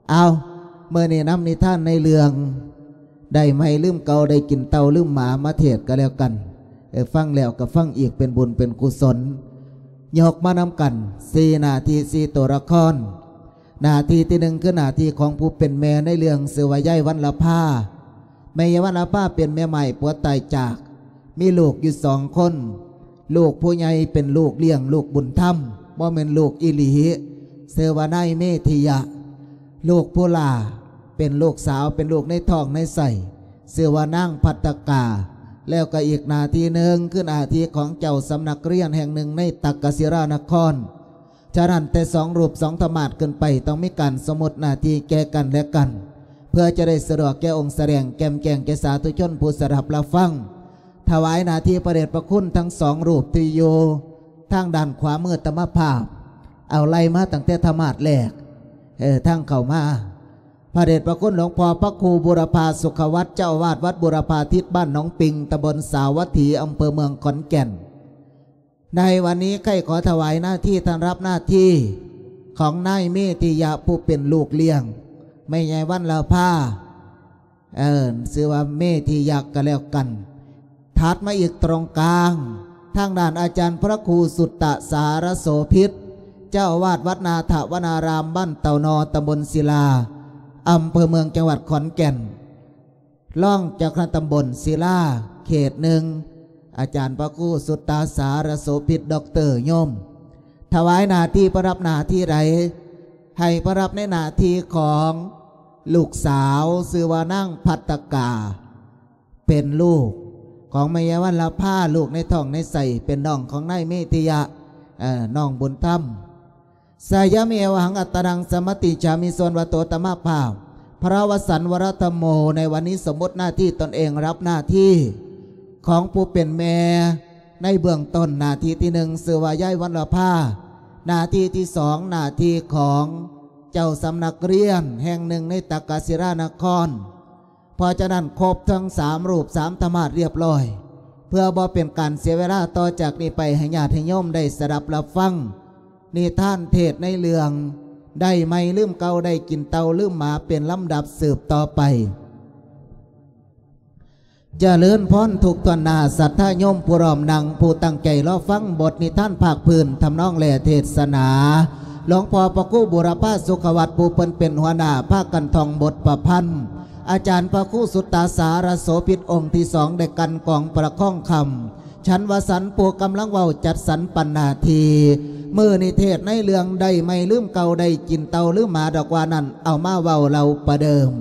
ເອົາ ມື້ນີ້ນຳນິທານໃນເລື່ອງ ໄດ້ໃໝ່ລືມເກົ່າ ໄດ້ກິນເຕົ່າລືມໝາມາເທດກໍແລ້ວກັນ. ເອີ ຟັງແລ້ວກໍຟັງອີກ ເປັນບຸນເປັນກຸສົນ. ຍົກມານຳກັນ ສີ່ໜ້າທີ່ ສີ່ຕົວລະຄອນ. ໜ້າທີ່ທີໜຶ່ງ ຄືໜ້າທີ່ຂອງຜູ້ເປັນແມ່ໃນເລື່ອງ ຊື່ວ່າຍາຍວັນລະພາ. ແມ່ຍາຍວັນລະພາເປັນແມ່ໝ້າຍ ຜົວຕາຍຈາກ ມີລູກຢູ່ສອງຄົນ. ລູກຜູ້ໃຫຍ່ເປັນລູກລ້ຽງ ລູກບຸນທຳ ບໍ່ແມ່ນລູກອີ່ຫຼີ ຊື່ວ່ານາຍເມທິຍະ. ລູກຜູ້ຫຼ້າເປັນລູກສາວ ເປັນລູກໃນທ້ອງໃນໄສ້ ຊື່ວ່ານາງພັດຕະກາ. ແລ້ວກໍອີກໜ້າທີ່ໜຶ່ງ ຄືໜ້າທີ່ຂອງເຈົ້າສຳນັກຮຽນແຫ່ງໜຶ່ງໃນຕັກກະສິລານະຄອນ. ສະນັ້ນ ແຕ່ສອງຮູບສອງທະມາດຂຶ້ນໄປ ຕ້ອງມີການສົມມຸດໜ້າທີ່ແກ່ກັນແລະກັນ ເພື່ອຈະໄດ້ສະດວກແກ່ອົງສະແດງ ແຈ່ມແຈ້ງແກ່ສາທຸຊົນຜູ້ສະດັບຮັບຟັງ. ຖວາຍໜ້າທີ່ພະເດດພະຄຸນທັງສອງຮູບທີ່ຢູ່ທາງດ້ານຂວາມືອາດຕະມາພາບ. ເອົາ ໄລ່ມາຕັ້ງແຕ່ທະມາດແລກ ເອີ ທາງເຂົ້າມາ. ພະເດດພະຄຸນຫຼວງພໍ່ພະຄູບູລະພາສຸຂະວັດ ເຈົ້າອາວາດວັດບູລະພາທິດ ບ້ານໜອງປິງ ຕຳບົນສາວັດຖີ ອຳເພີເມືອງຂອນແກ່ນ. ໃນວັນນີ້ຂ້າພະເຈົ້າຂໍຖວາຍໜ້າທີ່ ທ່ານຮັບໜ້າທີ່ຂອງນາຍເມທິຍະ ຜູ້ເປັນລູກລ້ຽງແມ່ຍາຍວັນລະພາ ເອີ້ນຊື່ວ່າເມທິຍະກໍແລ້ວກັນ. ຖັດມາອີກຕຣົງກາງ ທາງດ້ານອາຈານພະຄູສຸດຕະສາລະໂສພິດ ເຈົ້າອາວາດວັດນາຖະວະນາລາມ ບ້ານເຕົ່ານໍ ຕຳບົນສິລາ ອຳເພີເມືອງ ຈັງຫວັດຂອນແກ່ນ. ລອງເຈົ້າຄະນະຕຳບົນສິລາ ເຂດໜຶ່ງ ອາຈານພະຄູສຸດຕາສາລະໂສພິດ ດັອກເຕີ ໂຍມ ຖວາຍໜ້າທີ່ ປະດັບໜ້າທີ່ໃດ ໃຫ້ປະດັບໃນໜ້າທີ່ຂອງລູກສາວ ຊື່ວ່ານາງພັດຕະກາ ເປັນລູກຂອງແມ່ຍາຍວັນລະພາ ລູກໃນທ້ອງໃນໄສ້ ເປັນນ້ອງຂອງນາຍເມທິຍະ ເອີ ນ້ອງບຸນທຳ. ສະຍາມິ ເອວະຫັງ ອັດຕະນັງ ສະມະຕິຈາມິ ສ່ວນວ່າໂຕອາດຕະມາພາບ ພະວະສັນ ວະຣະທຳໂມ ໃນວັນນີ້ສົມມຸດໜ້າທີ່ຕົນເອງ ຮັບໜ້າທີ່ຂອງຜູ້ເປັນແມ່ໃນເບື້ອງຕົ້ນ. ໜ້າທີ່ທີໜຶ່ງ ຊື່ວ່າຍາຍວັນລະພາ. ໜ້າທີ່ທີສອງ ໜ້າທີ່ຂອງເຈົ້າສຳນັກຮຽນແຫ່ງໜຶ່ງໃນຕັກກະສິລານະຄອນ. ເພາະສະນັ້ນ ຄົບທັງສາມຮູບສາມທະມາດຮຽບຮ້ອຍ ເພື່ອບໍ່ເປັນການເສຍເວລາ, ຕໍ່ຈາກນີ້ໄປໃຫ້ຍາດໃຫ້ໂຍມໄດ້ສະດັບຮັບຟັງນິທານເທດໃນເລື່ອງ ໄດ້ໃໝ່ລືມເກົ່າ ໄດ້ກິນເຕົ່າລືມໝາ ເປັນລຳດັບສືບຕໍ່ໄປ. ຈະເລີນພອນທຸກທ່ານນາ ສັດທາໂຍມຜູ້ລ້ອມນັ່ງ ຜູ້ຕັ້ງໃຈລໍຟັງບົດນິທານພາກພື້ນ ທຳນອງ ແລະ ເທດສະໜາ. ຫຼວງພໍ່ພະຄູບູລະພາສຸຂະວັດ ຜູ້ເພິ່ນເປັນຫົວໜ້າ ພາກັນທ່ອງບົດປະພັນ ອາຈານພະຄູສຸດຕາສາລະໂສພິດ ອົງທີສອງ ໄດ້ກັ່ນກອງປະຄອງຄຳ ສັນວະສັນ ຜູ້ກຳລັງເວົ້າຈັດສັນປັນໜ້າທີ່. ມື້ນີ້ເທດໃນເລື່ອງ ໄດ້ໃໝ່ລືມເກົ່າ ໄດ້ກິນເຕົ່າລືມໝາດອກວ່ານັ້ນ ເອົາມາເວົ້າເລົ່າປະເດີມ.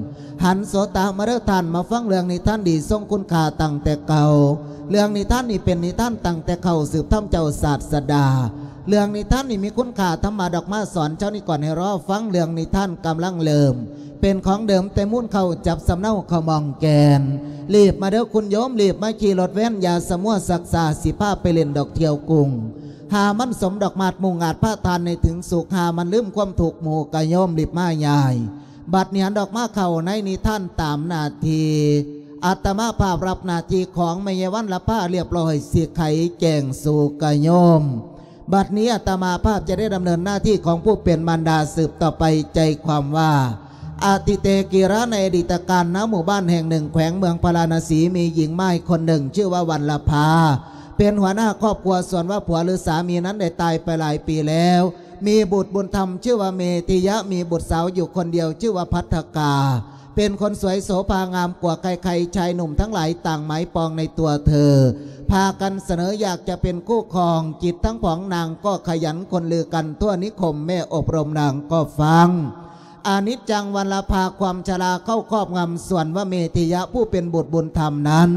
ຫັນໂສຕະມາເດີທ່ານ ມາຟັງເລື່ອງນິທານດີຊົງຄຸນຄ່າຕັ້ງແຕ່ເກົ່າ. ເລື່ອງນິທານນີ້ເປັນນິທານຕັ້ງແຕ່ເກົ່າ ສືບທຳເຈົ້າສາດສະດາ. ເລື່ອງນິທານນີ້ມີຄຸນຄ່າທຳມະດອກມາສອນ ເຈົ້ານີ້ກ່ອນໃຫ້ລໍຟັງ ເລື່ອງນິທານກຳລັງເລີ່ມ ເປັນຂອງເດີມແຕ່ມູນເຂົ້າ ຈັບສຳເນົາເຂົ້າມອງແກ່ນ. ລີບມາເດີຄຸນໂຍມ ລີບມາຂີ່ລົດແວນ ຢ່າສະມົວຊັກຊ້າ ຊິພາໄປຫຼິ້ນດອກທ່ຽວກຸງ. ຫາມັນສົມດອກໝາດມຸງອາດພາທ່ານໃຫ້ເຖິງສຸກ ຫາມັນລືມຄວາມທຸກໝູ່ກະໂຍມ ລີບມາຍາຍ. ບັດນີ້ຫັນດອກມາເຂົ້າໃນນິທານຕາມໜ້າທີ່ ອາດຕະມາພາບຮັບໜ້າທີ່ຂອງແມ່ຍາຍວັນລະພາລຽບຮ້ອຍ ຊິໄຂແຈ້ງສູ່ກະໂຍມ. ບັດນີ້ອາດຕະມາພາບຈະໄດ້ດຳເນີນໜ້າທີ່ຂອງຜູ້ເປັນມານດາສືບຕໍ່ໄປ. ໃຈຄວາມວ່າ ອະຕິເຕ ກີລາ ໃນອະດີດຕະການ ນະໝູ່ບ້ານແຫ່ງໜຶ່ງ ແຂວງເມືອງພາລານະສີ ມີຍິງມາຍຄົນໜຶ່ງ ຊື່ວ່າວັນລະພາ ເປັນຫົວໜ້າຄອບຄົວ. ສ່ວນວ່າຜົວ ຫຼື ສາມີນັ້ນໄດ້ຕາຍໄປຫຼາຍປີແລ້ວ ມີບຸດບຸນທຳ ຊື່ວ່າເມທິຍະ ມີບຸດສາວຢູ່ຄົນດຽວ ຊື່ວ່າພັດທະກາ ເປັນຄົນສວຍໂສພາງາມກວ່າໃຄໆ ຊາຍໜຸ່ມທັງຫຼາຍຕ່າງໝາຍປອງໃນຕົວເທີ ພາກັນສະເໜີຢາກຈະເປັນຄູ່ຄອງ. ຈິດທັງຜອງນາງກໍຂະຫຍັນຄົນລືກັນທົ່ວນິຄົມ ແມ່ອົບຮົມນາງກໍຟັງ. ອະນິດຈັງວັນລະພາ ຄວາມຊະລາເຂົ້າຄອບງຳ. ສ່ວນວ່າເມທິຍະຜູ້ເປັນບຸດບຸນທຳນັ້ນ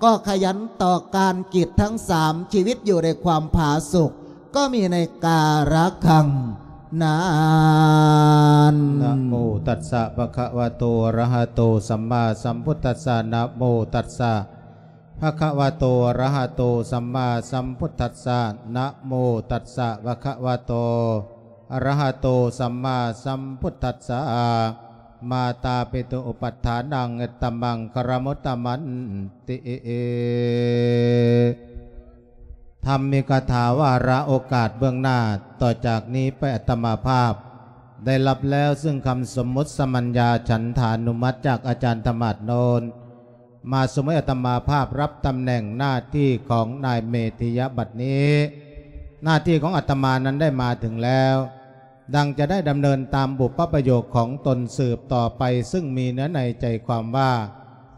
ກໍຂະຫຍັນຕໍ່ການກິດທັງສາມ ຊີວິດຢູ່ໃນຄວາມຜາສຸກ ກໍມີໃນກາລະຄັ້ງນັ້ນ. ນະໂມຕັດສະ ພະຄະວະໂຕ ອະລະຫະໂຕ ສຳມາສຳພຸດທັດສະ ນະໂມຕັດສະ ພະຄະວະໂຕ ອະລະຫະໂຕ ສຳມາສຳພຸດທັດສະ ນະໂມຕັດສະ ພະຄະວະໂຕ ອະລະຫະໂຕ ສຳມາສຳພຸດທັດສະ ມາຕາປິຕຸ ອຸປັດຖານັງ ຕະມັງຄະຣະມຸດຕະມັນຕິ ທຳມີກະຖາວາລະໂອກາດເບື້ອງໜ້າ. ຕໍ່ຈາກນີ້ໄປອາດຕະມາພາບ ได้รับแล้วซึ่งคำสมมุติสมัญญาฉันทานุมัติจากอาจารย์ธรรมาสน์โนน มาสมมุติอาตมาภาพรับตำแหน่งหน้าที่ของนายเมถิยะบัดนี้ หน้าที่ของอาตมานั้นได้มาถึงแล้ว ดังจะได้ดำเนินตามบุพประโยคของตนสืบต่อไป ซึ่งมีเนื้อในใจความว่า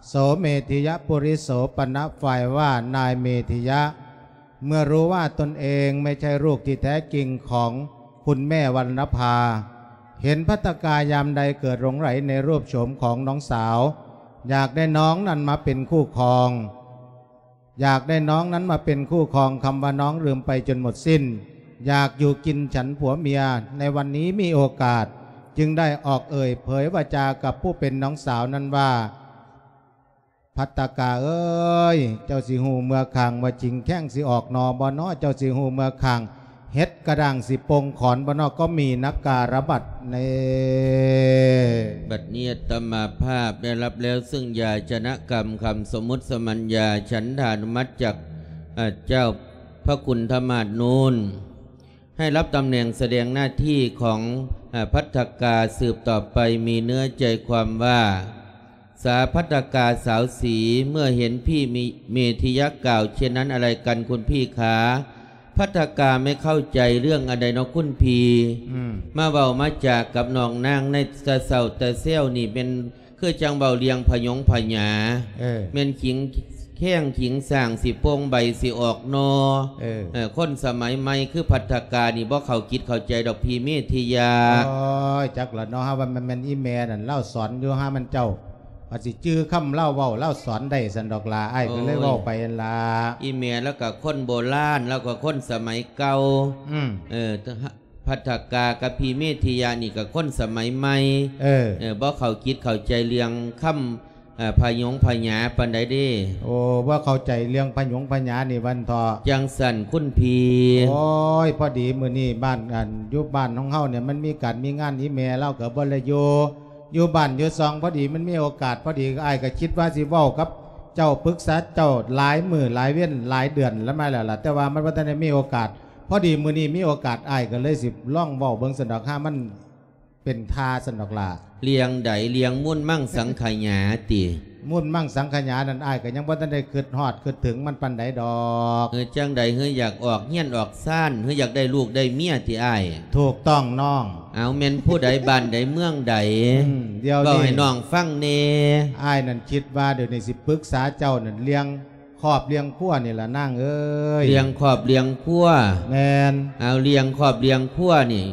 โสเมถิยะปุริโสปณะ ฝ่ายว่านายเมถิยะ เมื่อรู้ว่าตนเองไม่ใช่ลูกที่แท้จริงของคุณแม่วรรณภา เห็นภัททกายามใดเกิดหลงใหลในรูปโฉมของน้องสาว อยากได้น้องนั้นมาเป็นคู่ครอง อยากได้น้องนั้นมาเป็นคู่ครอง คำว่าน้องลืมไปจนหมดสิ้น อยากอยู่กินฉันผัวเมีย ในวันนี้มีโอกาส จึงได้ออกเอ่ยเผยวาจากับผู้เป็นน้องสาวนั้นว่า ภัททกาเอ๋ย เจ้าสิฮู้เมือข้างว่าจิงแข้งสิออกหน่อบ่น้อ เจ้าสิฮู้เมือข้างเห็ดกระด้างสิปงขอนบ่น้อ ก็มีนักการะบัดนี้ บัดนี้อาตมาภาพได้รับแล้วซึ่งยาชนะกรรมคำสมมุติสมัญญาฉันทานุมัติจาก เอ่อ เจ้าพระคุณธรรมาสน์โนน ให้รับตำแหน่งแสดงหน้าที่ของ เอ่อ ภัททกาสืบต่อไป มีเนื้อใจความว่า สาภัททกาสาวสี เมื่อเห็นพี่มิ เมถิยะกล่าวเช่นนั้นอะไรกันคุณพี่ขา ภัททกาไม่เข้าใจเรื่องอันใดเนาะคุณพี่ อืม มาเว้ามาจากับน้องนางในตะเซ้าตะแซวนี่เป็น คือจั่งเว้าเรื่องผะหยงผะหยา เออ แม่นขิงแข้งขิงสร้างสิโป่งใบสิออกหน่อ เออ เออ คนสมัยใหม่คือภัททกานี่บ่เข้าจิตเข้าใจดอกพี่เมถิยะ โอ้ย จักละเนาะ หาว่ามันแม่นอีแม่นั่นลาวสอนอยู่ หามันเจ้า ว่าสิจื่อคำลาวเว้าลาวสอนได้ซั้นดอกล่ะ อ้ายก็เลย โอ้ย เว้าไปนั่นล่ะ อีแม่ลาวก็คนโบราณ ลาวก็คนสมัยเก่า อืม เออ ภัททกากับพี่เมถิยะนี่ก็คนสมัยใหม่ เออ เออ บ่เข้าจิตเข้าใจเรื่องคำ เอ่อ ผะหยงผะหยาปานใดเด้ โอ้ บ่เข้าใจเรื่องผะหยงผะหยานี่วันเถาะ จั่งซั้นคุณพี่ โอ้ย พอดีมื้อนี้บ้าน อัน อยู่บ้านของเฮาเนี่ยมันมีการมีงาน อีแม่ลาวก็บ่ได้อยู่ อยู่บ้านอยู่ซอง พอดีมันมีโอกาส พอดีอ้ายก็คิดว่าสิเว้ากับเจ้า ปรึกษาเจ้าหลายมื้อหลายเว็นหลายเดือนแล้วมาแล้วล่ะ แต่ว่ามันบ่ทันได้มีโอกาส พอดีมื้อนี้มีโอกาส อ้ายก็เลยสิลองเว้าเบิ่งซั้นดอก หามันเป็นท่าซั้นดอกล่ะ เรื่องใด เรื่องมูลมังสังขยาติ มูลมังสังขยานั่น อ้ายก็ยังบ่ทันได้คิดฮอดคิดถึงมันปานใดดอก เออ จั่งใด เฮาอยากออกเฮือนออกซาน เฮาอยากได้ลูกได้เมียติอ้าย ถูกต้องน้อง เอาแม่นผู้ใด บ้านใด เมืองใด อืม เดี๋ยวนี้ เว้าให้น้องฟังแหน่ อ้ายนั่นคิดว่าเดี๋ยวนี้สิปรึกษาเจ้านั่นเรื่อง ครอบเลี้ยงครัวนี่ล่ะนางเอ้ย เลี้ยงครอบเลี้ยงครัว แม่น เอาเลี้ยงครอบเลี้ยงครัวนี่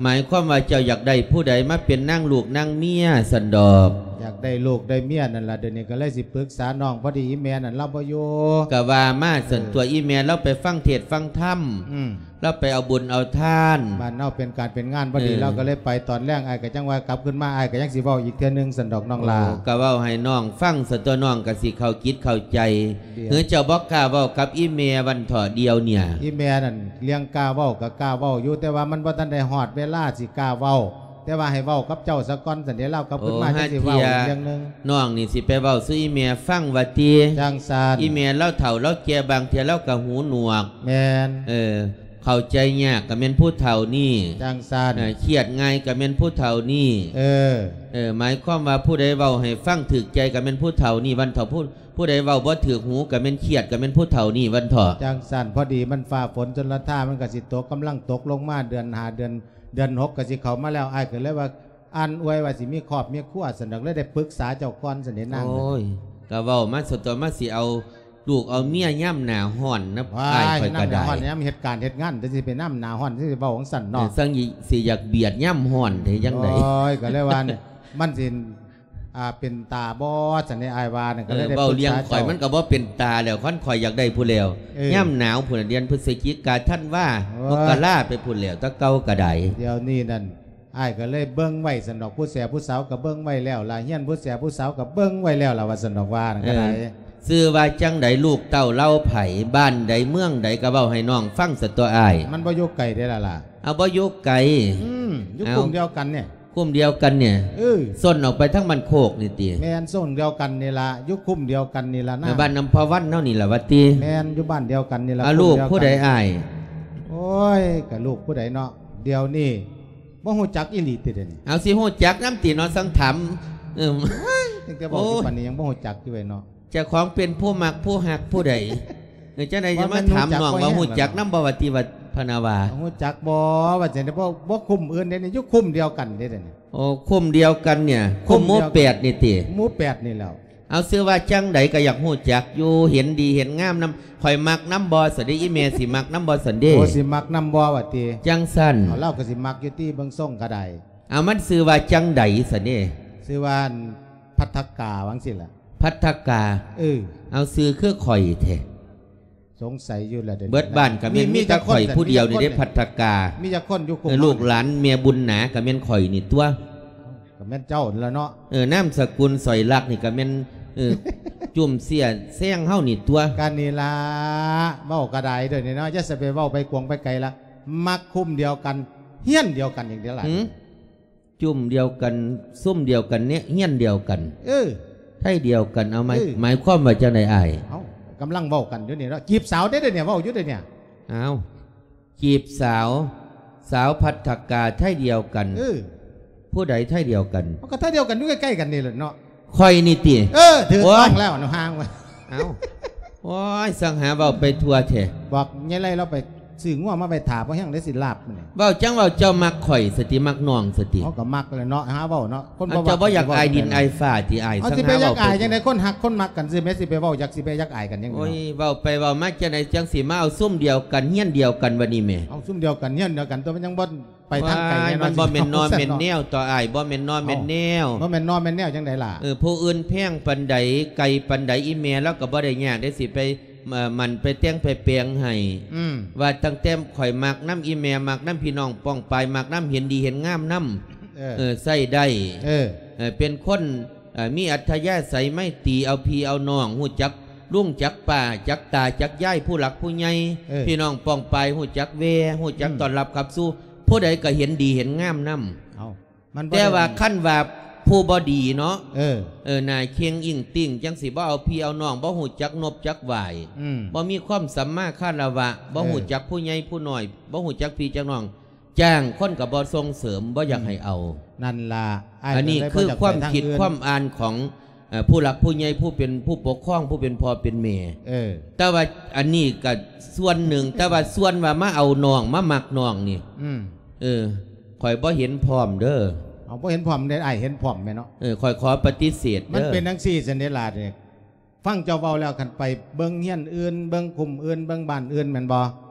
หมายความว่าเจ้าอยากได้ผู้ใดมาเป็นนางลูกนางเมียซั้นดอก อยากได้ลูกได้เมียนั่นล่ะ เดี๋ยวนี้ก็เลยสิปรึกษาน้อง พอดีอีแม่นั่นลาวบ่อยู่ ก็ว่ามาซั้น เออ ตั๊ว อีแม่ลาวไปฟังเทศน์ฟังธรรม อืม ลาวไปเอาบุญเอาทาน บ้านเฮาเป็นการเป็นงานพอดี เออ ลาวก็เลยไปตอนแลง อ้ายก็จั่งว่ากลับขึ้นมา อ้ายก็ยังสิเว้าอีกเทื่อหนึ่งซั้นดอกน้องหล่า โอ้ ก็เว้าให้น้องฟังซั้นตั๊ว น้องก็สิเข้าจิตเข้าใจ เดี๋ยว หรือเจ้าบ่กล้าเว้ากับอีแม่วันเถาะเดียวเนี่ย อีแม่นั่นเรื่องกล้าเว้าก็กล้าเว้าอยู่ แต่ว่ามันบ่ทันได้ฮอดเวลาสิกล้าเว้า แต่ว่าให้เว้ากับเจ้าซะก่อนซั้นเด้ ลาวกลับขึ้นมา โอ้ จั่งสิเว้า หาเทื่อ อีกเรื่องหนึ่ง น้องนี่สิไปเว้าสู่อีแม่ฟังว่าติ จั่งซั้น อีแม่ลาวเฒ่าลาวแก่ บางเทื่อลาวก็หูหนวก แม่น เออ เข้าใจยากก็แม่นผู้เฒ่านี่ จั่งซั้น เออ เครียดง่ายก็แม่นผู้เฒ่านี่ เออ เออ หมายความว่าผู้ใดเว้าให้ฟังถูกใจก็แม่นผู้เฒ่านี่วันเถาะ ผู้ ผู้ใดเว้าบ่ถูกหูก็แม่นเครียดก็แม่นผู้เฒ่านี่วันเถาะ จั่งซั้น พอดีมันฟ้าฝนชลทามันก็สิตก กำลังตกลงมา เดือนห้า เดือน เดือนหกก็สิเข้ามาแล้ว อ้ายก็เลยว่า อันอวยว่าสิมีครอบมีครัวซั้นดอก เลยได้ปรึกษาเจ้าก่อนซั้นเด้นาง โอ้ย ก็เว้ามาซั้นตั๊ว มาสิเอาลูกเอาเมียยามหน้าร้อนนะ ว้าย อ้ายข้อยก็ได้ ยามหน้าร้อน ยามเฮ็ดการเฮ็ดงาน แต่สิไปนำหน้าร้อน สิเว้าจั่งซั้นเนาะ เออ ซั้นสิอยากเบียดยามร้อนแท้จั่งใด โอ้ย ก็เลยว่าเนี่ย มันสิ อ่า เป็นตาบ่ซั้นเด้ อ้ายว่านั่น ก็เลยได้ปรึกษาเจ้า เออ เว้าเรื่องข้อยมันก็บ่เป็นตาแล้ว คันข้อยอยากได้ผู้แล้ว เออ ยามหนาวพุ้นน่ะ เดือนพฤศจิกา ธันวา โอ้ย มกราไปพุ้นแล้ว แต่เก่าก็ได้ เดี๋ยวนี้นั่น อ้ายก็เลยเบิ่งไว้ซั้นดอก ผู้แสผู้สาวก็เบิ่งไว้แล้วล่ะ เฮียนผู้แสผู้สาวก็เบิ่งไว้แล้วล่ะ ว่าซั้นดอกว่านั่นก็ได้ เออ ชื่อว่าจั่งใด ลูกเต้าเหล่าไผ บ้านใดเมืองใดก็เว้าให้น้องฟังซะตั๊วอ้าย มันบ่อยู่ไกลเด้ล่ะล่ะ เอาบ่อยู่ไกล อืม อยู่ เอา คุ้มเดียวกันเนี่ย คุ้มเดียวกันเนี่ย เออ ซ่อนออกไปทางบ้านโคกนี่ติ แม่น ซ่อนเดียวกันนี่ล่ะ อยู่คุ้มเดียวกันนี่ล่ะนะ เออ บ้านอำภาวันเฮานี่ล่ะว่าติ แม่น อยู่บ้านเดียวกันนี่ล่ะ อ่ะ คุ้มเดียวกัน ลูกผู้ใดอ้าย โอ้ย ก็ลูกผู้ใดเนาะ เดี๋ยวนี้ ບໍ່ຮູ້ຈັກອີ່ຫຼີຕິດຽວນີ້? ເອົາ ຊິຮູ້ຈັກນຳຕິເນາະ ສັງຖາມ. ເອີ ຕັ້ງແຕ່ເວົ້າຢູ່ປານນີ້ຍັງບໍ່ຮູ້ຈັກຢູ່ເວີຍເນາະ. ເຈົ້າຂອງເປັນຜູ້ມັກຜູ້ຮັກຜູ້ໃດ? ເອີ ຈັ່ງໃດຈະມາຖາມນ້ອງວ່າຮູ້ຈັກນຳບໍ່ວ່າຕິ ວ່າພະນາວ່າ. ຮູ້ຈັກບໍ່ວ່າຈັ່ງໃດ? ບໍ່ ບໍ່ຄຸ້ມອື່ນເດ້ນີ້ ຢູ່ຄຸ້ມດຽວກັນເດ້ນີ້. ໂອ້ ຄຸ້ມດຽວກັນເນຍ ຄຸ້ມໝູ່ແປດນີ້ຕິ? ໝູ່ແປດນີ້ແລ້ວ. ເອົາ ຊື່ວ່າຈັ່ງໃດກໍຢາກຮູ້ຈັກຢູ່ ເຫັນດີເຫັນງາມນຳ. ຂ້ອຍມັກນຳບໍ່ຊັ້ນເດ ອີ່ແມ່ຊິມັກນຳບໍ່ຊັ້ນເດ? ໂອ້ ຊິມັກນຳບໍ່ວ່າຕິ? ຈັ່ງຊັ້ນ ເອົາ ລາວກໍຊິມັກຢູ່ຕິ ເບິ່ງຊົງກໍໄດ້. ເອົາ ມັນຊື່ວ່າຈັ່ງໃດຊັ້ນເດ? ຊື່ວ່າ ອັນ ພັດທະກາ ວ່າຈັ່ງຊີ້ລະ. ພັດທະກາ? ເອີ ເອົາ ຊື່ຄືຂ້ອຍແທ້. ສົງໄສຢູ່ລະເດ ເບິດບ້ານກໍແມ່ນ ມີ ມີແຕ່ຂ້ອຍຜູ້ດຽວນີ້ເດ້ ພັດທະກາ. ມີຈັກຄົນຢູ່ ເອີ ລູກຫຼານແມ່ບຸນໜາກໍແມ່ນຂ້ອຍນີ້ຕົວະ. ກໍແມ່ນເຈົ້ານັ້ນລະເນາະ. ເອີ ນາມສະກຸນສອຍລັກນີ້ກໍແມ່ນ ເອີ ຈຸ້ມເສຍແຊງເຮົານີ້ຕົວະ. ກໍນີ້ລະ ເວົ້າກໍໄດ້ເດີນີ້ເນາະ ຢ່າຊິໄປເວົ້າໄປກວງໄປໄກລະ. ມັກຄຸ້ມດຽວກັນ ຮຽນດຽວກັນຫຍັງເດລະ? ຫື? ຈຸ້ມດຽວກັນ ຊຸມດຽວກັນ ຮຽນດຽວກັນ. ເອີ ໄທດຽວກັນ ເອົາ ໝາຍ ເອີ ໝາຍຄວາມວ່າຈັ່ງໃດອ້າຍ? ເອົ້າ ກຳລັງເວົ້າກັນຢູ່ນີ້ເນາະ ຈີບສາວເດ້ດຽວນີ້ ເວົ້າຢູ່ເດ້ນີ້. ອ້າວ ຈີບສາວ ສາວພັດທະກາ ໄທດຽວກັນ. ເອີ ຜູ້ໃດໄທດຽວກັນ? ມັນກໍໄທດຽວກັນ ຢູ່ໃກ້ໆກັນນີ້ແຫຼະເນາະ. ຂ້ອຍນີ້ຕິ? ເອີ ຖືກຕ້ອງແລ້ວເນາະ ໂອ້ຍ ຫ່າງວ່າ. ເອົ້າ ໂອ້ຍ ສັງຫາເວົ້າໄປທົ່ວແທ້. ບອກຍາຍໄລລາວໄປຊື້ງົວມາໄວ້ຖ້າ ພໍແຮງໄດ້ຊິລາບມື້ນີ້. ເວົ້າຈັ່ງເວົ້າ ເຈົ້າມັກຂ້ອຍຊັ້ນຕິ ມັກນ້ອງຊັ້ນຕິ? ເຮົາກໍມັກແຫຼະເນາະ ຫາເວົ້າເນາະ ຄົນບໍ່ມັກ. ເຈົ້າບໍ່ຢາກອາຍດິນອາຍຟ້າຕິອ້າຍ? ເຮົາຊິໄປຢາກອາຍຈັ່ງໃດ ຄົນຮັກຄົນມັກກັນ ຊິແມ່ນຊິໄປເວົ້າ ຢາກຊິໄປຢາກອາຍກັນຫຍັງເນາະ. ໂອ້ຍ ເວົ້າໄປເວົ້າມາຈັ່ງໃດ ຈັ່ງຊິມາເອົາຊຸມດຽວກັນ ຮຽນດຽວກັນບັດນີ້ແໝ່? ເອົາຊຸມດຽວກັນ ຮຽນດຽວກັນ ຕົວະ ມັນຍັງບໍ່ ໄປທາງໄກແນ່ນອນ. ມັນບໍ່ແມ່ນນໍແມ່ນແນວ ຕໍ່ອ້າຍ ບໍ່ແມ່ນນໍແມ່ນແນວ. ເອົ້າ ບໍ່ແມ່ນນໍແມ່ນແນວຈັ່ງໃດລະ? ເອີ ຜູ້ອື່ນແພງປານໃດ ໄກປານໃດ ອີ່ແມ່ລາວກໍບໍ່ໄດ້ຍາກເດ້ ຊິໄປ ເອີ ໝັ່ນໄປແຕ່ງໄປແປງໃຫ້. ອືມ ວ່າຕັ້ງແຕ່ຂ້ອຍມັກນຳ ອີ່ແມ່ມັກນຳ ພີ່ນ້ອງປ້ອງປາຍມັກນຳ ເຫັນດີເຫັນງາມນຳ. ເອີ ເອີ ໃຊ້ໄດ້. ເອີ ເອີ ເປັນຄົນ ເອີ ມີອັດທະຍາໄສໄມຕີ ເອົາພີ່ເອົານ້ອງ ຮູ້ຈັກລຸງຈັກປ້າ ຈັກຕາຈັກຍາຍ ຜູ້ຫຼັກຜູ້ໃຫຍ່. ເອີ ພີ່ນ້ອງປ້ອງປາຍ ຮູ້ຈັກແວ່ ຮູ້ຈັກ ອືມ ຕ້ອນຮັບຂັບສູ່ ຜູ້ໃດກໍເຫັນດີເຫັນງາມນຳ. ເອົ້າ ມັນບໍ່ ແຕ່ວ່າ ໄດ້ ຄັນວ່າຜູ້ບໍ່ດີເນາະ. ເອີ ເອີ ໜ້າເຄັ່ງອິ້ງຕິ້ງ ຈັ່ງຊິບໍ່ເອົາພີ່ເອົານ້ອງ ບໍ່ຮູ້ຈັກນົບຈັກຫວາຍ. ອືມ ບໍ່ມີຄວາມສຳມາຄາລະວະ ບໍ່ ເອີ ຮູ້ຈັກຜູ້ໃຫຍ່ຜູ້ນ້ອຍ ບໍ່ຮູ້ຈັກພີ່ຈັກນ້ອງ ຈ້າງຄົນກໍບໍ່ສົ່ງເສີມ ບໍ່ຢາກ ອືມ ໃຫ້ເອົາ. ນັ້ນລະ ອັນນີ້ຄືຄວາມຄິດຄວາມອ່ານຂອງ ເອີ ຜູ້ຫຼັກຜູ້ໃຫຍ່ ຜູ້ເປັນຜູ້ປົກຄອງ ຜູ້ເປັນພໍ່ເປັນແມ່. ເອີ ແຕ່ວ່າອັນນີ້ກໍສ່ວນໜຶ່ງ ແຕ່ວ່າສ່ວນວ່າມາເອົານ້ອງ ມາມັກນ້ອງນີ້ ອືມ ເອີ ຂ້ອຍບໍ່ເຫັນພ້ອມເດີ. ເອົາ ບໍ່ເຫັນພ້ອມໃດ ອ້າຍເຫັນພ້ອມແມ່ນເນາະ. ເອີ ຂ້ອຍຂໍປະຕິເສດເດີ. ມັນເປັນຈັ່ງຊີ້ຊັ້ນເດລະເດ. ຟັງເຈົ້າເວົ້າແລ້ວ ຄັນໄປເບິ່ງເຮືອນອື່ນ ເບິ່ງຄຸ້ມອື່ນ ເບິ່ງບ້ານອື່ນແມ່ນບໍ່?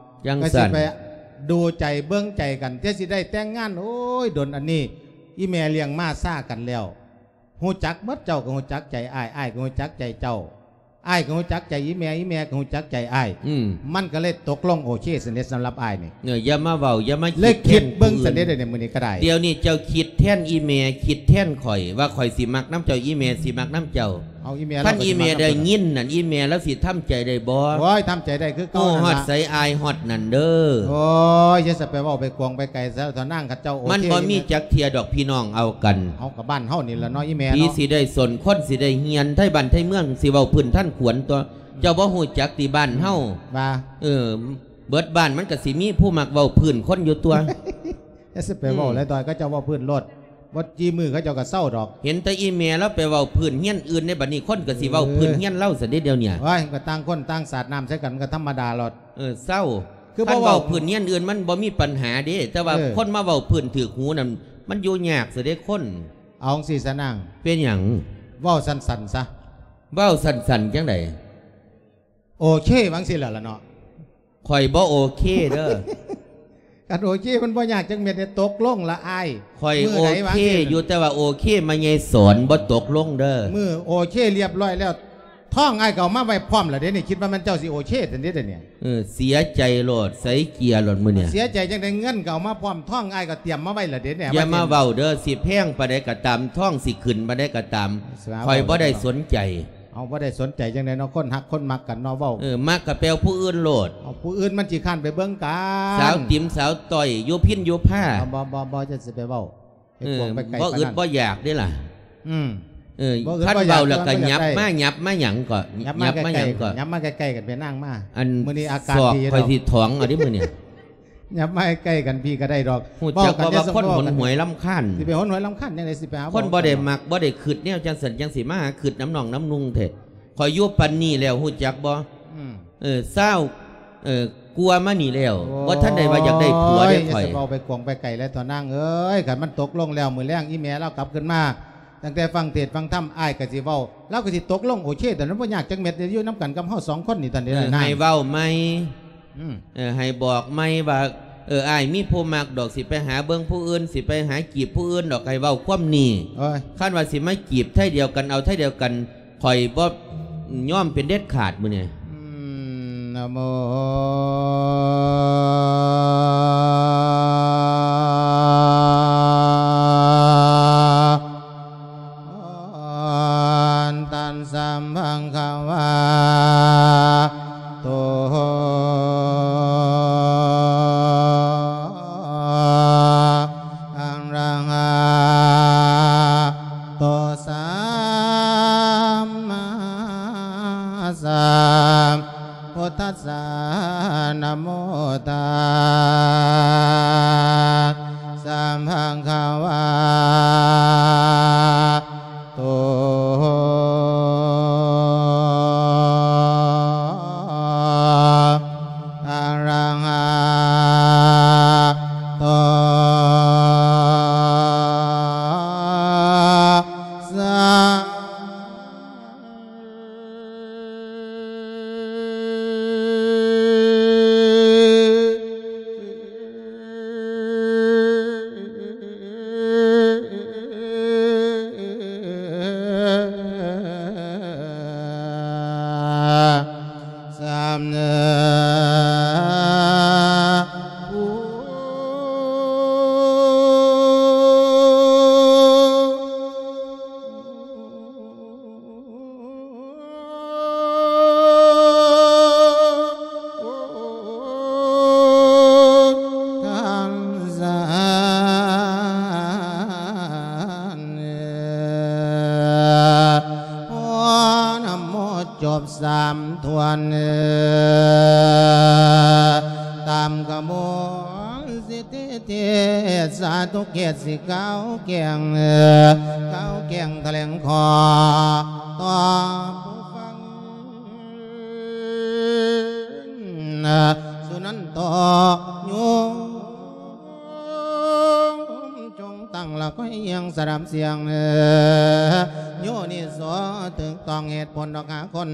ຈັ່ງຊັ້ນ ກໍຊິໄປດູໃຈເບິ່ງໃຈກັນ ແຕ່ຊິໄດ້ແຕ່ງງານ ໂອ້ຍ ດົນອັນນີ້ ອີ່ແມ່ລ້ຽງມາຊາກັນແລ້ວ. ຮູ້ຈັກໝົດ ເຈົ້າກໍຮູ້ຈັກໃຈອ້າຍ ອ້າຍກໍຮູ້ຈັກໃຈເຈົ້າ ອ້າຍກໍຮູ້ຈັກໃຈອີ່ແມ່ ອີ່ແມ່ກໍຮູ້ຈັກໃຈອ້າຍ. ອືມ ມັນກໍເລີຍຕົກລົງໂອເຄຊັ້ນເດ ສຳລັບອ້າຍນີ້. ເອີ ຢ່າມາເວົ້າ ຢ່າມາ ເລີຍຄິດເບິ່ງຊັ້ນເດ ດຽວນີ້ມື້ນີ້ກໍໄດ້. ດຽວນີ້ເຈົ້າຄິດແທນອີ່ແມ່ ຄິດແທນຂ້ອຍ ວ່າຂ້ອຍຊິມັກນຳເຈົ້າ ອີ່ແມ່ຊິມັກນຳເຈົ້າ. ເອົາ ອີ່ແມ່ ຄັນອີ່ແມ່ໄດ້ຍິນນັ້ນ ອີ່ແມ່ລາວຊິທຳໃຈໄດ້ບໍ່? ໂອ້ຍ ທຳໃຈໄດ້ຄືເກົ່າ. ໂອ້ ຮອດໃສອາຍຮອດນັ້ນເດີ. ໂອ້ຍ ຢ່າຊິໄປເວົ້າໄປກວງໄປໄກຊະເຖົ້ານາງ ຄັນເຈົ້າໂອເຄ. ມັນບໍ່ມີຈັກເທື່ອດອກ ພີ່ນ້ອງເອົາກັນ. ເອົາ ກໍບ້ານເຮົານີ້ລະເນາະ ອີ່ແມ່ເນາະ. ຜີຊິໄດ້ສົນ ຄົນຊິໄດ້ເຮຍນ ໄທບ້ານໄທເມືອງຊິເວົ້າພື້ນທ່ານຂວັນຕົວະ. ເຈົ້າບໍ່ຮູ້ຈັກຕິບ້ານເຮົາ ວ່າ ເອີ ເບິດບ້ານມັນກໍຊິມີຜູ້ມັກເວົ້າພື້ນຄົນຢູ່ຕົວະ. ຢ່າຊິໄປເວົ້າ ອືມ ຫຼາຍ ດອຍ ເຂົາເຈົ້າເວົ້າພື້ນໂລດ ບໍ່ຈີ່ມື້ເຂົາເຈົ້າກໍເຊົາດອກ. ເຫັນແຕ່ອີ່ແມ່ລາວໄປເວົ້າພື້ນເຮືອນອື່ນເດ້ ບັດນີ້ຄົນກໍຊິເວົ້າ ເອີ ພື້ນເຮືອນລາວຊັ້ນເດ ດຽວນີ້. ໂອ້ຍ ກໍຕ່າງຄົນຕ່າງສາດນ້ຳໃສ່ກັນ ມັນກໍທຳມະດາໂລດ. ເອີ ເຊົາ. ຄັນເວົ້າພື້ນເຮືອນອື່ນມັນບໍ່ມີປັນຫາເດ້ ແຕ່ວ່າ ເອີ ຄົນມາເວົ້າພື້ນຖືກຫູນັ້ນ ມັນຢູ່ຍາກຊະເດ້ຄົນ. ເອົາຈັ່ງຊີ້ຊະນາງ. ເປັນຫຍັງ? ເວົ້າສັ້ນໆຊະ. ເວົ້າສັ້ນໆຈັ່ງໃດ? ໂອເຄ ວ່າຈັ່ງຊີ້ແຫຼະລະເນາະ. ຂ້ອຍບໍ່ໂອເຄເດີ. ຄັນໂອເຄມັນບໍ່ຍາກຈັກເມັດເດ້ ຕົກລົງລະອ້າຍ. ຂ້ອຍໂອເຄຢູ່ ແຕ່ວ່າໂອເຄມາໃຫຍ່ສອນບໍ່ຕົກລົງເດີ. ມື້ໂອເຄລຽບຮ້ອຍແລ້ວ ທອງອ້າຍກໍເອົາມາໄວ້ພ້ອມລະເດ້ນີ້. ຄິດວ່າແມ່ນເຈົ້າຊິໂອເຄຊັ້ນເດ້ດຽວນີ້. ເອີ ເສຍໃຈໂລດ ໃສ່ເກຍໂລດມື້ນີ້. ເສຍໃຈຈັ່ງໃດ ເງິນກໍເອົາມາພ້ອມ ທອງອ້າຍກໍຕຽມມາໄວ້ລະເດ້ນີ້. ຢ່າມາເວົ້າເດີ ຊິແພງປານໃດກໍຕາມ ທອງຊິຂຶ້ນປານໃດກໍຕາມ ຂ້ອຍບໍ່ໄດ້ສົນໃຈ. ເອົາ ບໍ່ໄດ້ສົນໃຈຈັ່ງໃດເນາະ ຄົນຮັກຄົນມັກກັນເນາະ ເວົ້າ. ເອີ ມັກກໍໄປເອົາຜູ້ອື່ນໂລດ. ເອົາຜູ້ອື່ນມັນຊິຄ້ານໄປເບິ່ງກັນ ສາວຕິມສາວຕ້ອຍ ຢູ່ພິນຢູ່ພາ. ບໍ່ ບໍ່ ບໍ່ ຢ່າຊິໄປເວົ້າ ໄປກວງໄປໄກປານນັ້ນ. ບໍ່ອຶດບໍ່ຢາກເດ້ລະ. ອືມ ເອີ ຄັນເວົ້າແລ້ວກໍຫຍັບມາ ຫຍັບມາຫຍັງກໍ ຫຍັບມາຫຍັງກໍ ຫຍັບມາໃກ້ໆກັນ ເປັນນາງມາ. ອັນ ມື້ນີ້ອາກາດດີເນາະ ຂ້ອຍຊິຖອງເອົາເດ້ມື້ນີ້. ຫຍັບມາໃກ້ກັນພີ້ກໍໄດ້ດອກ. ຮູ້ຈັກບໍ່ວ່າຄົນຫົນຫວຍລຳຄານ? ຊິໄປຫົນຫວຍລຳຄານຈັ່ງໃດ? ຊິໄປຫາ ຄົນບໍ່ໄດ້ມັກ ບໍ່ໄດ້ຄຶດແນວຈັ່ງຊັ້ນ ຈັ່ງຊິມາຫາຄຶດນຳນ້ອງນຳນຸ່ງແທ້. ຂ້ອຍຢູ່ປານນີ້ແລ້ວ ຮູ້ຈັກບໍ່? ອືມ ເອີ ຊາວ ເອີ ກວ່າມານີ້ແລ້ວ ໂອ້ຍ ບໍ່ທັນໄດ້ວ່າຢາກໄດ້ຜົວເດ້ຂ້ອຍ. ຢ່າຊິເວົ້າໄປກວາງໄປໄກແລ້ວເຖາະນາງເອີຍ. ຄັນມັນຕົກລົງແລ້ວ ມື້ແລງອີ່ແມ່ລາວກັບຄືນມາ ຕັ້ງແຕ່ຟັງເທດຟັງທຳ ອ້າຍກໍຊິເວົ້າ ລາວກໍຊິຕົກລົງໂອເຄ. ຕອນນັ້ນບໍ່ຍາກຈັກເມັດເດ້ ຢູ່ນຳກັນກັບເຮົາສອງຄົນນີ້ ຕອນນີ້ນາງ. ເອີ ໃຫ້ເວົ້າໃໝ່. ອືມ ເອີ ໃຫ້ບອກໃໝ່ວ່າ ເອີ ອ້າຍມີຜູ້ມັກດອກ ຊິໄປຫາເບິ່ງຜູ້ອື່ນ ຊິໄປຫາຈີບຜູ້ອື່ນດອກ ໃຫ້ເວົ້າຄວາມນີ້. ໂອ້ຍ ຄັນວ່າຊິມາຈີບໄທດຽວກັນ ເອົາໄທດຽວກັນ ຂ້ອຍບໍ່ຍອມເປັນເດັດຂາດມື້ນີ້. ອືມ ນະໂມ ຕັດສະ ພະຄະວະໂຕ ອະລະຫະໂຕ ສຳມາສຳ ພຸດທັດສະ ນະໂມ ຕັດສະ ພະຄະວະໂຕ ອະລະຫະໂຕ ສະ ສາມເນີ ຄັນຊັ້ນ ໂອ ນະໂມ ຈົບສາມຖ້ວນ ຕາມຂະບວນສິດ ເທດສາທຸເກດ ຊິກ່າວແກ່ງ ກ່າວແກ່ງຖະແຫຼງຂໍຕໍ່ຜູ້ຟັງ ສຸນັນໂຕໂຍມ ຈົ່ງຕັ້ງລະຄອຍຮຽງສະດັບສຽງ ໂຍນິໂສ ຖືກຕ້ອງເຫດຜົນດອກຫາຄົນ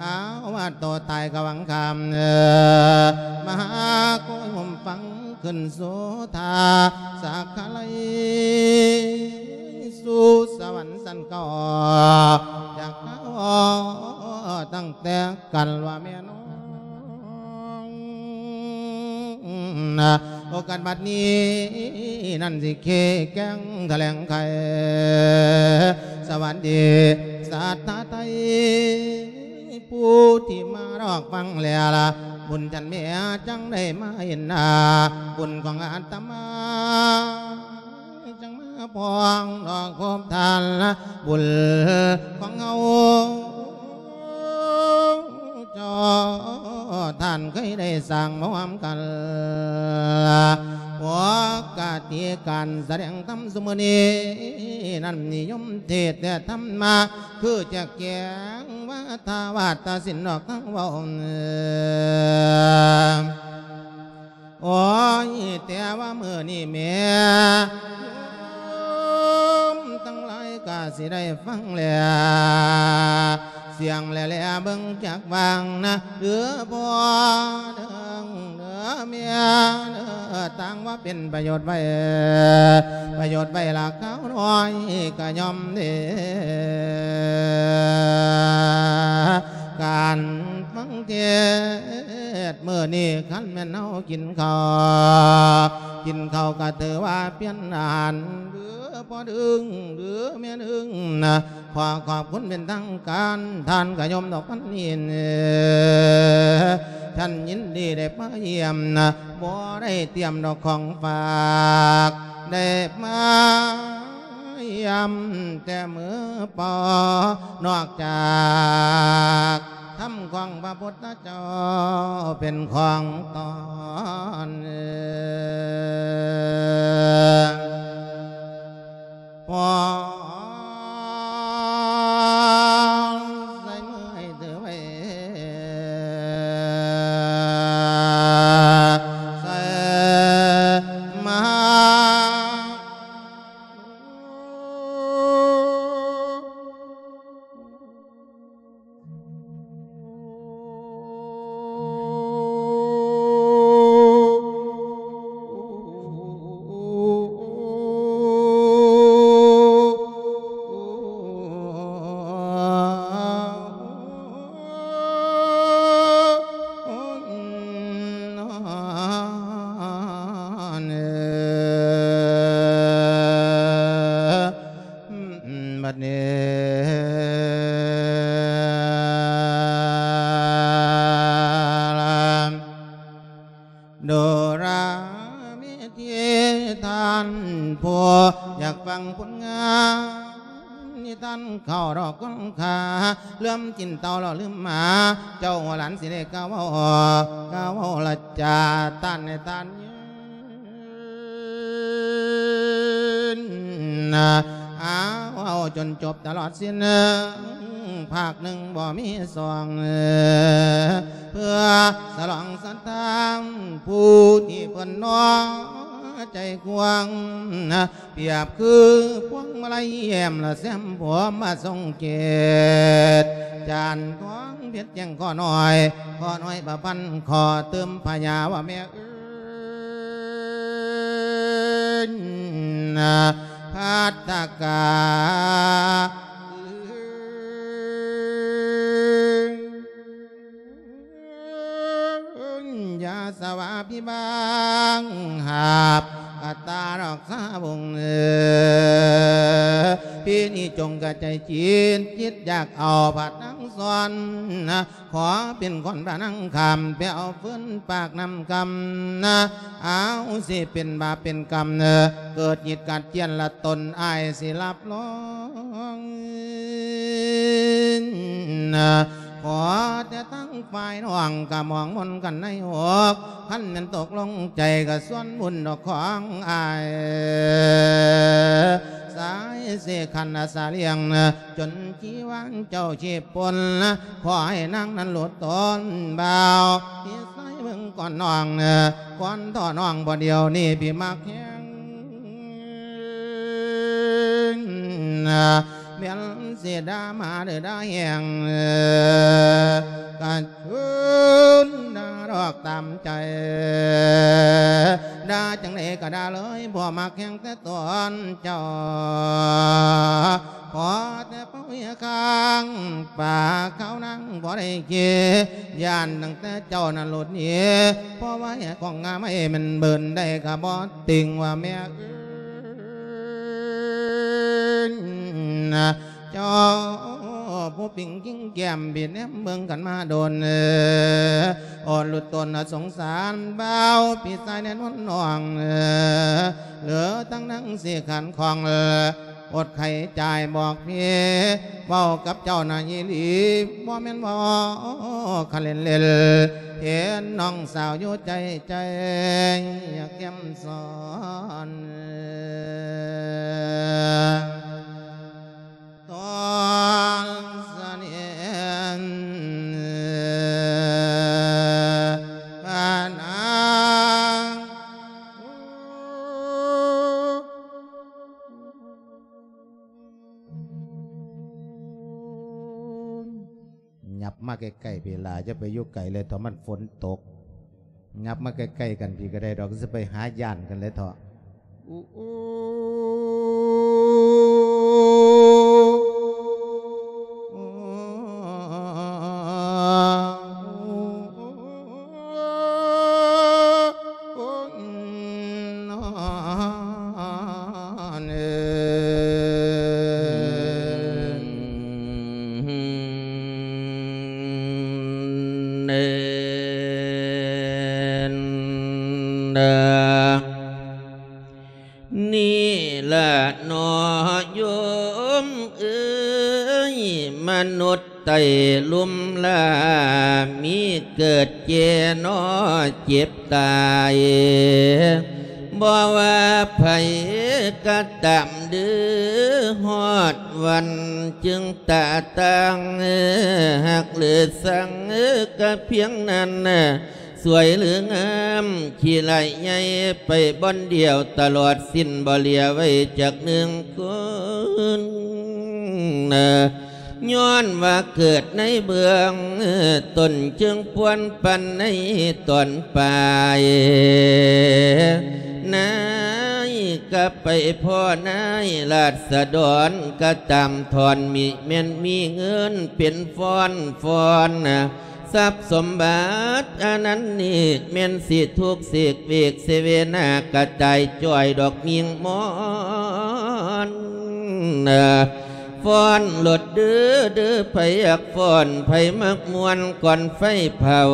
ອາວາດໂຕຕາຍກະວັງຄາມ ມະຫາໂກຍໂຮມຟັງຂຶ້ນໂສທາ ສາກຂະໄລສູ່ສະຫວັນຊັ້ນເກົ້າ ຢາກເວົ້າຕັ້ງແຕ່ກັນວ່າແມ່ນ້ອງ ໂອກາດບັດນີ້ນັ້ນ ຊິເຄແກ່ງຖະແຫຼງໄຂ ສະຫວັດດີສັດທາໄທ ຜູ້ທີ່ມາລອກຟັງແລ້ວລະ ບຸນຈັນແມ່ຈັ່ງໄດ້ມາເຫັນໜ້າ ບຸນຂອງອາດຕະມາ ຈັ່ງມາພ້ອງດອກຄົບທ່ານລະ ບຸນຂອງເຮົາ ເຈົ້າທ່ານເຄີຍໄດ້ສ້າງມາຮ່ວມກັນ ປົກກະຕິການສະແດງທຳຊຸມື້ນີ້ນັ້ນ ນິຍົມເທດແຕ່ທຳມາ ຄືຈະແກງວາທາວາດຕະສິນອອກທາງເວົ້າ ໂອ້ຍ ແຕ່ວ່າມື້ນີ້ແມ່ໂຍມທັງຫຼາຍກະຊິໄດ້ຟັງແລ້ວ ສຽງແລໆເບິ່ງຈັກວ່າງນະ ເດີພໍ່ເດີ ເດີແມ່ເດີ ຕ່າງວ່າເປັນປະໂຫຍດໄວ້ ປະໂຫຍດໄວ້ລະຄາວນ້ອຍກະຍອມເດ ການຟັງເທດມື້ນີ້ ຄັນແມ່ນເຮົາກິນເຂົ້າ ກິນເຂົ້າກະຖືວ່າປ່ຽນອາຫານ ຫຼືພໍ່ດຶງ ຫຼືແມ່ດຶງນະ ຂໍຂອບຄຸນເປັນທາງການ ທ່ານກະໂຍມດອກພັນອິນ ທ່ານຍິນດີໄດ້ມາຢ້ຽມນະ ບໍ່ໄດ້ຕຽມດອກຂອງຝາກ ໄດ້ມາຢ້ຽມແຕ່ມືເປົ່າ ນອກຈາກທຳ ຂອງພະພຸດທະເຈົ້າເປັນຂອງຕອນ ເອີ ພໍໃສ່ມືໃຫ້ຖືໄວ້ ໃສ່ມາ ບັດນີ້ ໂດລາເມທີ ທ່ານຜູ້ຢາກຟັງຜົນງານນິທານ ເຂົ້າດອກຄົນຂາ ເລື່ອມກິນເຕົ້າແລ້ວລືມໝາ ເຈົ້າຫົວຫຼານຊິໄດ້ກ່າວເວົ້າ ກ່າວເວົ້າລະຈາ ທ່ານໃຫ້ທ່ານຍືນ ອ້າວ ເວົ້າຈົນຈົບຕະຫຼອດສິ້ນ ພາກໜຶ່ງບໍ່ມີສອງ ເພື່ອສະຫຼອງສັດທາ ຜູ້ທີ່ເພິ່ນນ້ອຍໃຈກວ້າງ ປຽບຄືພວງມາໄລແຍ້ມລະແຊມຜົມມາຊົງເກດ ຈານທອງເພັດແຈ້ງຂໍໜ້ອຍ ຂໍໜ້ອຍປະພັນ ຂໍຕື່ມພະຍາວ່າແມ່ເອີຍ ພັດທະກາ ຢ່າສະຫວາພິບາງ ຫາບອັດຕາດອກສາວົງເອີ ປີນີ້ຈົ່ງກະໃຈຈິດ ຈິດຢາກເອົາພະນາງສອນ ຂໍເປັນຄົນພະນາງຂ້າມ ໄປເອົາຟືນປາກນ້ຳຄຳ ອາວ ຊິເປັນບາບເປັນກຳ ເກີດຫຍິດກັດຈຽນລະຕົນ ອ້າຍຊິຮັບຮອງ ຂໍແຕ່ທາງຝ່າຍນ້ອງກະມອງມົນກັນໃນອົກ ຄັນແມ່ນຕົກລົງໃຈກະສ່ວນບຸນດອກຂອງອ້າຍ ສາຍເສຂັນອາສາລ້ຽງ ຈົນຊີວາເຈົ້າຊີບປົນ ຂໍໃຫ້ນາງນັ້ນຫຼຸດຕົນບ່າວ ພີ່ຊາຍເບິ່ງກ່ອນນ້ອງ ກ່ອນທໍ່ນ້ອງ ບໍ່ດຽວນີ້ພີ່ມັກແຮງ ແມ່ນຊິດ່າມາເດີດ່າແຮງ ກະເຊີນດ່າດອກຕາມໃຈ ດ່າຈັ່ງໃດກະດ່າເລີຍ ບໍ່ມັກແຮງແຕ່ຕົນເຈົ້າ ຂໍແຕ່ເປົ່າເຮຍຄາງ ປາກຂາວນາງບໍ່ໄດ້ເຄ ຢ້ານຕັ້ງແຕ່ເຈົ້ານັ້ນຫຼຸດໜີ ເພາະວ່າແຮກຂອງງາມໃຫ້ແມ່ນເບິ່ນໄດ້ກະບໍ່ຕິງວ່າແມ່ເອີຍ ເຈົ້າຜູ້ປິງກິງແກ້ມ ບີແນມເບິ່ງກັນມາດົນ ໂອດລຸດຕົນສົງສານບ່າວ ພີ່ຊາຍແນນວນນ້ອງ ເຫຼືອທັງນາງຊິຂັນຂ້ອງ ອົດໄຂຈ່າຍບອກພີ່ ເວົ້າກັບເຈົ້ານະອີ່ຫຼີ ບໍ່ແມ່ນເວົ້າຄັນເລ່ນໆ ເຫັນນ້ອງສາວຢູ່ໃຈ ໃຈຢາກແກ້ມສອນ ຕອນສະເໜ່ນພະນາງ ຫຍັບມາໃກ້ໆ ພີ້ລະ ຢ່າໄປຢູ່ໄກເລີຍ ຖ້າມັນຝົນຕົກ ຫຍັບມາໃກ້ໆ ກັນພີ້ກະໄດ້ດອກ ຊິໄປຫາຢ້ານກັນເລີຍເຖາະ. ນີ້ ມເອີຍ ມະນຸດໃຕ້ລຸ່ມລາ ມີເກີດແກ່ເນາະເຈັບຕາຍ ບໍ່ວ່າໃຜກໍຕາມເດີ້ ຮອດວັນຈຶ່ງຕາຕ່າງ ຮັກຫຼືຊັງກໍພຽງນັ້ນ ສວຍຫຼືງາມ ຂີ້ໄລ່ໃຫຍ່ໄປບ່ອນດຽວຕະຫຼອດສິ້ນ ບໍ່ເຫຼືອໄວ້ຈັກໜຶ່ງຄົນ. ຍ້ອນວ່າເກີດໃນເບື້ອງຕົ້ນ ຈຶ່ງປ່ວນປັນໃນຕອນປາຍ. ນາຍກໍໄປພໍ້ນາຍລາຊະດອນ ກໍຕາມຖອນມີ ແມ່ນມີເງິນເປັນຟອນຟອນ ຊັບສົມບັດອັນນັ້ນນີ້ ແມ່ນຊິທຸກເສກເວກເສເວນາ ກະຈາຍຈ່ອຍດອກມິ່ງມອນ. ຟ້ອນໂລດເດີ້ ເດີ້ ໃຜຢາກຟ້ອນ ໃຜມັກມ່ວນກ່ອນໄຟເຜົາ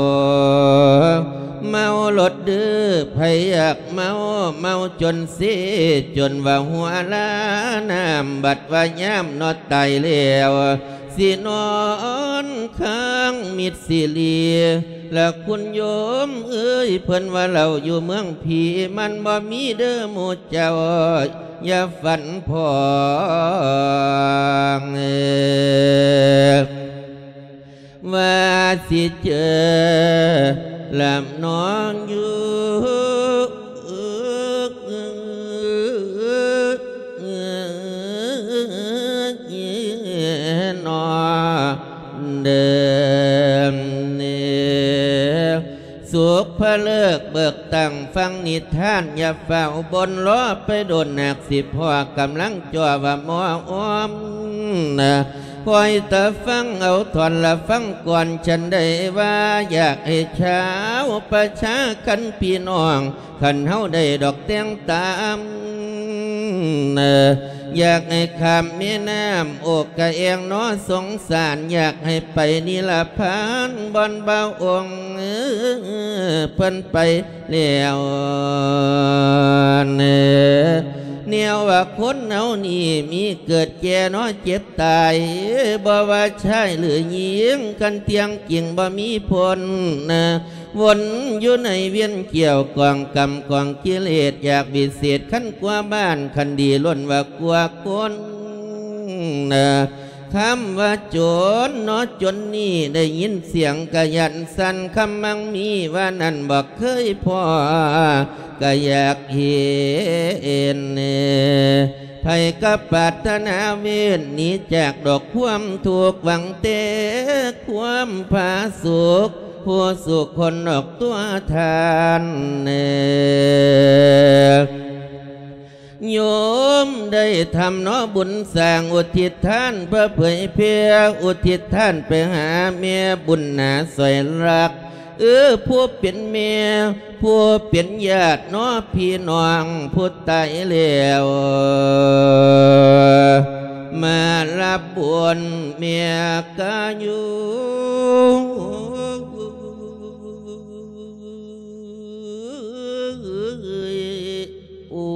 ເມົາໂລດເດີ້ ໃຜຢາກເມົາ ເມົາຈົນເຊ ຈົນວ່າຫົວລານ້ຳ ບັດວ່າຍາມເນາະຕາຍແລ້ວ ຊິນອນຄ້າງມິດຊິລີ ລະຄຸນໂຍມເອີຍ ເພິ່ນວ່າເຫຼົ້າຢູ່ເມືອງຜີ ມັນບໍ່ມີເດີ້ໝູ່ເຈົ້າ ຢ່າຝັນຜ່ອງ ວ່າຊິເຈີລຳນອງຢູ່ ນອເດີມເນ ສຸກພະເລີກເບີກຕັ້ງຟັງນິທານ ຢ່າຟ້າວບົ່ນ ລໍໄປດົນ ຫາກຊິພໍ້ກຳລັງຈ່ອວ່າໝໍອ້ອມ ຄອຍຕາຟັງເອົາທ່ອນລະຟັງກ່ອນ ສັນໃດວ່າຢາກໃຫ້ຊາວປະຊາ ຄັນພີ່ນ້ອງ ຄັນເຮົາໄດ້ດອກແຕ່ງຕາມ ຢາກໃຫ້ຂ້າມແມ່ນ້ຳໂອກກະແອງເນາະ ສົງສານ ຢາກໃຫ້ໄປນິລະພານ ບ່ອນບ່າວອົງເພິ່ນໄປແລ້ວ. ແນວວ່າຄົນເຮົານີ້ ມີເກີດແກ່ເນາະເຈັບຕາຍ ບໍ່ວ່າຊາຍຫຼືຍິງ ຄັນທ່ຽງຈິງບໍ່ມີພົ້ນ ວົນຢູ່ໃນວຽນກ່ຽວ ກອງກຳກອງກິເລດ ຢາກວິເສດຄັນກວ່າບ້ານ ຄັນດີລົ້ນວ່າກວ່າຄົນ. ຄຳວ່າໂຈນເນາະ ໂຈນນີ້ ໄດ້ຍິນສຽງກະຢ້ານສັ່ນ ຄຳມັງມີວ່ານັ້ນ ບໍ່ເຄີຍພໍ້ກະຢາກເຫັນ. ໃຜກໍປາດຖະໜາເວນ ໜີຈາກດອກຄວາມທຸກ ຫວັງແຕ່ຄວາມຜາສຸກ ຜູ້ສຸກຄົນອອກຕົວທ່ານແນ່. ໂຍມໄດ້ທຳເນາະບຸນສ້າງ ອຸທິດທານເພື່ອເຜີຍແຜ່ ອຸທິດທານໄປຫາແມ່ບຸນໜາ ຊ່ອຍລັກ ເອີ ຜູ້ເປັນແມ່ ຜູ້ເປັນຍາດເນາະ ພີ່ນ້ອງຜູ້ຕາຍແລ້ວ ມາຮັບບຸນແມ່ກະຢູ່. ໂອ້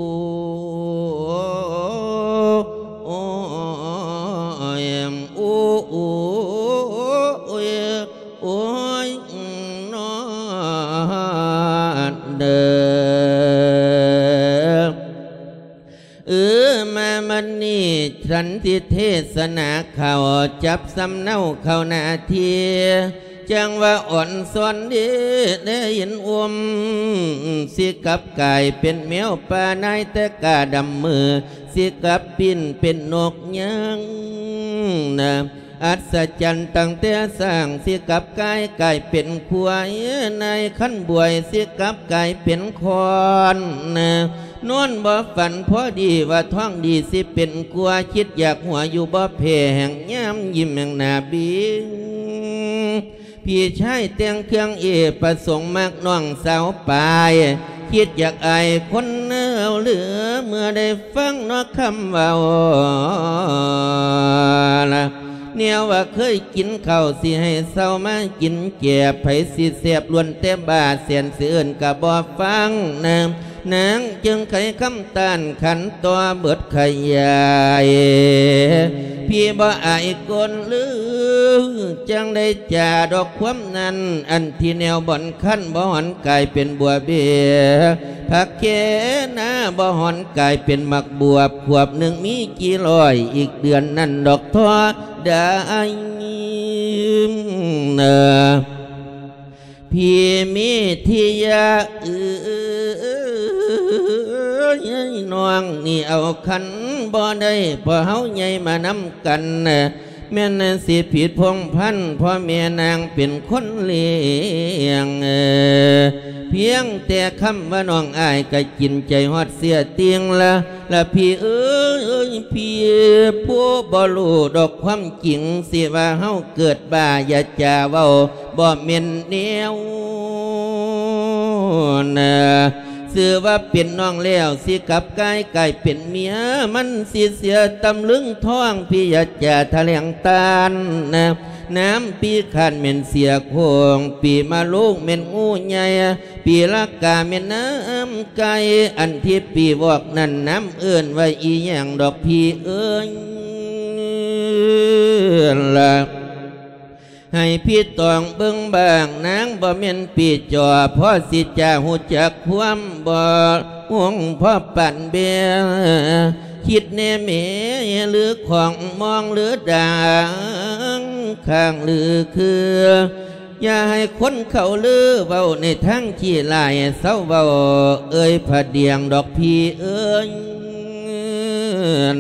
ໂອ້ ໂອ້ ໂອ້ຍ ໂອ້ຍ ນອນເດີ. ເອີ ມາວັນນີ້ ສັນຕິເທສະໜາເຂົ້າ ຈັບສຳເນົາເຂົ້າໜ້າທີ່ ຈັ່ງວ່າອ່ອນຊອນເດ ໄດ້ເຫັນອົມ ຊິກັບກາຍເປັນແມວປ່າ ນາຍແຕ່ກາດຳມື ຊິກັບປິ່ນເປັນນົກຍາງນະ ອັດສະຈັນຕັ້ງແຕ່ສ້າງ ຊິກັບກາຍກາຍເປັນຄວາຍ ນາຍຄັນບວຍ ຊິກັບກາຍເປັນຄ້ອນນະ ນອນບໍ່ຝັນພໍດີວ່າທ້ອງດີ ຊິເປັນກົວ ຄິດຢາກຫົວຢູ່ບໍ່ແພ້ ແຫ່ງຍາມຍິ້ມແຫ່ງໜ້າບິງ ພີ່ຊາຍແຕ່ງເຄື່ອງເອ ປະສົງມັກນ້ອງສາວປາຍ ຄິດຢາກອາຍຄົນເອົາເຫຼືອ ເມື່ອໄດ້ຟັງເນາະຄຳເວົ້າລະ ແນວວ່າເຄີຍກິນເຂົ້າ ຊິໃຫ້ເຊົາມາກິນແກບ ໃຜຊິແຊບລ້ວນແຕ່ບ້າ ແສນຊິເອີ້ນກະບໍ່ຟັງນະ ນາງຈຶ່ງໄຂຄຳຕ້ານຂັນຕໍ່ເບິດຂະຫຍາຍ ພີ່ບໍ່ອາຍຄົນຫຼື ຈັ່ງໄດ້ຈາດອກຄວາມນັ້ນ ອັນທີ່ແນວບ່ອນຄັນບໍ່ຫອນກາຍເປັນບົວເບ ຜັກແຄນາບໍ່ຫອນກາຍເປັນໝາກບວບ ຂວບໜຶ່ງມີກີ່ຮ້ອຍ ອີກເດືອນນັ້ນດອກທໍ່ໄດ້ ພີ່ມີທິຍາເອີຍ ນ້ອງນີ້ເອົາຄັນບໍ່ໄດ້ ເພາະເຮົາໃຫຍ່ມານຳກັນ ແມ່ນຊິຜິດພົງພັນ ພໍ່ແມ່ນາງເປັນຄົນລ້ຽງ ພຽງແຕ່ຄຳວ່ານ້ອງອ້າຍ ກະກິນໃຈຮອດເສຍຕິ່ງລະ ລະພີ່ເອີຍ ພີ່ຜູ້ບໍ່ຮູ້ດອກຄວາມຈິງ ຊິວ່າເຮົາເກີດບ້າ ຢ່າຈາເວົ້າບໍ່ແມ່ນແນວນາ ຊື່ວ່າເປັນນ້ອງແລ້ວ ຊິກັບກາຍກາຍເປັນເມຍ ມັນຊິເສຍຕຳລຶງທອງ ພີ່ຢ່າຈາຖະແຫຼງຕ້ານນາ ນ້ຳພີ່ຄາດແມ່ນເສຍໂຄ້ງ ປີມະໂລງແມ່ນງູໃຫຍ່ ປີລະກາແມ່ນນ້ຳໄກ່ ອັນທີ່ປີວອກນັ້ນ ນ້ຳເອີ້ນວ່າອີ່ຫຍັງດອກພີ່ເອີຍລະ ໃຫ້ພີ່ຕອງເບິ່ງບ້າງ ນາງບໍ່ແມ່ນປີຈອ ພໍຊິຈະຮູ້ຈັກຄວາມບໍ່ຮຸ່ງພໍປານແບ ຄິດແນ່ແມ ຫຼືຂອງມອງ ຫຼືດາງ ຂ້າງ ຫຼືຄື ຢ່າໃຫ້ຄົນເຂົາລືເວົ້າໃນທາງຂີ້ຮ້າຍ ເຊົາເວົ້າເອີຍພະດຽງດອກພີ່ເອີຍ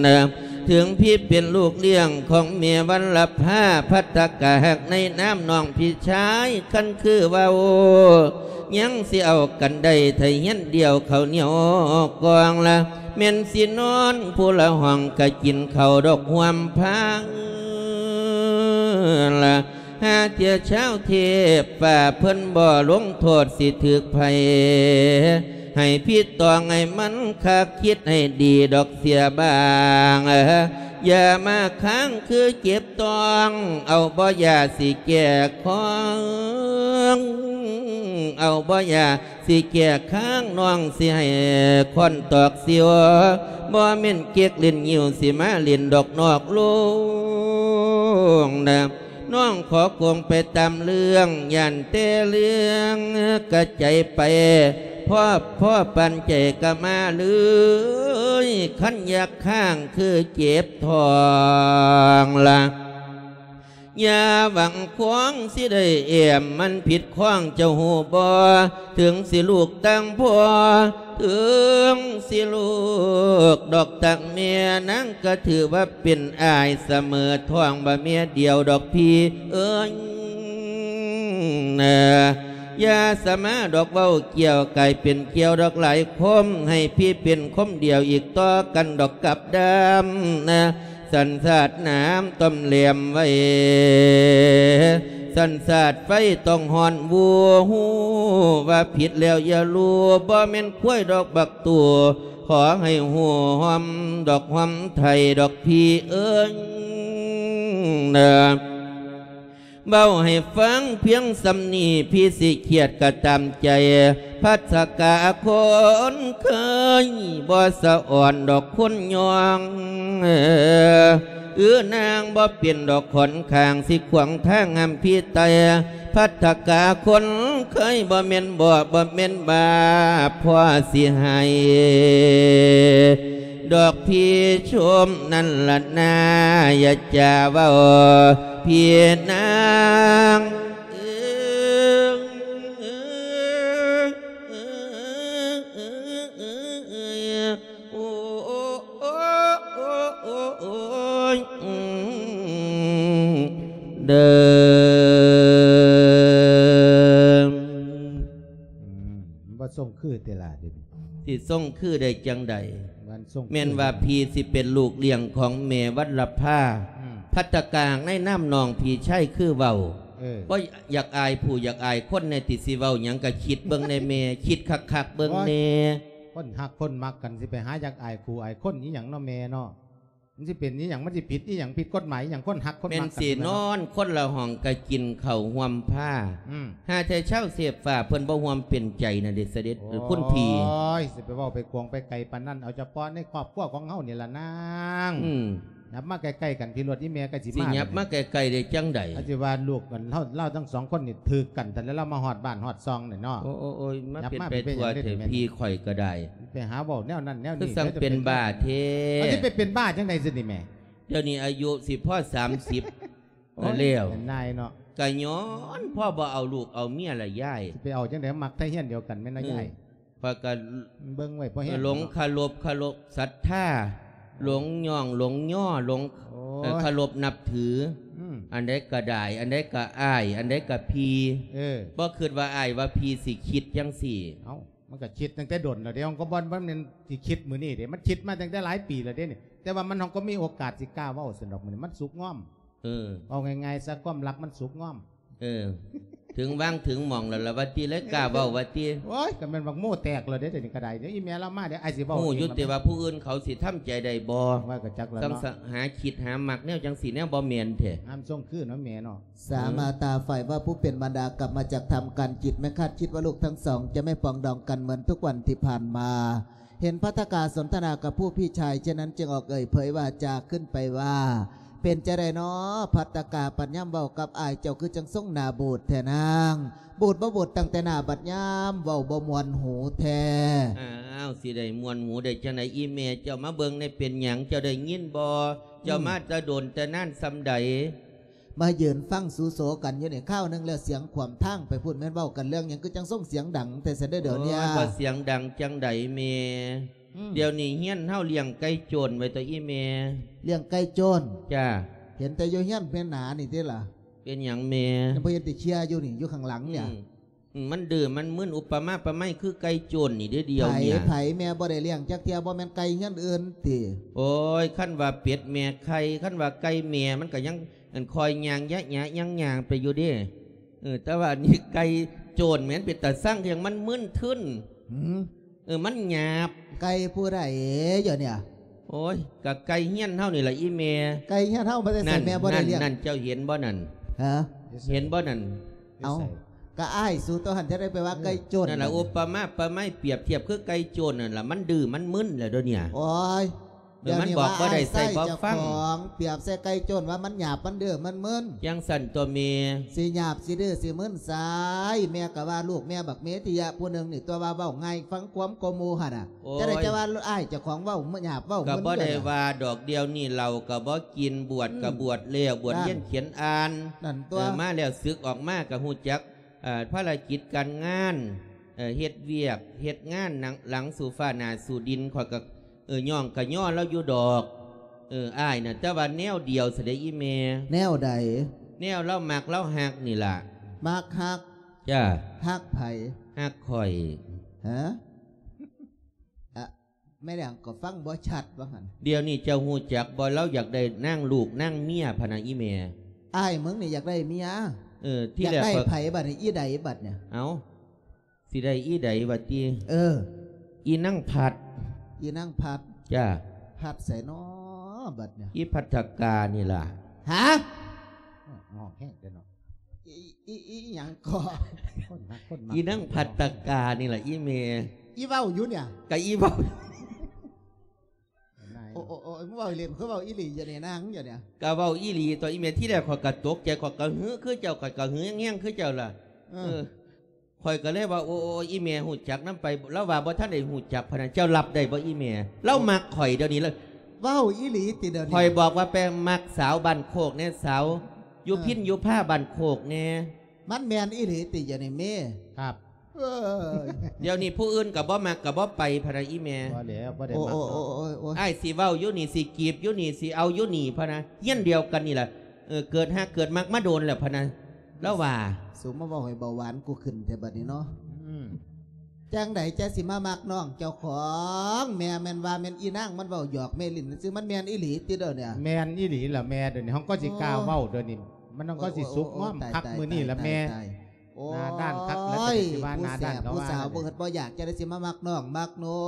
ນາ ເຖິງພີ່ເປັນລູກລ້ຽງຂອງແມ່ວັນລະພາ ພັດຕະກະຮັກໃນນາມນ້ອງພີ່ຊາຍ ຄັນຄືເວົ້າ ຍັງຊິເອົາກັນໄດ້ ໄທຮຽນດຽວເຂົ້າໜຽວກອງລະ ແມ່ນຊິນອນຜູ້ລະຫ້ອງ ກະກິນເຂົ້າດອກຮ່ວມພາງລະ ຫາເທື່ອຊາວເທບຟ້າເພິ່ນບໍ່ລົງໂທດ ຊິຖືກໃຜ ໃຫ້ພີ່ຕອງໃຫ້ມັນຄັກ ຄິດໃຫ້ດີດອກເສຍບາງ ຢ່າມາຄ້າງຄືເຈັບຕອງ ເອົາບໍ່ຢາຊິແກ້ຄອງ ເອົາບໍ່ຢາຊິແກ້ຄ້າງ ນ້ອງຊິໃຫ້ຄ້ອນຕອກຊິວ ບໍ່ແມ່ນເກັກຫຼິ້ນງິ້ວ ຊິມາຫຼິ້ນດອກນອກໂລງນາ ນ້ອງຂໍກົງໄປຕາມເລື່ອງ ຢ້ານແຕ່ເລື່ອງກະໃຈໄປ ພໍພໍປານໃຈກະມາເລີຍ ຄັນຢາກຄ້າງຄືເຈັບທ້ອງລະ ຢ່າຫວັງຄວາງຊິໄດ້ແອ້ມ ມັນຜິດຂ້ອງເຈົ້າຮູ້ບໍ່ ເຖິງຊິລູກຕ່າງພໍ່ ເຖິງຊິລູກດອກຕ່າງແມ່ ນາງກະຖືວ່າເປັນອ້າຍສະເໝີທ້ອງ ບໍ່ເມຍດຽວດອກພີ່ເອີຍນາ ຢ່າສະມາດອກເວົ້າກ່ຽວ ກາຍເປັນກ່ຽວດອກຫຼາຍຄົມ ໃຫ້ພີ່ເປັນຄົມດຽວ ອີກຕໍ່ກັນດອກກັບດຳນາ ສັນຊາດນ້ຳຕ້ອມແຫຼມໄວ້ ສັນຊາດໄຟຕ້ອງຮ້ອນວູ ຮູ້ວ່າຜິດແລ້ວຢ່າລູ ບໍ່ແມ່ນຄວາຍດອກບັກຕູ ຂໍໃຫ້ຮູ້ຮ່ອມດອກຮ່ອມໄຖ່ດອກພີ່ເອີຍນາ ເວົ້າໃຫ້ຟັງພຽງສ່ຳນີ້ ພີ່ຊິຄຽດກະຕາມໃຈ ພັດສະກາຄົນເຄີຍ ບໍ່ສະອອນດອກຄົນຍອງ ເອື້ອນາງບໍ່ເປັນດອກຂອນຂ້າງ ຊິຂວາງທາງຫ້າມພີ່ໄຕ່ ພັດສະກາຄົນເຄີຍ ບໍ່ແມ່ນບໍ່ ບໍ່ແມ່ນບາບ ພໍຊິໃຫ້ ດອກພີ່ຊົມນັ້ນລະນາ ຢ່າຈາເວົ້າພີ່ນາງ ໂອ້ ໂອ້ ໂອ້ ໂອ້ ໂອ້ ໂອ້ຍ ອືມ ເດີ ອືມ ມັນບໍ່ຊົງຄືຕິລະ ດຽວນີ້ ຊິຊົງຄືໄດ້ຈັ່ງໃດ? ມັນຊົງຄື ແມ່ນວ່າພີ່ຊິເປັນລູກລ້ຽງຂອງແມ່ວັນລະພາ ອືມ ພັດຕະກາງໃນນາມນ້ອງພີ່ໄຊຄືເວົ້າ ເອີ ບໍ່ຢາກອາຍຜູ້ຢາກອາຍຄົນແດ່ຕິ ຊິເວົ້າຫຍັງກະຄິດເບິ່ງແດ່ແມ່ ຄິດຄັກໆເບິ່ງແດ່ ໂອ້ຍ ຄົນຮັກຄົນມັກກັນ ຊິໄປຫາຢາກອາຍຜູ້ອາຍຄົນອີ່ຫຍັງເນາະແມ່ເນາະ. ມັນຊິເປັນອີ່ຫຍັງ? ມັນຊິຜິດອີ່ຫຍັງ? ຜິດກົດໝາຍອີ່ຫຍັງ? ຄົນຮັກຄົນມັກກັນ ແມ່ນຊິນອນຄົນລະຫ້ອງກະກິນເຂົ້າຮ່ວມພາ. ອືມ ຫາແຕ່ຊາວເສບຟ້າເພິ່ນບໍ່ຮ່ວມເປັນໃຈນະເດ ສະເດັດ ໂອ້ ເອີ ຄຸນພີ່. ໂອ້ຍ ຊິໄປເວົ້າໄປກວງໄປໄກປານນັ້ນ ເອົາສະເພາະໃນຄອບຄົວຂອງເຮົານີ້ລະນາງ. ອືມ ຫຍັບມາໃກ້ໆກັນພີ້ໂລດ ອີ່ແມ່ກໍຊິມາ. ຊິຫຍັບມາໃກ້ໆໄດ້ຈັ່ງໃດ? ອາດຊິວ່າລູກອັນເຮົາ ລາວທັງສອງຄົນນີ້ຖືກກັນ ແຕ່ລະລາວມາຮອດບ້ານຮອດຊ່ອງນີ້ເນາະ. ໂອ້ຍໆໆ ມາເປັນໄປທົ່ວແທ້ ຫຍັບມາເປັນຫຍັງເດ ພີ່ຂ້ອຍກໍໄດ້. ໄປຫາເວົ້າແນວນັ້ນແນວນີ້ ຄືຈັ່ງເປັນບ້າແທ້. ເອົາ ຊິໄປເປັນບ້າຈັ່ງໃດຊິນີ້ແມ່? ດຽວນີ້ອາຍຸຊິພໍສາມສິບ ໂອ້ຍ ແລ້ວ ເປັນນາຍເນາະ. ກະຍ້ອນພໍ່ບໍ່ເອົາລູກເອົາເມຍລະຍາຍ. ຊິໄປເອົາຈັ່ງໃດ ມັກໄທເຮືອນດຽວກັນແມ່ນນະ ອືມ ຍາຍ? ຂ້ອຍກໍເບິ່ງໄວ້ພໍແຮງ ຫຼົງເນາະ ເຄົາລົບ ເຄົາລົບສັດທາ ຫຼົງຍ້ອງ ຫຼົງຍໍ ຫຼົງ ໂອ້ຍ ເອີ ເຄົາລົບນັບຖື. ອືມ ອັນໃດກໍໄດ້ ອັນໃດກໍອ້າຍ ອັນໃດກໍພີ່. ເອີ ບໍ່ຄິດວ່າອ້າຍວ່າພີ່ຊິຄິດຈັ່ງຊີ້. ເອົ້າ ມັນກໍຄິດຕັ້ງແຕ່ດົນແລ້ວເດ້ ມັນກໍບໍ່ ບໍ່ແມ່ນຊິຄິດມື້ນີ້ເດ້ ມັນຄິດມາຕັ້ງແຕ່ຫຼາຍປີແລ້ວເດ້ນີ້ ແຕ່ວ່າມັນ ເຮົາກໍມີໂອກາດຊິກ້າເວົ້າຊັ້ນດອກ ມື້ນີ້ມັນສຸກງອມ. ເອີ ເວົ້າງ່າຍໆຊະ ຄວາມລັບມັນສຸກງອມ. ເອີ ເຖິງວາງເຖິງໝ່ອງແລ້ວລະວ່າຕິ ເລີຍກ້າເວົ້າວ່າຕິ. ໂອ້ຍ ກໍແມ່ນບັກໂມ້ແຕກແລ້ວເດ້ ດຽວນີ້ກໍໄດ້. ດຽວອີ່ແມ່ລາວມາ ດຽວອ້າຍຊິເວົ້າ. ຮູ້ຢູ່ຕິວ່າຜູ້ອື່ນເຂົາຊິທຳໃຈໄດ້ບໍ່? ວ່າກໍຈັກແລ້ວເນາະ ຕ້ອງຫາຄິດຫາມັກແນວຈັ່ງຊີ້ແນວບໍ່ແມ່ນແທ້. ຫ້າມສົ່ງຄືນເນາະແມ່ເນາະ. ສາມາຕາ ຝ່າຍວ່າຜູ້ເປັນມານດາກັບມາຈາກຖ້ຳການຈິດ ແມ່ຄາດຄິດວ່າລູກທັງສອງຈະໄມ່ປອງດອງກັນເໝືອນທຸກວັນທີ່ຜ່ານມາ. ເຫັນພັດຕະກາສົນທະນາກັບຜູ້ພີ່ຊາຍເຊັ່ນນັ້ນ ຈຶ່ງອອກເອີ່ຍເຜີຍວາຈາຂຶ້ນໄປວ່າ ເປັນຈັ່ງໃດນໍ ພັດຕະກາ ບັດຍາມເວົ້າກັບອ້າຍເຈົ້າຄືຈັ່ງຊົງໜ້າບູດແທ້ນາງ? ບູດບໍ່ບູດຕັ້ງແຕ່ໜ້າ ບັດຍາມເວົ້າບໍ່ມ່ວນຫູແທ້. ອ້າວ ຊິໄດ້ມ່ວນຫູໄດ້ຈັ່ງໃດ ອີ່ແມ່ເຈົ້າ ມາເບິ່ງແດ່ ເປັນຫຍັງ ເຈົ້າໄດ້ຍິນບໍ່? ເຈົ້າ ອືມ ມາແຕ່ດົນແຕ່ນານສ່ຳໃດ? ມາຢືນຟັງສູໂສກັນຢູ່ນີ້ຄາວໜຶ່ງແລ້ວ ສຽງຂວາມທາງໄປພຸ້ນ ແມ່ນເວົ້າກັນເລື່ອງຫຍັງ ຄືຈັ່ງຊົງສຽງດັງແທ້ຊັ້ນເດີ ດຽວນີ້. ໂອ້ຍ ບໍ່ສຽງດັງຈັ່ງໃດແມ່? ອືມ ດຽວນີ້ເຮືອນເຮົາລ້ຽງໄກ່ໂຈນໄວ້ຕົວະອີ່ແມ່. ລ້ຽງໄກ່ໂຈນ? ຈ້າ. ເຫັນແຕ່ຢູ່ເຮືອນແມ່ນໜານີ້ຕິລະ. ເປັນຫຍັງແມ່? ຍັງບໍ່ເຫັນຕິເຄຍຢູ່ນີ້ ຢູ່ຂ້າງຫຼັງນີ້. ອືມ ອືມ ມັນດື້ມັນມຶນ ອຸປະມາປະໄມຄືໄກ່ໂຈນນີ້ເດ້ ດຽວນີ້. ໃຜ ໃຜ ແມ່ບໍ່ໄດ້ລ້ຽງຈັກເທື່ອ ບໍ່ແມ່ນໄກ່ເຮືອນອື່ນຕິ? ໂອ້ຍ ຄັນວ່າເປັດແມ່ໄຂ່ ຄັນວ່າໄກ່ແມ່ ມັນກໍຍັງ ອັນ ຄອຍຍ່າງຍະຍະຍ່າງໆໄປຢູ່ເດ້. ເອີ ແຕ່ວ່າອັນນີ້ໄກ່ໂຈນແມ່ນເປັນຕາຊັງ ຄືຫຍັງມັນມຶນທຶນ. ຫືມ? ເອີ ມັນຫຍາບ. ໄກ່ຜູ້ໃດເດຍນີ້? ໂອ້ຍ ກະໄກ່ເຮືອນເຮົານີ້ລະອີ່ແມ່. ໄກ່ເຮືອນເຮົາມາແຕ່ໃສແມ່ບໍ່ໄດ້ລ້ຽງ? ນັ້ນ ເຈົ້າເຫັນບໍ່ນັ້ນ? ຮະ? ເຫັນບໍ່ນັ້ນ? ເອົ້າ ກະອ້າຍສູຕົວຫັ້ນຈະໄດ້ໄປວ່າໄກ່ໂຈນ. ນັ້ນລະ ອຸປະມາປະໄມ ປຽບທຽບຄືໄກ່ໂຈນນັ້ນລະ ມັນດື້ມັນມຶນແລ້ວດຽວນີ້. ໂອ້ຍ ເອີ ມັນບອກບໍ່ໄດ້ໃສ່ບໍ່ຟັງ. ປຽບໃສ່ໄກ່ໂຈນວ່າມັນຫຍາບ ມັນດື້ ມັນມຶນ. ຈັ່ງຊັ້ນຕົວະແມ່. ຊິຫຍາບ ຊິດື້ ຊິມຶນໃສ? ແມ່ກໍວ່າລູກແມ່ບັກເມທິຍະຜູ້ໜຶ່ງນີ້ຕົວະ ວ່າເວົ້າງ່າຍ ຟັງຄວາມກວ່າໝູ່ຫັ້ນນະ. ໂອ້ຍ ຈັ່ງໃດຈະວ່າອ້າຍເຈົ້າຂອງເວົ້າຫຍາບ ເວົ້າມຶນ. ກໍບໍ່ໄດ້ວ່າດອກ ດຽວນີ້ເຫຼົ້າກໍບໍ່ກິນ ບວດກໍບວດແລ້ວ ອືມ ບວດຮຽນຂຽນອ່ານ. ນັ້ນຕົວະ. ເອີ ມາແລ້ວ ສຶກອອກມາກໍຮູ້ຈັກ ເອີ ພາລະກິດການງານ ເອີ ເຮັດວຽກເຮັດງານ ຫຼັງ ຫຼັງສູ່ຟ້າໜ້າສູ່ດິນ ຂ້ອຍກໍ ເອີ ຍ້ອງກະຍໍລາວຢູ່ດອກ ເອີ ອ້າຍນະ. ແຕ່ວ່າແນວດຽວຊະເດອີ່ແມ່. ແນວໃດ? ແນວລາວມັກລາວຮັກນີ້ລະ. ມັກຮັກ? ຈ້າ. ຮັກໃຜ? ຮັກຂ້ອຍ. ຮະ? ອະ ແມ່ນຫຍັງກໍຟັງບໍ່ຊັດວ່າຫັ້ນ. ດຽວນີ້ເຈົ້າຮູ້ຈັກບໍ່ ລາວຢາກໄດ້ນາງລູກນາງເມຍພະນະອີ່ແມ່. ອ້າຍມຶງນີ້ຢາກໄດ້ເມຍ? ເອີ ທີແລກຢາກໄດ້ໃຜບັດນີ້? ອີໃດບັດນີ້? ເອົ້າ ຊິໄດ້ອີໃດວະຕິ? ເອີ ອີນາງພັດ. ອີນາງພັດ? ຈ້າ. ພັດໃສນໍບັດນີ້? ອີພັດທະການີ້ລະ. ຫາ? ຮ້ອງແຮງແທ້ເນາະ. ອີ ອີ ອີຫຍັງກໍ? ຄົນຮັກຄົນມັກ. ອີນາງພັດທະການີ້ລະອີແມ່. ອີເວົ້າຢູ່ນີ້? ກະອີເວົ້າ. ໂອ້ ໂອ້ ໂອ້ ເວົ້າເລ່ນຄືເວົ້າອີ່ຫຼີຢູ່ນີ້ນາງ ຢູ່ນີ້. ກະເວົ້າອີ່ຫຼີຕົວະອີແມ່. ທີແລກຂ້ອຍກະຕົກໃຈ ຂ້ອຍກະຫືຄືເຈົ້າ ຂ້ອຍກະຫືແຮງໆຄືເຈົ້າລະ. ເອີ ເອີ ຂ້ອຍກະເລີຍວ່າ ໂອ້ ໂອ້ ອີແມ່ຮູ້ຈັກນຳໄປ. ລາວວ່າບໍ່ທັນໄດ້ຮູ້ຈັກພະນະ. ເຈົ້າຮັບໄດ້ບໍ່ອີແມ່? ລາວມັກຂ້ອຍດຽວນີ້ລະ. ເວົ້າອີ່ຫຼີຕິດຽວນີ້? ຂ້ອຍບອກວ່າໄປມັກສາວບ້ານໂຄກແດ່ ສາວຢູ່ ເອີ ພິນຢູ່ພາບ້ານໂຄກແດ່. ມັນແມ່ນອີ່ຫຼີຕິດຽວນີ້ແມ່? ຄັບ. ເອີ ດຽວນີ້ຜູ້ອື່ນກໍບໍ່ມັກກໍບໍ່ໄປພະນະອີແມ່. ບໍ່ແລ້ວ ບໍ່ໄດ້ມັກດອກ. ໂອ້ຍ ອ້າຍຊິເວົ້າຢູ່ນີ້ ຊິຈີບຢູ່ນີ້ ຊິເອົາຢູ່ນີ້ພະນະ. ຮຽນດຽວກັນນີ້ລະ. ເອີ ເກີດຮັກເກີດມັກມາດົນແລ້ວພະນະ ລາວວ່າ. ສູມາເວົ້າໃຫ້ເບົາຫວານກູຂຶ້ນແທ້ບັດນີ້ເນາະ. ອືມ ຈັ່ງໃດຈະຊິມາມັກນ້ອງເຈົ້າຂອງ? ແມ່ແມ່ນວ່າແມ່ນອີນາງມັນເວົ້າຫຍອກແມ່ຫຼິ້ນຊື່ ມັນແມ່ນອີ່ຫຼີຕິດຽວນີ້? ແມ່ນອີ່ຫຼີລະແມ່. ດຽວນີ້ເຮົາກໍຊິກ້າເວົ້າ ໂອ້ ດຽວນີ້ ມັນກໍຊິສຸກງອມ ໂອ້ ໂອ້ ໂອ້ ຄັກມື້ນີ້ລະແມ່. ຕາຍ ຕາຍ ຕາຍ. ໂອ້ຍ ໜ້າດ້ານຄັກ ແລ້ວກໍຊິວ່າໜ້າດ້ານ ຜູ້ແສບ ເຂົາວ່າ ຜູ້ສາວ ນັ້ນ ບໍ່ເຮັດບໍ່ຢາກ ຈະໄດ້ຊິມາມັກນ້ອງມັກນຸ່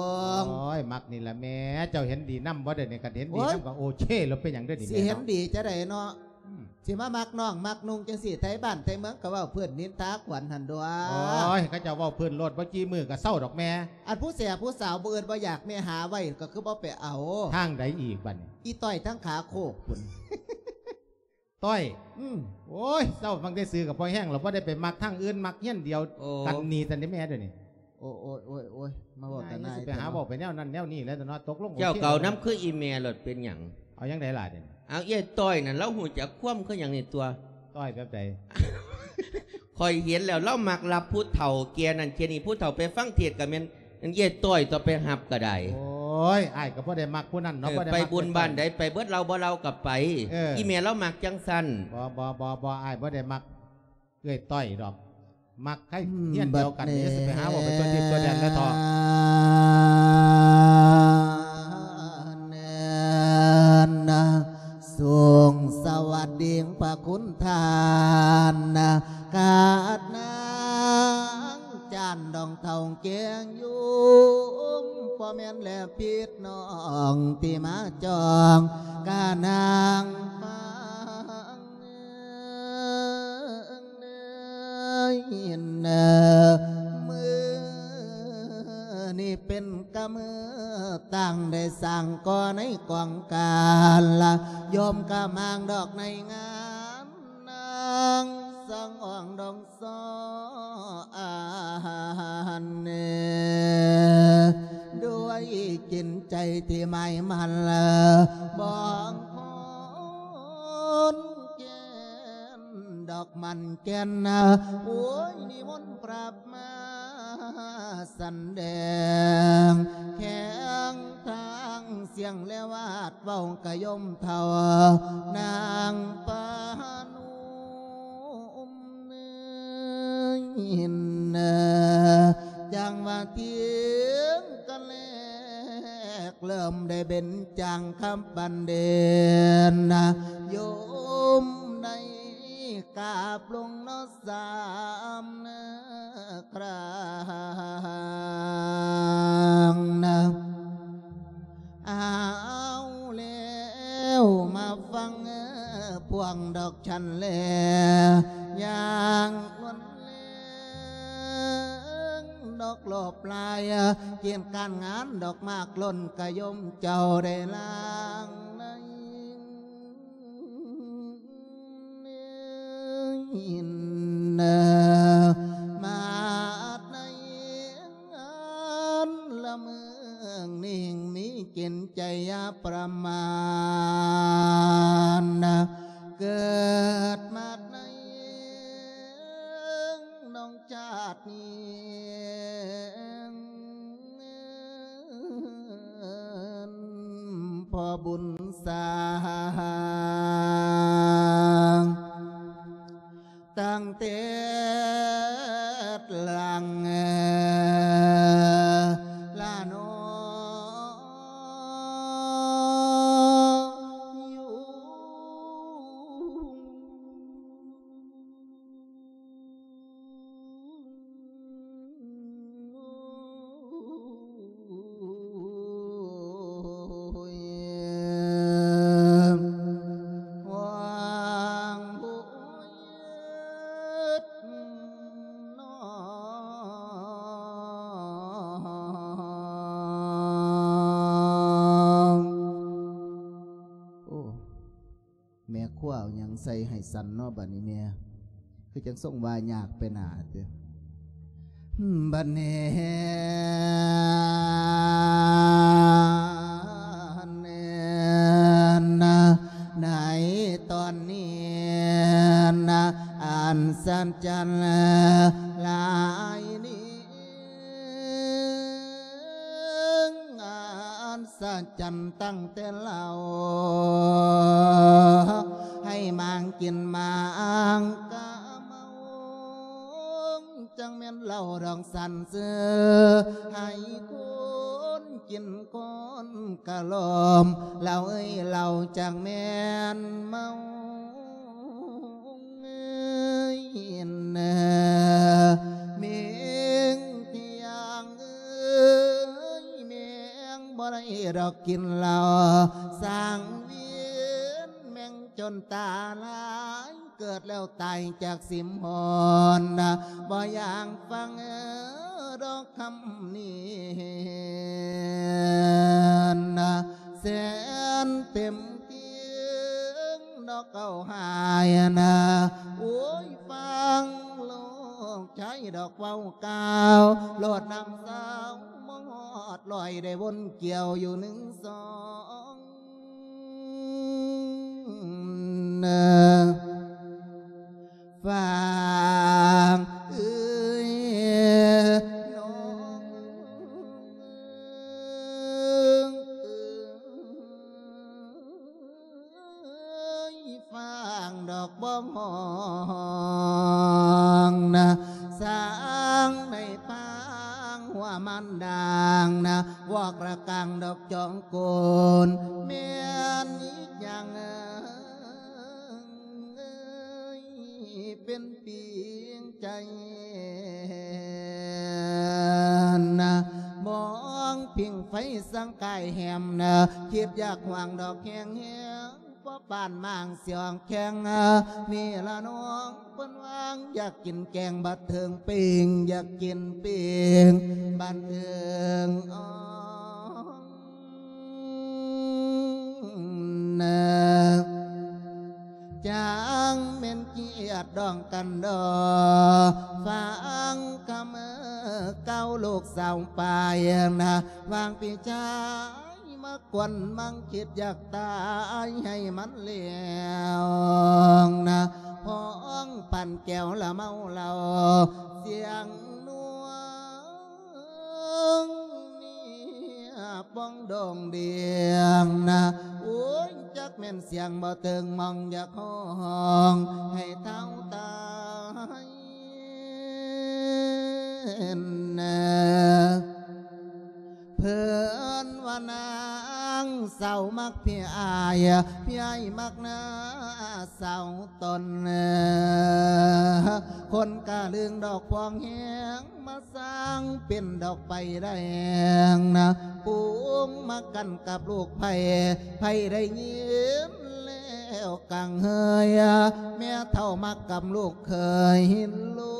ງ. ໂອ້ຍ ມັກນີ້ລະແມ່ ເຈົ້າເຫັນດີນຳບໍ່? ດຽວນີ້ຄັນເຫັນດີນຳ ໂອ້ຍ ກໍໂອເຄແລ້ວ ເປັນຫຍັງເດີນີ້ ຊິເຫັນດີຈະໄດ້ເນາະ? ອືມ ຊິມາມັກນ້ອງມັກນຸ່ງຈັ່ງຊີ້ ໄທບ້ານໄທເມືອງກໍເວົ້າພື້ນ ນິນທາຂວັນຫັ້ນດວງ. ໂອ້ຍ ເຂົາເຈົ້າເວົ້າພື້ນໂລດ ບໍ່ກີ່ມື້ກໍເຊົາດອກແມ່. ອັນຜູ້ແສບຜູ້ສາວບໍ່ເອີ້ນບໍ່ຢາກ ແມ່ຫາໄວ້ກໍຄືບໍ່ໄປເອົາ. ທາງໃດອີກບັດນີ້? ອີຕ້ອຍທາງຂາໂຄກພຸ້ນ. ຕ້ອຍ ອືມ ໂອ້ຍ ເຈົ້າມັກໄດ້ຊື່ກັບພໍ່ແຮງແລ້ວ ບໍ່ໄດ້ໄປມັກທາງອື່ນ ມັກຮຽນດຽວ ໂອ້ ກັນນີ້ຊັ້ນເດ້ແມ່ ດຽວນີ້. ໂອ້ຍ ໂອ້ຍ ໂອ້ຍ ໂອ້ຍ ມາເວົ້າແຕ່ນາຍ ຊິໄປຫາເວົ້າໄປແນວນັ້ນແນວນີ້ແລ້ວເນາະ. ຕົກລົງ ເຈົ້າ ໂອເຄ ເກົ່ານຳຄືອີແມ່ໂລດ ເປັນຫຍັງ? ເອົາຫຍັງໃດລະດຽວນີ້? ເອົາ ເອື້ອຍຕ້ອຍນັ້ນ ລາວຮູ້ຈັກຄວາມຄືຫຍັງນີ້ຕົວະ. ຕ້ອຍແບບໃດ? ຂ້ອຍເຫັນແລ້ວ ລາວມັກຮັບຜູ້ເຖົ້າເກຍນັ້ນເກຍນີ້ ຜູ້ເຖົ້າໄປຟັງເທດກໍແມ່ນ ອັນເອື້ອຍຕ້ອຍຕົວະ ໄປຮັບກໍໄດ້. ໂອ້ຍ ອ້າຍກໍບໍ່ໄດ້ມັກຜູ້ນັ້ນເນາະ. ເອີ ບໍ່ໄດ້ມັກ ໄປບຸນບ້ານໃດ ໄປເບິດ ເລົ່າບໍ່ເລົ່າກໍໄປ. ເອີ ອີແມ່ລາວມັກຈັ່ງຊັ້ນ. ບໍ່ ບໍ່ ບໍ່ ບໍ່ ອ້າຍບໍ່ໄດ້ມັກເອື້ອຍຕ້ອຍດອກ ມັກໃຫ້ ອືມ ຮຽນດຽວກັນ ບັດນີ້ ຊິໄປຫາເວົ້າໄປຕົວະດິບຕົວະແດນແລ້ວເຖາະ. ສູງສະຫວັດດີພະຄຸນທ່ານ ຂາດນາງ ຈານດອງເຖົ້າແກ່ຍຸງ ບໍ່ແມ່ນແລຜິດນ້ອງທີ່ມາຈອງ ກະນາງຟັງເອີຍເອີ ມື້ນີ້ເປັນກະມື້ຕັ້ງ ໄດ້ສ້າງກໍ່ໃນກອງການລະ ໂຍມກະມາງດອກໃນງານ ນາງສັງອອງດອງ ຊໍອານເນ ດ້ວຍຈິດໃຈທີ່ໝາຍໝັ້ນ ບອງຄົນແກ່ນດອກໝັ້ນແກ່ນ ໂອ້ຍ ນິມົນພຣະມາສຳແດງ ແຂງທາງສຽງແລວາດ ເວົ້າກະໂຍມເຖົ້າ ນາງປານຸ ອຸມເນີຍເນີ ຈັ່ງວ່າທຽງກັນແລກ ເລີ່ມໄດ້ເບັນຈາງຄຳບັນເດນນະ ໂຍມໃນກາບລົງເນາະ ສາມເນີ ຄຣາງນະ. ເອົາແລ້ວມາຟັງ ພວງດອກສັນແລ ຢ່າງນວນແລງ ດອກຫຼອບລາຍ ກຽດການງານ ດອກໝາກຫຼົ່ນ ກະໂຍມເຈົ້າໄດ້ລ້າງໃນ ເອີ ມາດໃນອັນລະເມືອງນີ້ ມີຈິດໃຈຢ່າປະມານ ເກີດມາດໃນນ້ອງຊາດນີ້ ພໍ່ບຸນສາງ ຕັ້ງແຕ່ຫຼັງລະເນາະ ຢູ່ ໂອ້ ແມ່ຄົວເອົາຫຍັງໃສ່ໃຫ້ສັນເນາະ ບັດນີ້ແມ່ ຄືຈັ່ງຊົງວ່າຍາກໄປໜ້າເຕີ. ບັດນີ້ນະ ໃນຕອນນີ້ນະ ອັນສະຫວັດຫຼາຍນີ້ ອັນສະຫວັດຕັ້ງແຕ່ເຫຼົ່າ ໃຫ້ໝາງກິນໝາງກະເມົາ ຈັ່ງແມ່ນເຫຼົ້າດອງສັນຊື່ ໃຫ້ຄົນກິນຄົນກະລອມ ເຫຼົ້າເອີຍເຫຼົ້າ ຈັ່ງແມ່ນເມົາເອີຍເອີ. ດອກກິນເຫຼົ້າ ສ້າງວຽນແມ່ງຈົນຕາລາຍ ເກີດແລ້ວຕາຍຈາກສິມຮອນ ບໍ່ຢາກຟັງດອກຄຳນີ້ ແສນເຕັມ ເກີງດອກເກົ້າຫາຍນະ ໂອ້ຍ ຟັງລູກຊາຍດອກເວົ້າກ່າວ ໂລດນ້ຳສາວມອດລອຍ ໄດ້ວົນກ່ຽວຢູ່ໜຶ່ງສອງນະ ຟັງເອີຍນ້ອງ ເອີຍ ຟັງດອກບ້ອງຮ້ອງນະ ສ້າງໃນປາງຫົວມັນດາງນະ ວອກລະກາງດອກຈອງໂກນ ແມ່ນອີກຢ່າງເອີຍ ເປັນປີງໃຈນະ ມອງພິງໄຟສັງກາຍແຮມນະ ຄິດຢາກຫວງດອກແຮງແຮງ ພໍປານມາງສຽງແຂງ ນີ້ລະນ້ອງເພິ່ນຫວາງ ຢາກກິນແກງບັດເທິງປີ້ງ ຢາກກິນປີ້ງບັດເທິງອ່ອງ ຈາງແມ່ນກຽດດອງກັນດອ ຟັງຄຳເວົ້າລູກສາວປາຍນະ ຫວ່າງພີ່ຊາຍມາກວນມັງຄິດຢາກຕາຍໃຫ້ມັນແລ້ວນະ ພ້ອງປັນແກ້ວລະເມົາເຫຼົ້າ ສຽງນົກ ເນຍປ່ອງດົງດຽງນະ ໂອ້ຍ ຈັກແມ່ນສຽງບໍ່ເຖິງ ມອງຢາກຮ້ອງໃຫ້ເທົ່າຕາຍນະ ເພິ່ນວ່ານາງສາວມັກພີ່ອ້າຍ ພີ່ອ້າຍມັກນາງສາວຕົນ ຄົນກະລຶງດອກພວງແຮງ ມາສ້າງເປັນດອກໄຟແດງນະ ປູງມາກັນກັບລູກໃຜ ໃຜໄດ້ຍິນແລ້ວກັງເຮີຍ ແມ່ເຖົ້າມັກກັບລູກເຂີຍ ລູ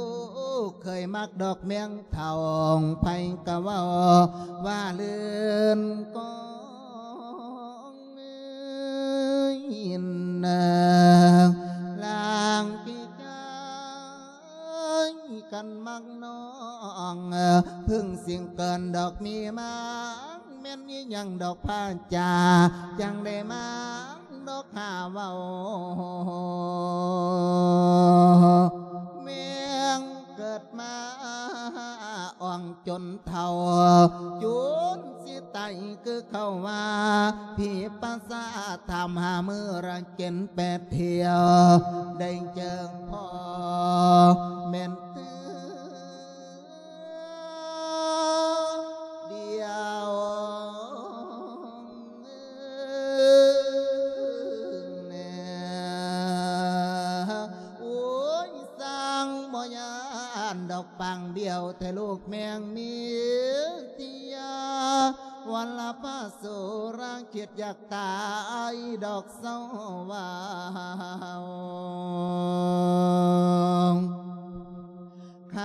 ກເຂີຍມັກດອກແມງເຖົ້າ ໃຜກະເວົ້າວ່າລື່ນກອງ ເອີຍນາ ລາງທີ່ຈາຍກັນມັກນ້ອງ ເພິ່ງສິງເກີນດອກມີມາງ ແມ່ນອີຫຍັງດອກພາຈາ ຈັ່ງໄດ້ມາງດອກຫາເວົ້າ ແມ່ງເກີດມາອ່ອງ ຈົນເຖົ້າ ຈົນຊິຕາຍຄືເຂົາວ່າ ຜີປະສາດຖາມຫາມື້ລະເຈັນແປດທ່ຽວ ໄດ້ເຈີພໍ່ແມ່ນເທື່ອດຽວແນ່ ໂອ້ຍ ສ້າງບໍ່ຢ້ານດອກປາງດຽວແທ້ລູກແມງມີເທຍ ວັນລະພະໂສລາຄິດຢາກຕາຍດອກເສົ້າວາວ ຄ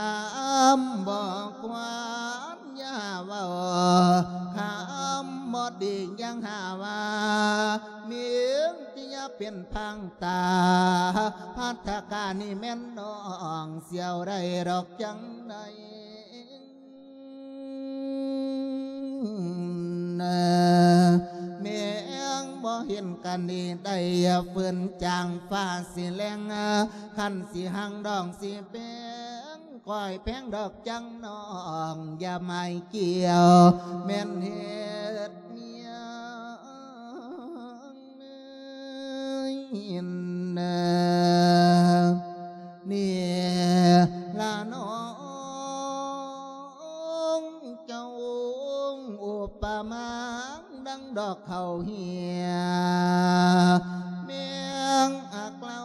ຳບໍ່ຄວນຢ່າເວົ້າ ຄຳບໍ່ດີຍັງຫາວ່າ ມີເທຍເປັນພັງ ຕາ ພັດທະການີ້ແມ່ນນ້ອງ ສຽວໄດ້ດອກຈັ່ງໃດ ແມງບໍ່ເຫັນກັນນີ້ໄດ້ ຝືນຈາງຟ້າຊິແລງ ຄັນຊິຫັງດອງຊິແປງ ກ້ອຍແພງດອກຈັ່ງນ້ອງ ຢ່າໝາຍກ່ຽວ ແມ່ນເຮັດເມຍ ເອີຍນາ ນີ້ລະນ້ອງ ເຈົ້າອຸປະມາ ດັ່ງດອກເຂົ້າເຫຍ ແມງອັກລອ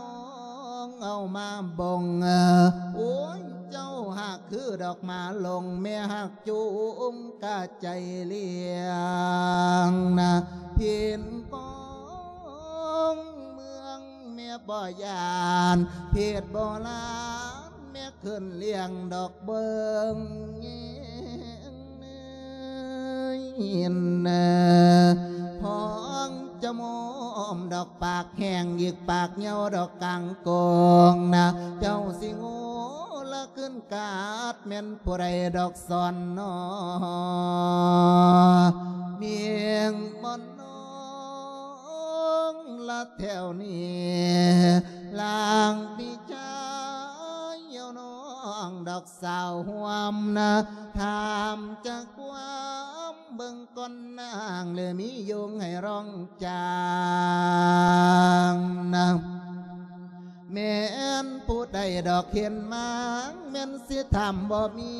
ງເອົາມາບົ່ງ ໂອ້ຍ ເຈົ້າຫາກຄື ດອກມາລົງແມ່ຮັກຈູງກະໃຈລ້ຽງນະ ເພັນກອງເມືອງແມ່ບໍ່ຢ້ານ ເພັດບໍ່ລານແມ່ຂຶ້ນລ້ຽງດອກເບິ່ງແຍງເນີຍ ພອງຈະໝອມດອກ ປາກແຫ້ງອີກປາກເຫຍົາດອກກາງໂກງນະ ເຈົ້າຊິໂງ່ລະຂຶ້ນກາດ ແມ່ນຜູ້ໃດດອກສອນໜໍ ມຽງບໍ່ນ້ອງລະແຖວນີ້ ລາງພີ່ຊາຍເອົານ້ອງດອກສາວຮ່ວມນະ ຖາມຈາກຄວາມ ເບິ່ງກ່ອນນາງ ຫຼືມີຍຸງໃຫ້ຮ້ອງຈາງນະ ແມ່ນຜູ້ໃດດອກເຫັນມາງ ແມ່ນຊິຖາມບໍ່ມີ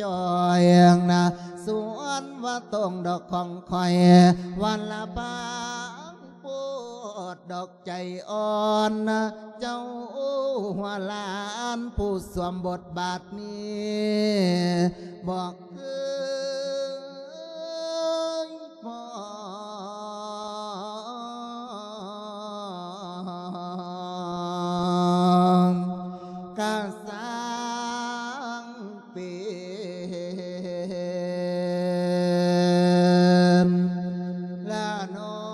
ຈ່ອຍນະ ສ່ວນວ່າຕົງດອກຂອງຂ້ອຍ ວັນລະບາງໂພດດອກ ໃຈອ່ອນນະ ເຈົ້າຫົວຫຼານຜູ້ສວມບົດບາດນີ້ ບໍ່ເຄີຍຟ້ອງກະຊ່າງ ເປັນລະນ້ອງ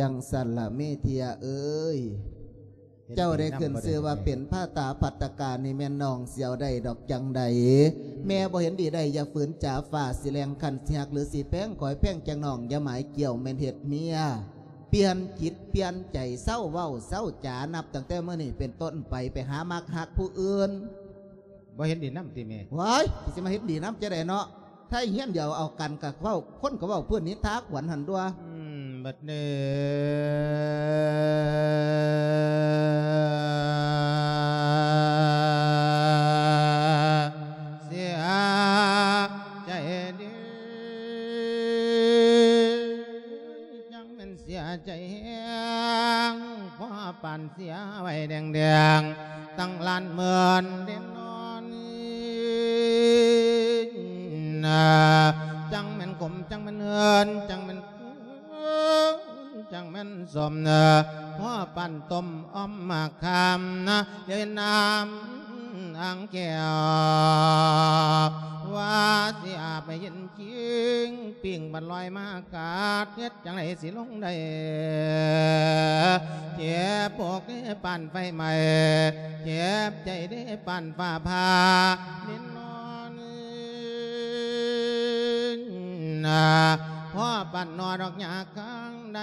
ຈັ່ງຊັ້ນລະເມເທຍເອີຍ ເຈົ້າໄດ້ຂຶ້ນຊື່ວ່າເປັນພະຕາພັດຕະກາ ນີ້ແມ່ນນ້ອງຊິເອົາໄດ້ດອກຈັ່ງໃດ ແມ່ບໍ່ເຫັນດີໄດ້ ຢ່າຝືນຈາ ຟ້າຊິແລງຄັນຊິຮັກ ຫຼືຊິແພງຂ້ອຍແພງຈັ່ງນ້ອງ ຢ່າໝາຍກ່ຽວແມ່ນເຮັດເມຍ ປ່ຽນຈິດປ່ຽນໃຈ ເຊົາເວົ້າເຊົາຈາ ນັບຕັ້ງແຕ່ມື້ນີ້ເປັນຕົ້ນໄປ ໄປຫາມັກຮັກຜູ້ອື່ນ. ບໍ່ເຫັນດີນຳຕິແມ່? ວ້າຍ ຊິມາເຫັນດີນຳຈັ່ງໃດເນາະ ໄທຮຽນດຽວເອົາກັນກະເວົ້າ ຄົນກະເວົ້າພື້ນນິນທາຂວັນຫັ້ນຕົວະ. ອືມ ບັດນີ້ເສຍໃຈເດີ ຈັ່ງແມ່ນເສຍໃຈແຮງ ພໍປານເສຍໄວ້ແດງໆ ຕັ້ງລ້ານໝື່ນເດນອນ ນາ ຈັ່ງແມ່ນຂົມ ຈັ່ງແມ່ນເຫີນ ຈັ່ງແມ່ນເຂີນ ຈັ່ງແມ່ນສົ້ມ ນາ ພໍປານຕົ້ມອ້ອມໝາກຄາມ ນາ ເລີຍນ້ຳອ່າງແກ້ວ ວ່າຊິອາບໃຫ້ເຢັນ ຈິງ ປີ້ງບັດລອຍມາກາດ ເຮັດຈັ່ງໃດຊິລົງໄດ້ ເຈັບອົກເດ້ປານໄຟໄໝ້ ເຈັບໃຈເດ້ປານຟ້າຜ່າ ເນນອນ ນາ ພໍປານໜໍ່ດອກຫຍ້າຂ້າງໃດ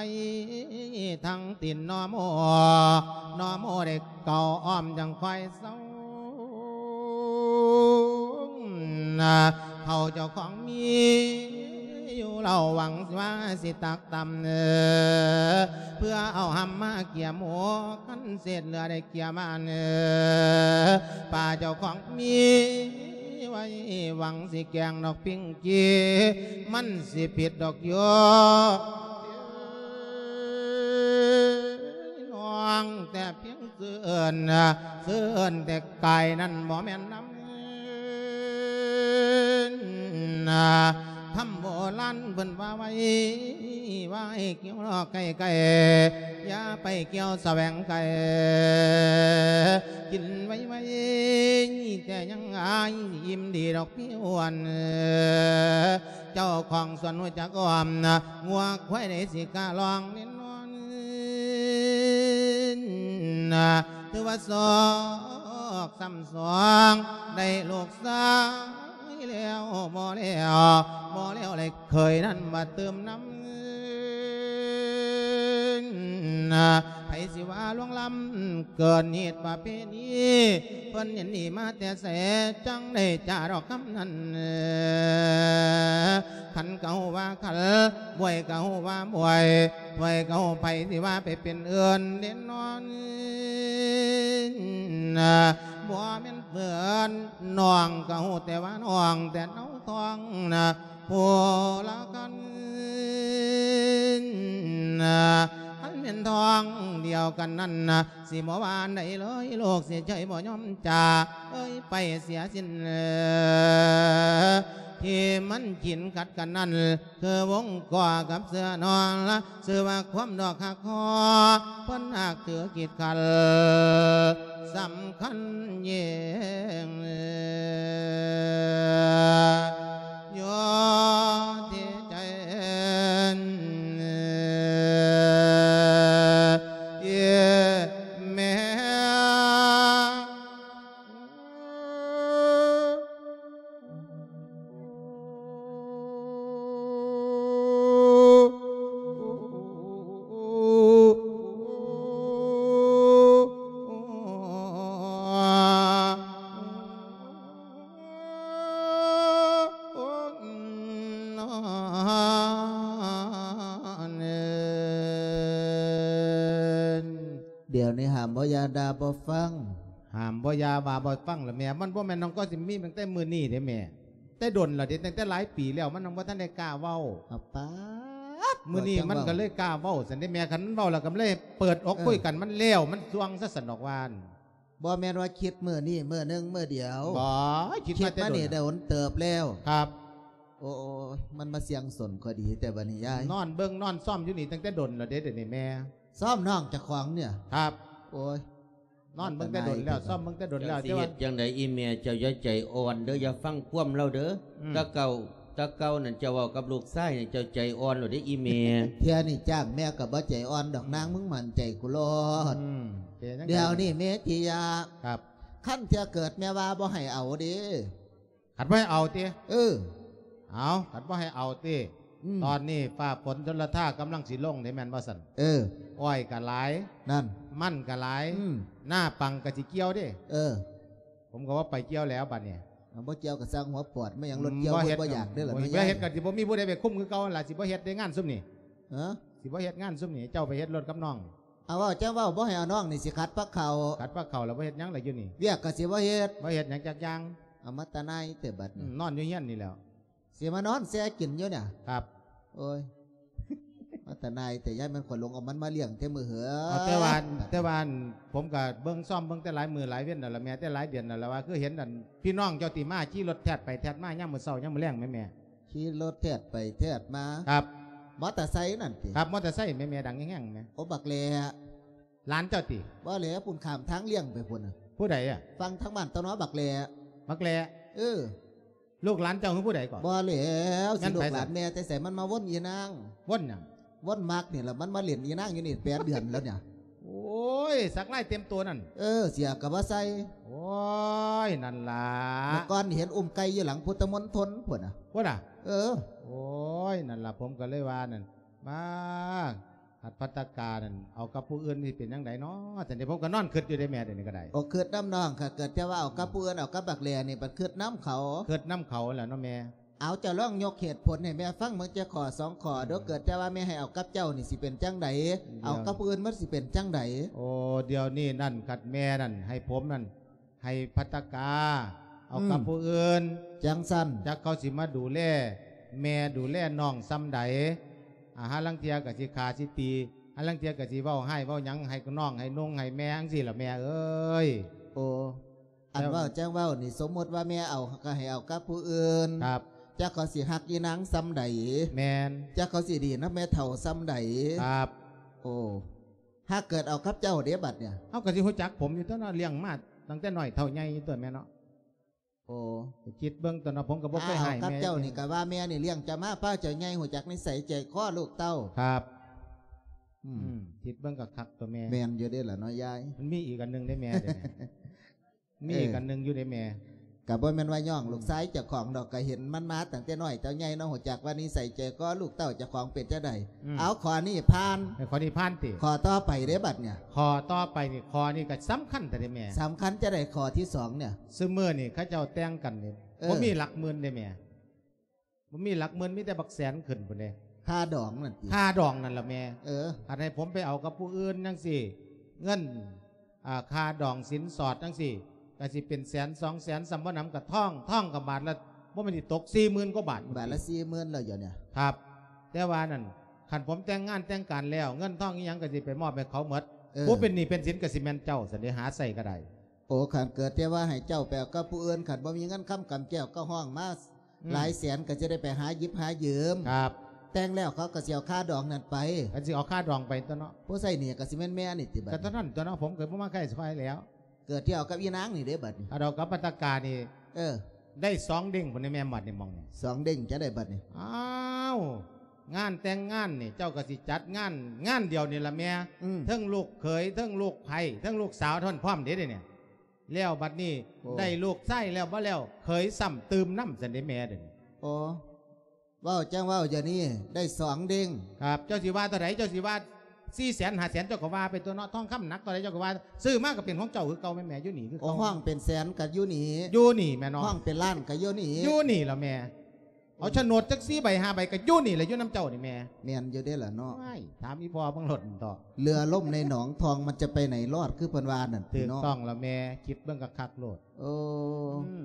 ທັງຕີນໜໍ່ໂມ ໜໍ່ໂມເດັກ ເກົ່າອ້ອມຈັ່ງຄ່ອຍເຊົາ ເຂົາເຈົ້າຂອງມີຢູ່ເລົ່າ ຫວັງວ່າຊິຕັກຕຳ ເພື່ອເອົາຫຳມາກຽມຫົວ ຄັນເສດເຫຼືອໄດ້ກຽມອັນ ປາເຈົ້າຂອງມີໄວ້ ຫວັງຊິແກງດອກປິງກີ ມັນຊິຜິດດອກຢູ່ ນ້ອງແຕ່ພຽງຊື່ເອີ້ນ ຊື່ເອີ້ນແຕ່ກາຍນັ້ນບໍ່ແມ່ນນຳ ຄຳໂບລານເພິ່ນວ່າໄວ້ ວ່າໃຫ້ກ່ຽວລອກໃກ້ໆ ຢ່າໄປກ່ຽວສະແຫວງໄກ ກິນໄວໆ ແຕ່ຍັງອາຍ ອີ່ມດີດອກພີ່ອ້ວນ ເຈົ້າຂອງສວນຮູ້ຈັກອ້ອມ ງົວຄວາຍໃດຊິກ້າລອງເນນອນ ນາ ຖືວ່າໂຊກຊ້ຳສອງ ໄດ້ລູກຊາຍແລ້ວບໍ່ແລ້ວ ບໍ່ແລ້ວເລີຍເຄີຍນັ້ນມາຕື່ມນຳ ໃຜຊິວ່າລ່ວງລ້ຳເກີນຮີດປະເພນີ ເພິ່ນເຫັນດີມາແຕ່ໃສ ຈັ່ງໄດ້ຈາດອກຄຳນັ້ນ. ຂັນກໍຮູ້ວ່າຂັນ ບວຍກໍຮູ້ວ່າບວຍ ບວຍກໍຮູ້ ໃຜຊິວ່າໄປເປັນເອີ່ນເດ້ນ້ອງ ບໍ່ແມ່ນເພິ່ນ ນ້ອງກໍຮູ້ແຕ່ວ່ານ້ອງ ແຕ່ເອົາທ້ອງນະ ຜູ້ລະຄັນ ຄັນແມ່ນທ້ອງດຽວກັນນັ້ນນະ ຊິບໍ່ວ່າອັນໃດເລີຍ ລູກຊິເຊີຍບໍ່ຍອມຈາ ເອີຍໄປເສຍສິ້ນ ທີ່ມັນກິນກັດກັນນັ້ນ ຄືວົງກໍກັບເສືອນອນລະ ຊື່ວ່າຄວາມດອກຮັກຄໍ ເພິ່ນຮັກຖືກິດຂັນ ສຳຄັນຍິ່ງ ຢູ່ທີ່ໃຈແມ່. ດຽວນີ້ຫ້າມບໍ່ຢ່າ ດ່າບໍ່ຟັງ ຫ້າມບໍ່ຢ່າ ວ່າບໍ່ຟັງລະແມ່ ມັນບໍ່ແມ່ນນ້ອງກໍຊິມີຕັ້ງແຕ່ມື້ນີ້ເດ້ແມ່ ແຕ່ດົນແລ້ວເດ້ ຕັ້ງແຕ່ຫຼາຍປີແລ້ວ ມັນຍັງບໍ່ທັນໄດ້ກ້າເວົ້າ. ອາປາດ ມື້ນີ້ມັນກໍເລີຍກ້າເວົ້າຊັ້ນເດ້ແມ່ ຄັນມັນເວົ້າແລ້ວກໍເລີຍເປີດອົກ ເອີ ຄຸຍກັນ ມັນແລ້ວ ມັນຊ່ວງຊະຊັ້ນດອກວ່າ ບໍ່ແມ່ນວ່າຄິດມື້ນີ້ມື້ໜຶ່ງມື້ດຽວ ບໍ່ ຄິດມາແຕ່ດົນ ນີ້ໄດ້ດົນເຕີບແລ້ວ ຄັບ. ໂອ້ຍ ມັນມາສ່ຽງສົນຂ້ອຍດີແຕ່ບັດນີ້ຍາຍ ນອນເບິ່ງນອນຊອມຢູ່ນີ້ຕັ້ງແຕ່ດົນແລ້ວເດ້ ດຽວນີ້ແມ່ ຊອມນ້ອງເຈົ້າຂອງນີ້ ຄັບ. ໂອ້ຍ ນອນເບິ່ງແຕ່ດົນແລ້ວ ຊອມເບິ່ງແຕ່ດົນແລ້ວ ເຈົ້າຊິເຮັດຈັ່ງໃດອີ່ແມ່ ເຈົ້າຢ່າໃຈອ່ອນເດີ ຢ່າຟັງຄວາມລາວເດີ ອືມ ແຕ່ເກົ່າ ແຕ່ເກົ່ານັ້ນເຈົ້າເວົ້າກັບລູກຊາຍນີ້ ເຈົ້າໃຈອ່ອນໂລດເດ້ອີ່ແມ່. ເທື່ອນີ້ຈ້າງແມ່ກໍບໍ່ໃຈອ່ອນດອກ ນາງ ມຶງໝັ້ນໃຈກູໂລດ ອືມ ເປັນຈັ່ງໃດ ດຽວນີ້ເມທິຍາ ຄັບ ຄັນເທື່ອເກີດແມ່ວ່າບໍ່ໃຫ້ເອົາເດ້ ຄັນບໍ່ໃຫ້ເອົາຕິ ເອີ ເອົາ ຄັນບໍ່ໃຫ້ເອົາຕິ ອືມ ຕອນນີ້ຟ້າຝົນຊົນລະທາກຳລັງຊິລົງເດ້ ແມ່ນບໍ່ຊັ້ນ ເອີ ອ້ອຍກໍຫຼາຍ ນັ້ນ ມັນກໍຫຼາຍ ອືມ ໜ້າປັງກໍຊິກ່ຽວເດ້ ເອີ ຜົມກໍວ່າໄປກ່ຽວແລ້ວບັດນີ້ ເອົາ ບໍ່ກ່ຽວກໍຊ່າງຫົວປອດ ແມ່ນຫຍັງ ອືມ ລົດກ່ຽວ ບໍ່ເຮັດ ບໍ່ຢາກເດ້ລະ ບໍ່ເຮັດກໍຊິບໍ່ມີຜູ້ໃດໄປຄຸມຄືເກົ່າຫັ້ນລະ ຊິບໍ່ເຮັດເດ້ງານຊຸມນີ້ ຮະ ຊິບໍ່ເຮັດງານຊຸມນີ້ ເຈົ້າໄປເຮັດລົດກັບນ້ອງ ເອົາ ເວົ້າ ເຈົ້າເວົ້າບໍ່ໃຫ້ເອົານ້ອງນີ້ ຊິຂັດພາກເຂົ້າ ຂັດພາກເຂົ້າແລ້ວບໍ່ເຮັດຫຍັງລະຢູ່ນີ້ ວຽກກໍຊິບໍ່ເຮັດ ບໍ່ເຮັດຫຍັງຈັກຢ່າງ ເອົາ ມາຕານາຍແຕ່ບັດນີ້ ອືມ ນອນຢູ່ເຮືອນນີ້ແຫຼ້ວ ຊິມານອນແຊ່ກິນຢູ່ນີ້ ຄັບ ໂອ້ຍ ມາຕານາຍແຕ່ ຢ້ານແມ່ນຂ້ອຍຫຼົງເອົາມັນມາລ້ຽງແຕ່ມື້ເຫີ ເອົາ ແຕ່ວ່າ ແຕ່ວ່າ ອັນ ຜົມກໍເບິ່ງ ຊອມເບິ່ງແຕ່ຫຼາຍມື້ຫຼາຍເວັນແລ້ວລະແມ່ ແຕ່ຫຼາຍເດືອນແລ້ວລະວ່າ ຄືເຫັນ ອັນ ພີ່ນ້ອງເຈົ້າຕິມາຂີ່ລົດແທດໄປແທດມາຍາມມື້ເຊົ້າຍາມມື້ແລງແມ່ ແມ່ ຂີ່ລົດແທດໄປແທດມາ ຄັບ ມໍເຕີໄຊນັ້ນຕິ ຄັບ ມໍເຕີໄຊແມ່ ແມ່ ດັງແຮງໆແມ່ ໂອ ບັກແຫຼ ຫຼານເຈົ້າຕິ ບໍ່ແຫຼ ພຸ້ນຂ້າມທາງລຽງໄປພຸ້ນນະ ຜູ້ໃດອະ ຝັ່ງທາງບ້ານເຕົ້າໜໍ ບັກແຫຼ ບັກແຫຼ ເອີ ລູກຫຼານເຈົ້າຄືຜູ້ໃດກໍ ບໍ່ແຫຼ ຊິລູກຫຼານແມ່ແຕ່ໃສ ມັນມາວົນອີນາງ ວົນຫຍັງ ວົນມັກນີ້ລະ ມັນມາຫຼິ້ນອີນາງຢູ່ນີ້ແປດເດືອນແລ້ວນີ້ ໂອ້ຍ ສັກລາຍເຕັມໂຕນັ້ນ ເອີ ເສື້ອກໍບໍ່ໃສ່ ໂອ້ຍ ນັ້ນລະ ເມື່ອກ່ອນນີ້ເຫັນອຸ້ມໄກ່ຢູ່ຫຼັງພຸດທະມົນທົນພຸ້ນນະ ພຸ້ນນະ ເອີ ໂອ້ຍ ນັ້ນລະ ຜົມກໍເລີຍວ່ານັ້ນ ມາ ພັດ ພັດຕະການັ້ນ ເອົາກັບຜູ້ອື່ນຊິເປັນຈັ່ງໃດນໍ ຈັ່ງໃດ ຜົມກໍນອນຄິດຢູ່ເດ້ແມ່ ດຽວນີ້ກໍໄດ້ ໂອ ຄິດນຳນ້ອງ ຄັນເກີດແຕ່ວ່າເອົາກັບຜູ້ອື່ນ ເອົາກັບບັກແຫຼນີ້ ບັດຄິດນຳເຂົາ ຄິດນຳເຂົາແຫຼະເນາະແມ່ ເອົາ ເຈົ້າລອງຍົກເຫດຜົນໃຫ້ແມ່ຟັງເບິ່ງຈັກຂໍ້ສອງຂໍ້ດູ ເອີ ເກີດແຕ່ວ່າແມ່ໃຫ້ເອົາກັບເຈົ້ານີ້ ຊິເປັນຈັ່ງໃດ ເອົາກັບຜູ້ອື່ນມັນຊິເປັນຈັ່ງໃດ ໂອ ດຽວນີ້ນັ້ນ ຄັນແມ່ນັ້ນໃຫ້ຜົມນັ້ນ ໃຫ້ພັດຕະກາເອົາກັບ ອືມ ຜູ້ອື່ນ ຈັ່ງຊັ້ນ ຈັກເຂົາຊິມາດູແລແມ່ ດູແລນ້ອງສ່ຳໃດ ອາ ຫາລາງເທື່ອກໍຊິຂ້າຊິຕີ ຫາລາງເທື່ອກໍຊິເວົ້າຮ້າຍເວົ້າຫຍັງໃຫ້ນ້ອງໃຫ້ນຸ່ງໃຫ້ແມ່ຈັ່ງຊີ້ລະແມ່ເອີຍ ໂອ ອັນເວົ້າຈັ່ງເວົ້ານີ້ ສົມມຸດວ່າແມ່ເອົາກໍໃຫ້ເອົາກັບຜູ້ອື່ນ ຄັບ ຈັກເຂົາຊິຮັກອີນາງສ່ຳໃດ ແມ່ນ ຈັກເຂົາຊິດີນຳແມ່ເຖົ້າສ່ຳໃດ ຄັບ ໂອ ຫາກເກີດເອົາກັບເຈົ້າເດ້ບັດນີ້ ເຮົາກໍຊິຮູ້ຈັກຜົມຢູ່ຕົວເນາະ ລ້ຽງມາຕັ້ງແຕ່ນ້ອຍເທົ່າໃຫຍ່ຢູ່ຕົວແມ່ເນາະ ໂອ ຄິດເບິ່ງຕົວເນາະ ຜົມກໍບໍ່ເຄີຍໃຫ້ແມ່ ເອົາກັບເຈົ້ານີ້ກໍວ່າແມ່ນີ້ລ້ຽງເຈົ້າມາ ພາເຈົ້າໃຫຍ່ ຮູ້ຈັກນິໄສໃຈຄໍລູກເຕົ້າ ຄັບ ອືມ ອືມ ຄິດເບິ່ງກໍຄັກຕົວແມ່ ແມ່ນຢູ່ເດ້ລະເນາະຍາຍ ມັນມີອີກອັນໜຶ່ງເດ້ແມ່ ເດ້ແມ່ ມີອີກ ເອີ ອັນໜຶ່ງຢູ່ເດ້ແມ່ ກໍบ่แม่นว่าย้องลูกชายเจ้าของดอก ก็เห็นมันมาตั้งแต่น้อยเต้าใหญ่เนาะ ฮู้จักว่านิสัยใจคอลูกเต้าเจ้าของเป็นจั่งใด อืม เอาข้อนี้ผ่าน เออ ข้อนี้ผ่านติ ข้อต่อไปเด้บัดเนี่ย ข้อต่อไปนี่ ข้อนี้ก็สำคัญแท้เด้แม่ สำคัญจั่งใดข้อที่สองเนี่ย ซุมื้อนี่เขาเจ้าแต่งกันนี่ เออ บ่มีหลักหมื่นเด้แม่ บ่มีหลักหมื่น มีแต่บักแสนขึ้นพุ้นเด้ ค่าดองนั่นติ ค่าดองนั่นล่ะแม่ เออ คันให้ผมไปเอากับผู้อื่นจั่งซี้ เงิน อ่า ค่าดองสินสอดจั่งซี้ ก็สิเป็นแสนสองแสน ส่ำบ่หนำก็ทอง ทองก็บาทละ บ่แม่นสิตกสี่หมื่นกว่าบาท บาทละสี่หมื่นแล้วเดี๋ยวเนี่ย ครับ แต่ว่านั่น คันผมแต่งงานแต่งการแล้ว เงินทองอีหยังก็สิไปมอบให้เขาหมด เออ ผู้เป็นหนี้เป็นสินก็สิแม่นเจ้า ซั่นเด้ หาใช้ก็ได้ โอ้ คันเกิดแต่ว่าให้เจ้าไปเอากับผู้อื่น คันบ่มีเงินคำกำแก้วก็ฮ้องมา อืม หลายแสนก็จะได้ไปหาหยิบหายืม ครับ แต่งแล้วเขาก็สิเอาค่าดองนั่นไป ก็สิเอาค่าดองไปตั๊วเนาะ ผู้ใช้หนี้ก็สิแม่นแม่นี่ติบัด ก็เท่านั้นตั๊วเนาะ ผมก็บ่มาใกล้ซอยแล้ว เกิดที่เอากับอีนางนี่เด้บัดนี้ เอาดอกกับพัตตากานี่ เออ ได้สองเด้งพุ้นนี่แม่ บัดนี้หม่องนี่ สองเด้งจั่งใดบัดนี้ อ้าว งานแต่งงานนี่ เจ้าก็สิจัดงาน งานเดียวนี่ล่ะแม่ อืม เทิงลูกเขย เทิงลูกใผ เทิงลูกสาวท่านพร้อมเด้เดี๋ยวนี้ แล้วบัดนี้ โอ้ ได้ลูกชายแล้วบ่แล้ว เขยซ้ำตื่มนำซั่นเด้แม่เดี๋ยวนี้ โอ้ เว้าจั่งเว้าเดี๋ยวนี้ ได้สองเด้ง ครับ เจ้าสิว่าเท่าใด เจ้าสิว่าสี่แสนห้าแสน เจ้าก็ว่าไปตั๊วเนาะ ทองคำหนักเท่าใด เจ้าก็ว่า ซื้อมาก็เป็นของเจ้าคือเก่าแม่นแม่ อยู่นี่คือ โอ้ เก่า ฮ้องเป็นแสนก็อยู่นี่ อยู่นี่แม่เนาะ ฮ้องเป็นล้านก็อยู่นี่ อยู่นี่ล่ะแม่ เอาโฉนดจักสี่ใบห้าใบก็อยู่นี่แหละ อยู่นำเจ้านี่แม่ แม่นอยู่เด้ล่ะเนาะ ว้าย ถามอีพ่อเบิ่งโลดเถาะ เรือล่มในหนอง ทองมันจะไปไหนรอด คือเพิ่นว่านั่น ถูกต้องล่ะแม่ คิดเบิ่งคักๆโลด โอ้ อืม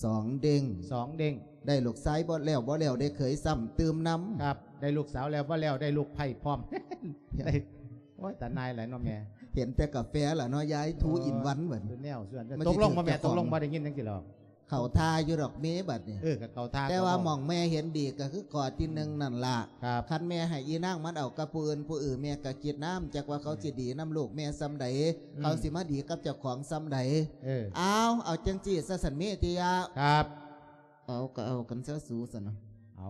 สองเด้ง สองเด้ง ได้ลูกชายบ่แล้วบ่แล้ว ได้เขยซ้ำตื่มนำ ครับ ได้ลูกสาวแล้วบ่แล้ว ได้ลูกใผพร้อม ได้ โอ๊ย ตาหน่ายหลายเนาะแม่ เห็นแต่กาแฟล่ะเนาะ ยาย two in one บัด เป็นแนวส่วน มันสิ ตกลงบ่แม่ ถูกเจ้าของ ตกลงบ่ ได้ยินจั่งซี้หรอก เข้าท่าอยู่ดอกเมบัดนี้ เออ ก็เข้าท่า แต่ว่า ก็ หม่องแม่เห็นดีก็คือข้อที่หนึ่งนั่นล่ะ ครับ คันแม่ให้อีนางมันเอากับผู้อื่นผู้อื่น แม่ก็คิดนำ จักว่าเขาสิดีนำลูกแม่ส่ำใด อืม เขาสิมาดีกับเจ้าของส่ำใด เออ เอา เอาจั่งซี้ซะซั่นเมติยะ ครับ เอาก็เอากันซะสูซั่นนะ เอา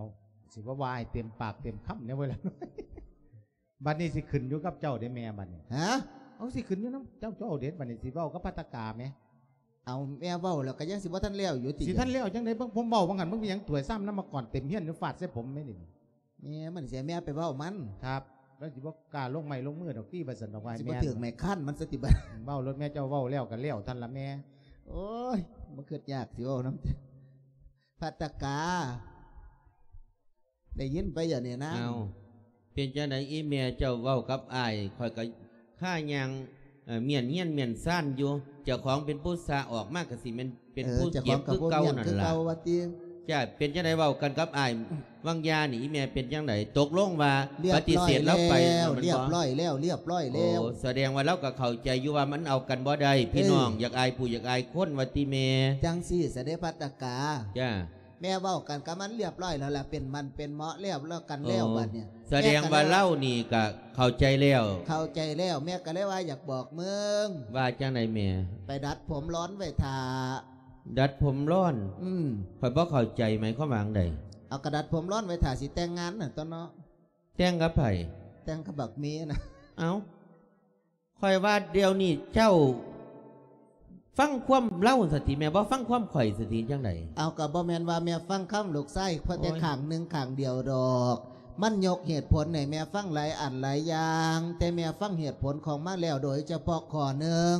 สิบ่ว่าให้เต็มปากเต็มคำแน่เว้ยล่ะ บัดนี้สิขึ้นอยู่กับเจ้าเด้แม่บัดนี้ ฮะ เอา สิขึ้นอยู่นำเจ้า เจ้าเอาเด็ด บัดนี้สิเว้ากับพัตตากาแหม เอา แม่เว้าแล้วก็ยังสิบ่ทันแล้วอยู่ติ สิทันแล้วจั่งใด๋ เบิ่งผมเว้าว่าหั่น มึงเป็นหยังถ้วยซ้ำน้ำมาก่อนเต็มเฮือนอยู่ ฟาดใส่ผมแม่นี่ แม่มันเสีย แม่ไปเว้ามัน ครับ แล้วสิบ่กล้าลงไม้ลงมือดอกติ ว่าซั่นดอก ว่า สิบ่ แม่น ถืกไม้คันมันซะติบัด เว้าโลดแม่ เจ้าเว้าแล้วก็แล้วเท่านั้นล่ะแม่ โอ๊ย บ่คิดยากสิเว้านำ พัตตากา ได้ยินไปอย่าเนี่ยนะ เอ้า เป็นจั่งใด๋อีแม่เจ้าเว้ากับอ้าย ข้อยก็คาย่าง เอ่อ เมี้ยนเฮียนเมี้ยนซานอยู่ เจ้าของเป็นผู้สร้างออกมาก็สิแม่นเป็น เออ ผู้เจ็บคือเก่านั่นล่ะ เจ้าของก็บ่เมี้ยนคือเก่าว่าติ จ้า เป็นจั่งใด๋เว้ากันกับอ้าย วังยานี่ อีแม่เป็นจั่งใด๋ ตกลงว่า เรียบร้อย ปฏิเสธลาวไป แล้ว แม่นบ่ เรียบร้อยแล้ว เรียบร้อยแล้ว โอ้ แสดงว่าลาวก็เข้าใจอยู่ว่ามันเอากันบ่ได้ พี่น้อง เออ อยากอายผู้อยากอายคนว่าติแม่ จั่งซี้ซะเด้ พัตตากา จ้า แม่เว้ากันกับมันเรียบร้อยแล้วล่ะ เป็นหมั้นเป็นเหมาะแล้ว แล้วกันแล้ว โอ้ บัดเนี่ย แสดงว่า แม่ก็เลย ลาวนี่ก็เข้าใจแล้ว เข้าใจแล้ว แม่ก็เลยว่าอยากบอกมึง ว่าจั่งใด๋แม่ ไปดัดผมร้อนไว้ท่า ดัดผมร้อน อืม ข้อยบ่เข้าใจ หมายความว่าจั่งใด๋ เอากะดัดผมร้อนไว้ท่าสิแต่งงานน่ะตั๊วเนาะ แต่งกับไผ แต่งกับบักเมนะ เอ้า ข้อยว่าเดี๋ยวนี้เจ้าฟังความลาวซะติแม่ บ่ฟังความข้อยซะติ จั่งใด๋ เอา ก็บ่แม่นว่าแม่ฟังคำลูกชายเพิ่นแต่ โอ้ย ข้างหนึ่งข้างเดียวดอก มันยกเหตุผลให้แม่ฟังหลายอันหลายอย่าง แต่แม่ฟังเหตุผลของมันแล้ว โดยเฉพาะข้อหนึ่ง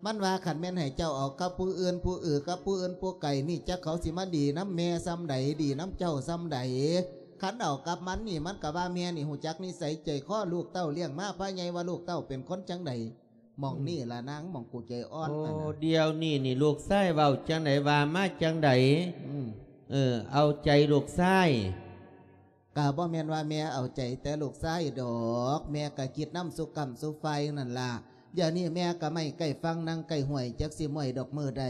มันว่าคันแม่นให้เจ้าเอากับผู้อื่นผู้อื่น กับผู้อื่นผู้ไกลนี่ จักเขาสิมาดีนำแม่ส่ำใด ดีนำเจ้าส่ำใด คันเอากับมันนี่ มันก็ว่าแม่นี่ฮู้จักนิสัยใจคอลูกเต้า เลี้ยงมาพาใหญ่ ว่าลูกเต้าเป็นคนจั่งใด หม่องนี่ล่ะนาง หม่องกูใจอ่อน โอ้ นั่นน่ะ เดี๋ยวนี้นี่ลูกชายเว้าจั่งใด๋ ว่ามาจั่งใด๋ อืม เออ เอาใจลูกชาย ก็บ่แม่นว่าแม่เอาใจแต่ลูกชายดอก แม่ก็คิดนำซุกำซุฝ่ายนั่นล่ะ เดี๋ยวนี้แม่ก็ไม้ใกล้ฝั่ง นั่งใกล้ห้วย จักสิม้อยดอกมื้อใด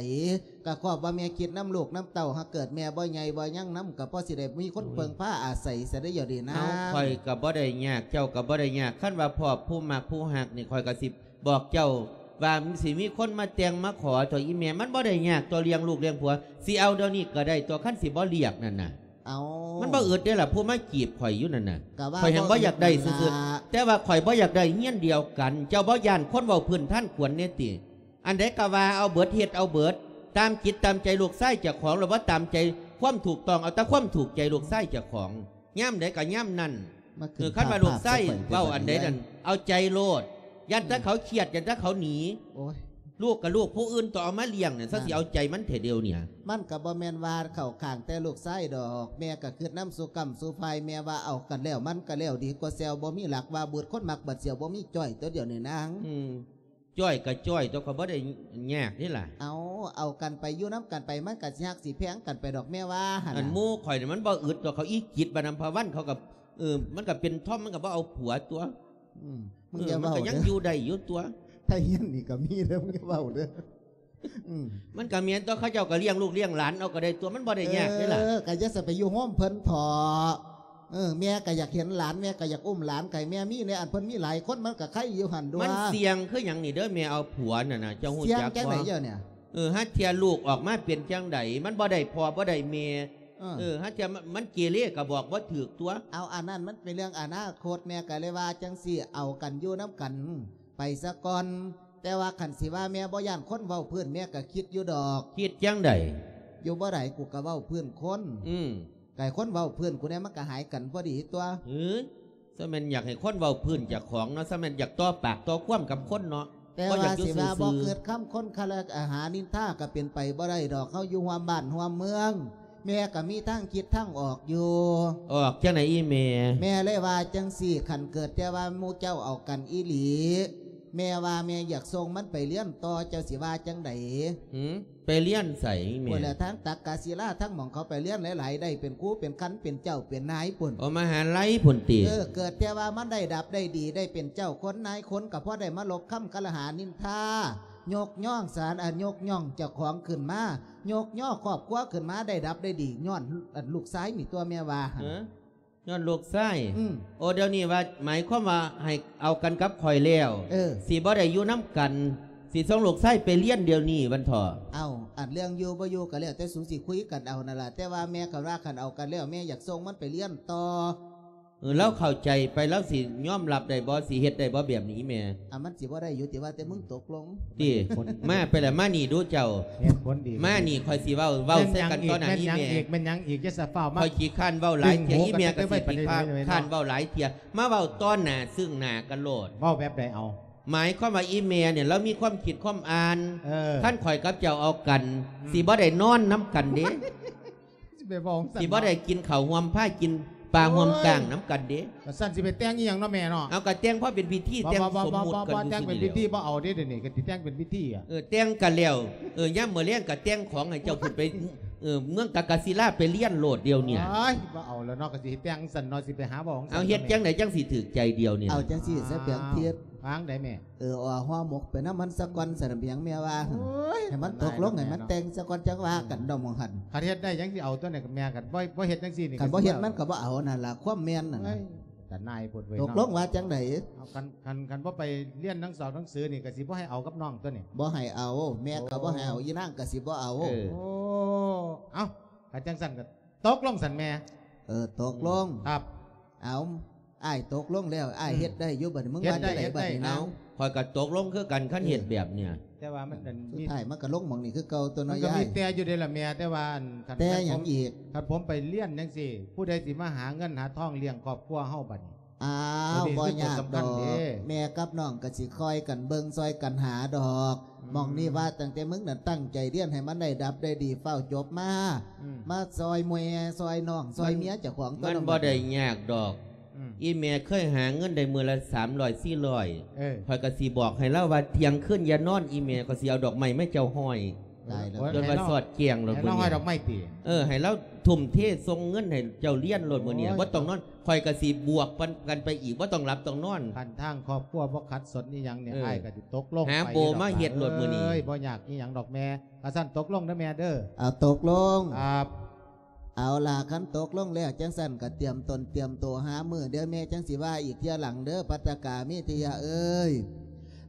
ก็ครอบว่าแม่คิดนำลูกนำเต้า หากเกิดแม่บ่ใหญ่บ่ยังนำ ก็พอสิได้มีคน โอ้ย เพิ่งพาอาศัยซะได้เดี๋ยวนี้นะ เอ้า ข้อยก็บ่ได้ยาก เจ้าก็บ่ได้ยาก คันว่าพ้อผู้มักผู้ฮักนี่ ข้อยก็สิบอกเจ้าว่ามันสิมีคนมาแต่งมาขอเถาะอีแม่ มันบ่ได้ยากเถาะเลี้ยงลูกเลี้ยงผัว สิเอาเดี๋ยวนี้ก็ได้เถาะ คันสิบ่เรียกนั่นน่ะ เอ้า มันบ่อึดเด้ล่ะ ผู้มาจีบข้อยอยู่นั่นน่ะ ก็ว่า ข้อยแฮ่งบ่อยากได้ซื่อๆ บ่อึดนั่นล่ะ แต่ว่าข้อยบ่อยากได้เฮียนเดียวกัน เจ้าบ่ย้านคนเว้าพื้นฐานขวนแน่ติ อันใดก็ว่าเอาเบิด เฮ็ดเอาเบิด ຕາມຈິດຕາມໃຈລູກຊາຍເຈົ້າຂອງ ແລ້ວບໍ່ຕາມໃຈຄວາມຖືກຕ້ອງ ເອົາແຕ່ຄວາມຖືກໃຈລູກຊາຍເຈົ້າຂອງ ຍາມໃດກໍຍາມນັ້ນ. ມາຂຶ້ນ ເອີ ຄັນວ່າລູກຊາຍເວົ້າອັນໃດນັ້ນ ເອົາໃຈໂລດ ຢ້ານແຕ່ເຂົາຄຽດ ຢ້ານແຕ່ເຂົາໜີ. ໂອ້ຍ ລູກກໍລູກຜູ້ອື່ນ ຕ້ອງເອົາມາລ້ຽງນັ້ນ ຊະ ຊິເອົາໃຈມັນແທ້ດຽວນີ້. ມັນກໍບໍ່ແມ່ນວ່າເຂົ້າຂ້າງແຕ່ລູກຊາຍດອກ ແມ່ກໍຄິດນຳສູ່ກ້ຳສູ່ຝ່າຍ ແມ່ວ່າເອົາກັນແລ້ວ ມັນກໍແລ້ວ ດີກວ່າແຊວບໍ່ມີຫຼັກ ວ່າບຸດຄົນມັກບັດສຽວ ບໍ່ມີຈ້ອຍຕົວດຽວນີ້ນາງ. ອືມ ຈ້ອຍກໍຈ້ອຍຕົວະ ກໍບໍ່ໄດ້ຍາກນີ້ລະ. ເອົາ ເອົາກັນໄປ ຢູ່ນຳກັນໄປ ມັນກໍຊິຮັກຊິແພງກັນໄປດອກ ແມ່ວ່າຫັ້ນ. ອັນ ນະ ໝູ່ຂ້ອຍນີ້ມັນບໍ່ອຶດດອກ ເຂົາອີ່ຈິດ ບາດນຳພະວັນ ເຂົາກໍ ເອີ ມັນກໍເປັນທອມ ມັນກໍບໍ່ເອົາຜົວຕົວະ. ອືມ ມຶງ ເອີ ຢາເວົ້າ ມັນກໍຍັງຢູ່ໄດ້ຢູ່ຕົວະ. ໄທຮຽນນີ້ກໍມີເດີ ມຶງຢ່າເວົ້າເດີ. ອືມ ມັນກໍແມ່ນຕົວະ ເຂົາເຈົ້າກໍລ້ຽງລູກລ້ຽງຫຼານເອົາກໍໄດ້ຕົວະ ມັນບໍ່ໄດ້ຍາກເດ້ລະ. ເອີ ກໍຢ່າສະໄປຢູ່ໂຮມເພິ່ນເຖາະ. ເອີ ແມ່ກໍຢາກເຫັນຫຼານ ແມ່ກໍຢາກອຸ້ມຫຼານ ໃຫ້ແມ່ມີແດ່. ອັນເພິ່ນມີຫຼາຍຄົນ ມັນກໍໄຄຢູ່ຫັ້ນດວງ. ມັນສ່ຽງຄືຫຍັງນີ້ເດີ ແມ່ເອົາຜົວນັ້ນນະ ເຈົ້າຮູ້ຈັກບໍ່? ສ່ຽງຈັ່ງໃດເຈົ້ານີ້? ເອີ ຫາເທື່ອລູກອອກມາເປັນຈັ່ງໃດ ມັນບໍ່ໄດ້ພໍ່ບໍ່ໄດ້ແມ່. ເອີ ເອີ ຫາເທື່ອມັນເກເລກໍບອກບໍ່ຖືກຕົວະ. ເອົາ ອັນນັ້ນມັນເປັນເລື່ອງອະນາຄົດ ແມ່ກໍເລີຍວ່າຈັ່ງຊີ້ ເອົາກັນຢູ່ນຳກັນໄປສາກ່ອນ. ແຕ່ວ່າຄັນຊິວ່າແມ່ບໍ່ຢ້ານຄົນເວົ້າພື້ນ ແມ່ກໍຄິດຢູ່ດອກ. ຄິດຈັ່ງໃດ? ຢູ່ບໍ່ໄດ້ ກູກໍເວົ້າພື້ນຄົນ. ອືມ ໃຫ້ຄົນເວົ້າພື້ນກູແດ່ ມັນກໍຫາຍກັນພໍດີຕົວະ. ເອີ ຊະແມ່ນຢາກໃຫ້ຄົນເວົ້າພື້ນເຈົ້າຂອງເນາະ ຊະແມ່ນຢາກຕໍ່ປາກຕໍ່ຄວາມກັບຄົນເນາະ. ແຕ່ວ່າຊິວ່າບໍ່ເກີດຄຳຄົນຄະລະຫານິນທາກໍເປັນໄປບໍ່ໄດ້ດອກ. ເຮົາຢູ່ຮ່ວມບ້ານຮ່ວມເມືອງ ແມ່ກໍມີທາງຄິດທາງອອກຢູ່. ອອກຈັ່ງໃດອີ່ແມ່? ແມ່ເລີຍວ່າຈັ່ງຊີ້ ຄັນເກີດແຕ່ວ່າໝູ່ເຈົ້າເອົາກັນອີ່ຫຼີ ແມ່ວ່າແມ່ຢາກສົ່ງມັນໄປຮຽນຕໍ່ ເຈົ້າຊິວ່າຈັ່ງໃດ? ຫື? ໄປຮຽນໃສແມ່? ພຸ້ນແຫຼະ ທາງຕັກກະສິລາ ທາງໝ່ອງເຂົາໄປຮຽນຫຼາຍໆ ໄດ້ເປັນຄູເປັນຄັນ ເປັນເຈົ້າເປັນນາຍພຸ້ນ. ເອົາ ມະຫາໄລພຸ້ນຕິ? ເອີ ເກີດແຕ່ວ່າມັນໄດ້ດັບໄດ້ດີ ໄດ້ເປັນເຈົ້າຄົນນາຍຄົນ ກໍພໍໄດ້ມາລົບຄຳຄະລະຫານິນທາ ຍົກຍ້ອງສານ ອັນ ຍົກຍ້ອງເຈົ້າຂອງຂຶ້ນມາ ຍົກຍໍຄອບຄົວຂຶ້ນມາ ໄດ້ດັບໄດ້ດີ ຍ້ອນ ອັນ ລູກຊາຍນີ້ຕົວະ ແມ່ວ່າຫັ້ນ. ເອີ ຍ້ອນລູກຊາຍ. ອືມ ໂອ ດຽວນີ້ວ່າ ໝາຍຄວາມວ່າໃຫ້ເອົາກັນກັບຂ້ອຍແລ້ວ ເອີ ຊິບໍ່ໄດ້ຢູ່ນຳກັນ ຊິສົ່ງລູກຊາຍໄປຮຽນດຽວນີ້ວັນເຖາະ. ເອົ້າ ອັນເລື່ອງຢູ່ບໍ່ຢູ່ກໍແລ້ວແຕ່ສູຊິຄຸຍກັນເອົານັ້ນລະ ແຕ່ວ່າແມ່ກໍວ່າຄັນເອົາກັນແລ້ວ ແມ່ຢາກສົ່ງມັນໄປຮຽນຕໍ່. ເອີ ລາວເຂົ້າໃຈໄປ ລາວຊິຍອມຮັບໄດ້ບໍ່? ຊິເຮັດໄດ້ບໍ່ແບບນີ້ແມ່? ອ່າ ມັນຊິບໍ່ໄດ້ຢູ່ຕິ ວ່າແຕ່ມຶງຕົກລົງ. ຕິ ມາໄປລະ ມານີ້ດູເຈົ້າ. ເຮັດຜົນດີ ມານີ້ຂ້ອຍຊິເວົ້າ ເວົ້າໃສ່ກັນຕໍ່ໜ້າອີ່ແມ່. ແມ່ນຫຍັງອີກ? ແມ່ນຫຍັງອີກ? ຢ່າສະຟ້າວມາ ຂ້ອຍຂີ້ຄ້ານເວົ້າຫຼາຍເທື່ອ ອີ່ແມ່ກໍຊິຂີ້ຄ້ານເວົ້າຫຼາຍເທື່ອ ມາເວົ້າຕໍ່ໜ້າ ຊຶ່ງໜ້າກັນໂລດ. ເວົ້າແບບໃດເອົາ? ໝາຍຄວາມວ່າອີ່ແມ່ນີ້ລາວມີຄວາມຄິດຄວາມອ່ານ. ເອີ ຄັນຂ້ອຍກັບເຈົ້າເອົາກັນ ອືມ ຊິບໍ່ໄດ້ນອນນຳກັນເດ້. ຊິໄປເວົ້າຈັ່ງຊັ້ນ ຊິບໍ່ໄດ້ກິນເຂົ້າຮ່ວມ ພາກິນປາຮ່ວມກ້າງນຳກັນເດ້. ກະຊັ້ນຊິໄປແຕ່ງອີ່ຫຍັງເນາະແມ່ເນາະ? ເອົາ ກະແຕ່ງພໍເປັນພິທີ ແຕ່ງສົມມຸດກັນ ແຕ່ງເປັນພິທີບໍ່ເອົາເດ້ ດຽວນີ້ກະຊິແຕ່ງເປັນພິທີ. ເອີ ແຕ່ງກັນແລ້ວ ເອີ ຍາມມື້ແລງກະແຕ່ງຂອງໃຫ້ເຈົ້າຂຶ້ນໄປ ເອີ ເມືອງກະກະສິລາໄປຮຽນໂລດດຽວນີ້. ໂອ້ຍ ບໍ່ເອົາແລ້ວເນາະ ກະຊິແຕ່ງຊັ້ນເນາະ ຊິໄປຫາເວົ້າຈັ່ງຊັ້ນ. ເອົາ ເຮັດຈັ່ງໃດຈັ່ງຊິຖືກໃຈດຽວນີ້? ເອົາຈັ່ງຊີ້ຊະ ແປງທິດ ວາງໃດແມ່? ເອີ ເອົາຫໍ່ໝົກໄປນຳມັນສາກ່ອນຊັ້ນນະ ເປັນຫຍັງແມ່ວ່າ? ໂອ້ຍ ໃຫ້ມັນຕົກລົງ ໃຫ້ມັນແຕ່ງສາກ່ອນ ຈັ່ງວ່າກັນດອກໝ່ອງຫັ້ນ. ຄັນເຮັດໄດ້ຈັ່ງຊິເອົາຕົວນີ້ ແມ່ ຄັນບໍ່ ບໍ່ເຮັດຈັ່ງຊີ້ນີ້ ຄັນບໍ່ເຮັດມັນກໍບໍ່ເອົານັ້ນລະ ຄວາມແມ່ນນັ້ນ. ໂອ້ຍ ຕາໜ່າຍໂພດເວີຍ. ຕົກລົງວ່າຈັ່ງໃດ? ເອົາ ຄັນ ຄັນ ຄັນບໍ່ໄປຮຽນໜັງສອງໜັງສືນີ້ ກໍຊິບໍ່ໃຫ້ເອົາກັບນ້ອງຕົວນີ້. ບໍ່ໃຫ້ເອົາ ແມ່ກໍບໍ່ໃຫ້ເອົາ ອີ່ນາງກໍຊິບໍ່ເອົາ. ເອີ ໂອ້ ເອົ້າ ຄັນຈັ່ງຊັ້ນກໍຕົກລົງຊັ້ນແມ່. ເອີ ຕົກລົງ. ອືມ ຄັບ ເອົາ ອ້າຍຕົກລົງແລ້ວ ອ້າຍເຮັດໄດ້ຢູ່ ອືມ ບັດນີ້ ມຶງວ່າຈັ່ງໃດບັດນີ້ນາງ? ເອົ້າ ຂ້ອຍກໍຕົກລົງຄືກັນ ຄັນເຮັດແບບເນີ້ຍ. ເອີ ແຕ່ວ່າມັນ ອືມ ມີ ສຸດທ້າຍມັນກໍລົງໝ່ອງນີ້ຄືເກົ່າຕົວເນາະຍາຍ. ມັນກໍມີແຕ່ຢູ່ເດ້ລະແມ່ ແຕ່ວ່າ ອັນ ຄັນ ແຕ່ຫຍັງອີກ? ຄັນຜົມໄປຮຽນຈັ່ງຊີ້ ຜູ້ໃດຊິມາຫາເງິນຫາທອງລ້ຽງຄອບຄົວເຮົາບັດນີ້? ອ້າວ ບໍ່ຍາກດອກ ແມ່ກັບນ້ອງກໍຊິຊ່ອຍກັນເບິ່ງ ຊ່ອຍກັນຫາດອກ. ອືມ ໝ່ອງນີ້ວ່າຕັ້ງແຕ່ມຶງນັ້ນຕັ້ງໃຈຮຽນໃຫ້ມັນໄດ້ດັບໄດ້ດີ ຟ້າວຈົບມາ ອືມ ມາຊ່ອຍແມ່ຊ່ອຍນ້ອງ ຊ່ອຍເມຍເຈົ້າຂອງຕົວະ. ມັນບໍ່ໄດ້ຍາກດອກ. ອືມ ອີ່ແມ່ເຄີຍຫາເງິນໄດ້ມື້ລະສາມຮ້ອຍ ສີ່ຮ້ອຍ ເອີ ຂ້ອຍກໍຊິບອກໃຫ້ລາວວ່າ ທ່ຽງຄືນຢ່ານອນ ອີ່ແມ່ ຂ້ອຍຊິເອົາດອກໄມ້ມາໃຫ້ເຈົ້າຫ້ອຍ. ຕາຍແລ້ວ ຈົນວ່າສອດແຈ້ງໂລດ ໃຫ້ລາວຫ້ອຍດອກໄມ້ຕິ? ເອີ ໃຫ້ລາວທຸ່ມເທສົ່ງເງິນໃຫ້ເຈົ້າຮຽນໂລດມື້ນີ້. ໂອ້ຍ ບໍ່ຕ້ອງນອນ ຂ້ອຍກໍຊິບວກກັນໄປອີກ ບໍ່ຕ້ອງຫຼັບຕ້ອງນອນ. ຄັນທາງຄອບຄົວບໍ່ຂັດສົນອີ່ຫຍັງນີ້ ເອີ ອ້າຍກໍຊິຕົກລົງ ຫາໂບມາເຮັດໂລດມື້ນີ້. ເອີຍ ບໍ່ຍາກອີ່ຫຍັງດອກແມ່. ກະຊັ້ນຕົກລົງເດີແມ່ເດີ. ເອົາ ຕົກລົງ. ຄັບ ເອົາລະ ຄັນຕົກລົງແລ້ວຈັ່ງຊັ້ນກໍຕຽມຕົນຕຽມໂຕຫາມື້ ດຽວແມ່ຈັ່ງຊິວ່າອີກເທື່ອຫຼັງເດີ ພັດຕະກາມີທະຍະເອີຍ.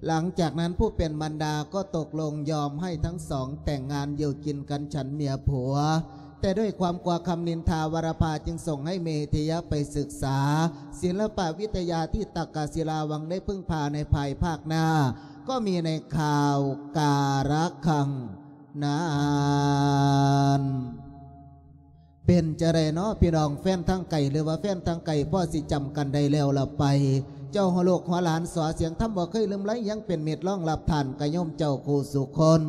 ຫຼັງຈາກນັ້ນຜູ້ເປັນມານດາກໍຕົກລົງຍອມໃຫ້ທັງສອງແຕ່ງງານຢູ່ກິນກັນ ສັນເມຍຜົວ. ແຕ່ດ້ວຍຄວາມກົວຄຳນິນທາວາລະພາ ຈຶ່ງສົ່ງໃຫ້ເມທະຍະໄປສຶກສາສິນລະປະວິທະຍາທີ່ຕັກກະສິລາວັງໄດ້ເພິ່ງພາໃນພາຍພາກໜ້າ. ກໍມີໃນຂ່າວກາລະຄັງ ນານ ເປັນຈັ່ງໃດເນາະພີ່ນ້ອງ ແຟນທາງໄກ ຫຼືວ່າແຟນທາງໃກ້ ພໍຊິຈຳກັນໄດ້ແລ້ວລະໄປ? ເຈົ້າຫົວລູກຫົວຫຼານ ສອສຽງທຳບໍ່ເຄີຍລືມໄລ ຍັງເປັນມິດລອງຮັບທ່ານກະໂຍມເຈົ້າຄູ່ສູ່ຄົນ.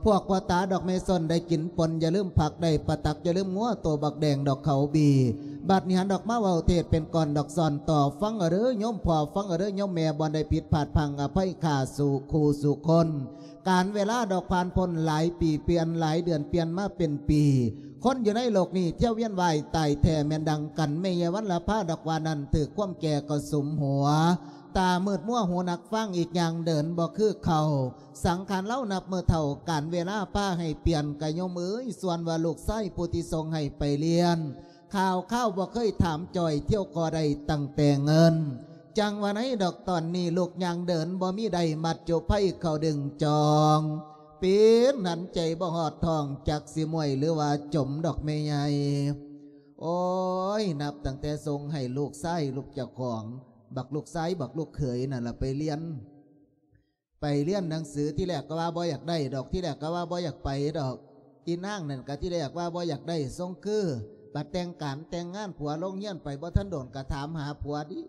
ພວກພໍ່ຕາດອກແມ່ຊົນໄດ້ກິນປົນ ຢ່າລືມຜັກໄດ້ປາຕັກ ຢ່າລືມງົວໂຕບັກແດງດອກເຂົາບີ. ບັດນີ້ຫັນດອກມາເວົ້າເທດເປັນກ່ອນດອກ ສອນຕໍ່ຟັງເດີໂຍມພໍ່ ຟັງເດີໂຍມແມ່ ບ່ອນໃດຜິດພາດພັ່ງອະໄພຂ້າສູ່ຄູ່ສູ່ຄົນ. ການເວລາດອກຜ່ານພົ້ນຫຼາຍປີປ່ຽນ ຫຼາຍເດືອນປ່ຽນມາເປັນປີ. ຄົນຢູ່ໃນໂລກນີ້ ທ່ຽວວຽນວ່າຍຕາຍແທ້ແມ່ນດັ່ງກັນ ແມ່ຍາຍວັນລະພາດອກວ່ານັ້ນ ຖືກຄວາມແກ່ກະສຸມຫົວ ຕາມືດມົວ ຫູໜັກຟັງອີກຢ່າງເດີນບໍ່ຄືເກົ່າ. ສັງຂານລາວນັບມື້ເຖົ້າ ການເວລາພາໃຫ້ປ່ຽນ ກະໂຍມເອີຍ ສ່ວນວ່າລູກຊາຍຜູ້ທີ່ສົ່ງໃຫ້ໄປຮຽນ ຂ່າວຄາວບໍ່ເຄີຍຖາມຈ່ອຍ ທ່ຽວກໍໄດ້ຕັ້ງແຕ່ເງິນ. ຈັ່ງວ່າໃນດອກຕອນນີ້ ລູກຍ່າງເດີນບໍ່ມີໄດ້ ມັດຈຸໄພເຂົ້າດຶງຈອງ ເປັນຫັນໃຈບໍ່ຮອດທ້ອງ ຈັກຊິມ້ວຍ ຫຼືວ່າຈົມດອກແມ່ໃຫຍ່. ໂອ້ຍ ນັບຕັ້ງແຕ່ສົ່ງໃຫ້ລູກຊາຍລູກເຈົ້າຂອງ ບັກລູກຊາຍ ບັກລູກເຂີຍນັ້ນລະໄປຮຽນ ໄປຮຽນໜັງສື ທີແລກກໍວ່າບໍ່ຢາກໄດ້ດອກ ທີແລກກໍວ່າບໍ່ຢາກໄປດອກ. ອີນາງນັ້ນກໍທີແລກວ່າບໍ່ຢາກໄດ້ ຊົງຄື ບັດແຕ່ງການແຕ່ງງານ ຜົວລົງຮຽນໄປບໍ່ທັນດົນ ກໍຖາມຫາຜົວດີ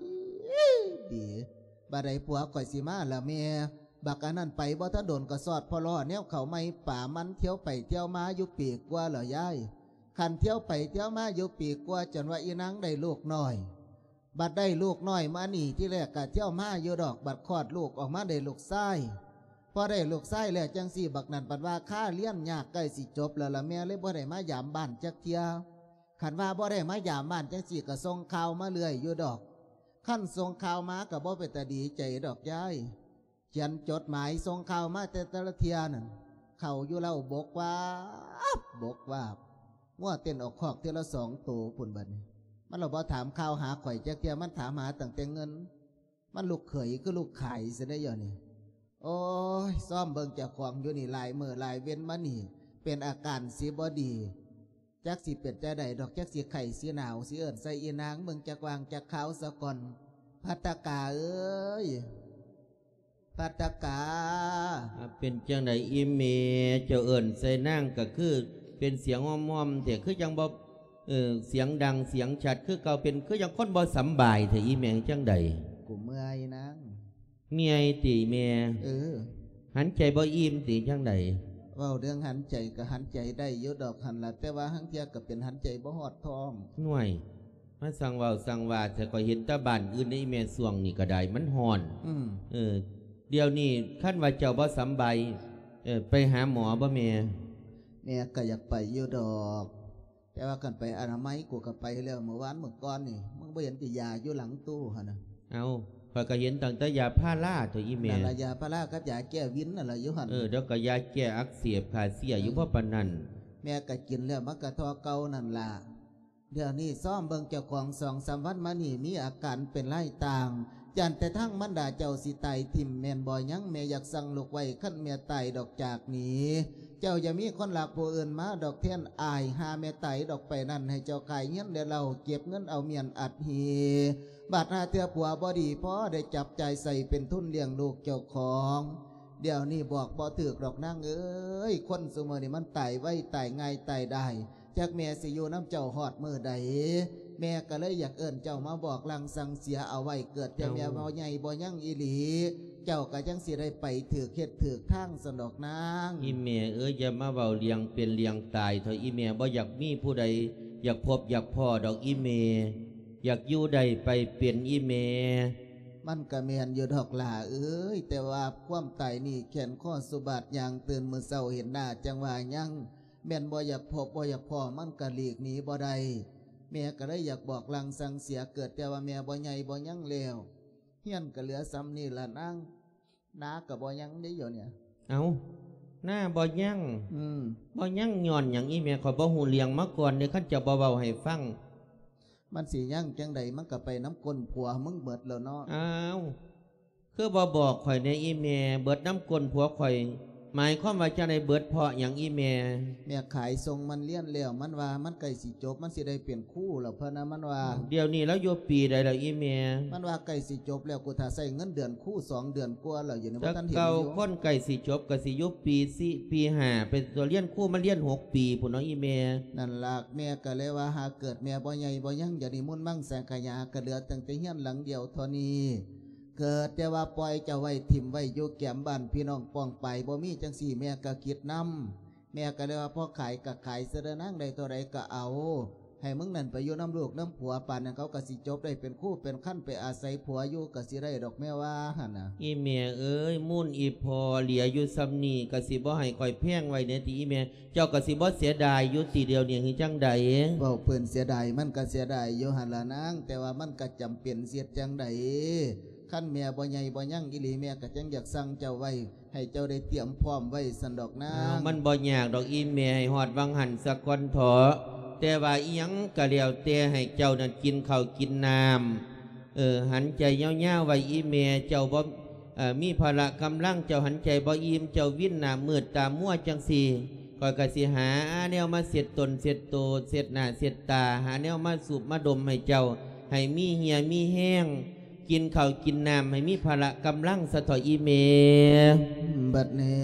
ດີ ບັດໃດຜົວຂ້ອຍຊິມາລະແມ່? ບັກອັນນັ້ນໄປບໍ່ທັນດົນ ກໍຊອດພໍລໍ້ແນວເຂົ້າໃໝ່ປາມັນ ທ່ຽວໄປທ່ຽວມາຢູ່ປີກວ່າແລ້ວຍາຍ. ຄັນທ່ຽວໄປທ່ຽວມາຢູ່ປີກວ່າ ຈົນວ່າອີນາງໄດ້ລູກນ້ອຍ. ບັດໄດ້ລູກນ້ອຍມານີ້ ທີແລກກະທ່ຽວມາຢູ່ດອກ ບັດຄອດລູກອອກມາໄດ້ລູກຊາຍ. ພໍໄດ້ລູກຊາຍແລ້ວຈັ່ງຊີ້ ບັກນັ້ນບັດວ່າຄາຮຽນຍາກ ໃກ້ຊິຈົບແລ້ວລະແມ່ ເລີຍບໍ່ໄດ້ມາຢາມບ້ານຈັກເທື່ອ. ຄັນວ່າບໍ່ໄດ້ມາຢາມບ້ານຈັ່ງຊີ້ ກະສົ່ງຂ່າວມາເລື້ອຍຢູ່ດອກ. ຄັນສົ່ງຂ່າວມາກະບໍ່ເປັນຕາດີໃຈດອກຍາຍ. ຂຽນຈົດໝາຍສົ່ງຂ່າວມາແຕ່ແຕ່ລະເທື່ອນັ້ນ ເຂົ້າຢູ່ເລົ້າບົກວາບ ບົກວາບ ງົວເຕັ້ນອອກຄອກເທື່ອລະສອງໂຕພຸ້ນ. ບັດນີ້ມັນລະບໍ່ຖາມຂ່າວຫາຂ້ອຍຈັກເທື່ອ ມັນຖາມຫາຕັ້ງແຕ່ເງິນ. ມັນລູກເຂີຍຄືລູກຂາຍຊັ້ນເດ້ດຽວນີ້. ໂອ້ຍ ຊອມເບິ່ງເຈົ້າຂອງຢູ່ນີ້ ຫຼາຍມື້ຫຼາຍເວັນມານີ້ ເປັນອາການຊິບໍ່ດີ. ຈັກຊິເປັນຈັ່ງໃດດອກ ຈັກຊິໄຂ້ຊິໜາວ ຊິເອີ້ນໃສ່ອີນາງເບິ່ງຈັກວ່າງຈັກຄາວສາກ່ອນ. ພັດຕະກາເອີຍ ພັດຕະກາ. ເປັນຈັ່ງໃດອີ່ແມ່ ເຈົ້າເອີ້ນໃສ່ນາງກະຄືເປັນສຽງຮ່ອມໆແທ້ ຄືຈັ່ງບໍ່ ເອີ ສຽງດັງສຽງຊັດຄືເກົ່າ ເປັນຄືຈັ່ງຄົນບໍ່ສຳບາຍແທ້ອີ່ແມ່ ຈັ່ງໃດ? ກູເມື່ອຍນາງ. ເມື່ອຍຕິແມ່? ເອີ. ຫັນໃຈບໍ່ອີ່ມຕິຈັ່ງໃດ? ເວົ້າເລື່ອງຫັນໃຈກະຫັນໃຈໄດ້ຢູ່ດອກຫັ້ນລະ ແຕ່ວ່າຫາງເທື່ອກະເປັນຫັນໃຈບໍ່ຮອດທ້ອງ. ໜ້ວຍ ມາຊ່າງເວົ້າຊ່າງວ່າແທ້ ຂ້ອຍເຫັນແຕ່ບ້ານອື່ນໃດແມ່ ຊ່ວງນີ້ກະໄດ້ມັນຮ້ອນ. ອືມ. ເອີ ດຽວນີ້ຄັນວ່າເຈົ້າບໍ່ສຳບາຍ ເອີ ໄປຫາໝໍບໍ່ແມ່? ແມ່ກະຢາກໄປຢູ່ດອກ ແຕ່ວ່າຄັນໄປອະນາໄມ ກູກະໄປແລ້ວມື້ວານມື້ກ່ອນນີ້ ມຶງບໍ່ເຫັນຕິ ຢາຢູ່ຫຼັງຕູ້ຫັ້ນນະ? ເອົ້າ ຂ້ອຍກະເຫັນຕັ້ງແຕ່ຢາພາລາໂຕອີ່ແມ່. ນັ້ນລະ ຢາພາລາກັບຢາແກ້ວິນນັ້ນລະຢູ່ຫັ້ນ. ເອີ ແລ້ວກະຢາແກ້ອັກເສບຂ້າເສຍຢູ່ ເອີ ພໍປານນັ້ນ. ແມ່ກະກິນແລ້ວມັນກະທໍ່ເກົ່ານັ້ນລະ. ດຽວນີ້ຊອມເບິ່ງເຈົ້າຂອງສອງສາມວັນມານີ້ ມີອາການເປັນລາຍຕ່າງ ຢ້ານແຕ່ທາງມານດາເຈົ້າຊິຕາຍຖິ້ມແມ່ນບໍ່ຍັງ? ແມ່ຢາກສັ່ງລູກໄວ້ ຄັນແມ່ຕາຍດອກຈາກນີ້ ເຈົ້າຢ່າມີຄົນລັກຜູ້ອື່ນມາດອກແທນອ້າຍ. ຫາແມ່ຕາຍດອກໄປນັ້ນ ໃຫ້ເຈົ້າຂາຍເຮືອນແລະເລົ້າ ເກັບເງິນເອົາມ້ຽນອັດຫີ ບາດຫາເທື່ອຜົວບໍ່ດີພໍ ໄດ້ຈັບຈ່າຍໃຊ້ເປັນທຶນລ້ຽງລູກເຈົ້າຂອງ. ດຽວນີ້ບອກບໍ່ຖືກດອກນາງເອີຍ ຄົນຊຸມື້ນີ້ມັນຕາຍໄວ ຕາຍງ່າຍ ຕາຍດາຍ. ຈັກແມ່ຊິຢູ່ນຳເຈົ້າຮອດມື້ໃດ? ແມ່ກະເລີຍຢາກເອີ້ນເຈົ້າມາບອກລາງສັ່ງເສຍເອົາໄວ້ ເກີດແຕ່ແມ່ບໍ່ໃຫຍ່ບໍ່ຍັງອີ່ຫຼີ ເຈົ້າກະຈັ່ງຊິໄດ້ໄປຖືກເຮັດຖືກທາງຊັ້ນດອກນາງ. ອີ່ແມ່ເອີຍ ຢ່າມາເວົ້າເລື່ອງເປັນເລື່ອງຕາຍເຖາະອີ່ແມ່ ບໍ່ຢາກມີຜູ້ໃດຢາກພົບຢາກພໍ້ດອກອີ່ແມ່ ຢາກຢູ່ໄດ້ໄປເປັນອີ່ແມ່. ມັນກະແມ່ນຢູ່ດອກຫຼ້າເອີຍ ແຕ່ວ່າຄວາມຕາຍນີ້ແຂນຄໍສະບາດ ຍ່າງຕື່ນມື້ເຊົ້າເຫັນໜ້າຈັ່ງວ່າຍັງ ແມ່ນບໍ່ຢາກພົບບໍ່ຢາກພໍ້ ມັນກະຫຼີກໜີບໍ່ໄດ້. ແມ່ກະເລີຍຢາກບອກລາງສັ່ງເສຍ ເກີດແຕ່ວ່າແມ່ບໍ່ໃຫຍ່ບໍ່ຍັງແລ້ວ ເຮືອນກະເຫຼືອສ່ຳນີ້ລະນາງ ນາກະບໍ່ຍັງເດ້ດຽວນີ້. ເອົ້າ ນາບໍ່ຍັງ? ອືມ. ບໍ່ຍັງຍ້ອນຫຍັງອີ່ແມ່? ຂ້ອຍບໍ່ຮູ້ເລື່ອງມາກ່ອນເດ້ ຄັນເຈົ້າບໍ່ເວົ້າໃຫ້ຟັງ. ມັນຊິຍັງຈັ່ງໃດ ມັນກະໄປນຳກົ້ນຜົວມຶງເບິດແລ້ວເນາະ. ອ້າວ ຄືບໍ່ບອກຂ້ອຍແດ່ອີ່ແມ່ ເບິດນຳກົ້ນຜົວຂ້ອຍ ໝາຍຄວາມວ່າຈັ່ງໃດ ເບິດເພາະຫຍັງອີ່ແມ່? ແມ່ຂາຍສົ່ງມັນຮຽນແລ້ວ ມັນວ່າມັນໃກ້ຊິຈົບ ມັນຊິໄດ້ເປັນຄູແລ້ວພະນະ ມັນວ່າ. ດຽວນີ້ລາວຢູ່ປີໃດແລ້ວອີ່ແມ່? ມັນວ່າໃກ້ຊິຈົບແລ້ວ ກູຖ້າໃຊ້ເງິນເດືອນຄູສອງເດືອນກວ່າແລ້ວ ດຽວນີ້ບໍ່ທັນເຫັນຢູ່. ແຕ່ເກົ່າຄົນໃກ້ຊິຈົບກໍຊິຢູ່ປີສີ່ ປີຫ້າ ເປັນຕົວຮຽນຄູ ມັນຮຽນຫົກປີພຸ້ນເນາະອີ່ແມ່. ນັ້ນລະ ແມ່ກໍເລີຍວ່າ ຫາເກີດແມ່ບໍ່ໃຫຍ່ບໍ່ຍັງ ດຽວນີ້ມຸນມັງສັງຂະຍາ ກໍເຫຼືອຕັ້ງແຕ່ຮຽນຫຼັງດຽວເທົ່ານີ້. ເກີດແຕ່ວ່າປ່ອຍເຈົ້າໄວ້ ຖິ້ມໄວ້ຢູ່ແກມບ້ານ ພີ່ນ້ອງປ້ອງປາຍບໍ່ມີ ຈັ່ງຊີ້ແມ່ກໍຄິດນຳ. ແມ່ກໍເລີຍວ່າ ພໍຂາຍກໍຂາຍຊະເດີນາງ ໄດ້ເທົ່າໃດກໍເອົາ ໃຫ້ມຶງນັ້ນໄປຢູ່ນຳລູກນຳຜົວ ປານນັ້ນເຂົາກໍຊິຈົບໄດ້ເປັນຄູເປັນຄັນ ໄປອາໄສຜົວຢູ່ກໍຊິໄດ້ດອກ ແມ່ວ່າຫັ້ນນະ. ອີ່ແມ່ເອີຍ ມູນອີ່ພໍ່ເຫຼືອຢູ່ສ່ຳນີ້ ກໍຊິບໍ່ໃຫ້ຂ້ອຍແພງໄວ້ແດ່ຕິອີ່ແມ່? ເຈົ້າກໍຊິບໍ່ເສຍດາຍຢູ່ຕິດຽວນີ້ ຫຼືຈັ່ງໃດ? ເວົ້າເພິ່ນເສຍດາຍ ມັນກໍເສຍດາຍຢູ່ຫັ້ນລະນາງ ແຕ່ວ່າມັນກໍຈຳເປັນ ຊິເຮັດຈັ່ງໃດ? ຄັນແມ່ບໍ່ໃຫຍ່ບໍ່ຍັງອີ່ຫຼີ ແມ່ກໍຈັ່ງຢາກສັ່ງເຈົ້າໄວ້ ໃຫ້ເຈົ້າໄດ້ຕຽມພ້ອມໄວ້ຊັ້ນດອກນາງ. ມັນບໍ່ຍາກດອກອີ່ແມ່ ໃຫ້ຮອດຫວ່າງຫັ້ນສາກ່ອນເຖາະ. ແຕ່ວ່າອີ່ຫຍັງກໍແລ້ວແຕ່ ໃຫ້ເຈົ້ານັ້ນກິນເຂົ້າກິນນ້ຳ ເອີ ຫັນໃຈຍາວໆໄວ້ອີ່ແມ່. ເຈົ້າບໍ່ ເອີ ມີພະລະກຳລັງ ເຈົ້າຫັນໃຈບໍ່ອີ່ມ ເຈົ້າວິນໜ້າມືດຕາມົວຈັ່ງຊີ້ ຂ້ອຍກໍຊິຫາແນວມາເຊັດຕົນເຊັດໂຕ ເຊັດໜ້າເຊັດຕາ ຫາແນວມາສູບມາດົມໃຫ້ເຈົ້າ ໃຫ້ມີເຫື່ອມີແຮງ ກິນເຂົ້າກິນນ້ຳ ໃຫ້ມີພະລະກຳລັງຊະເຖາະອີ່ແມ່. ບັດນີ້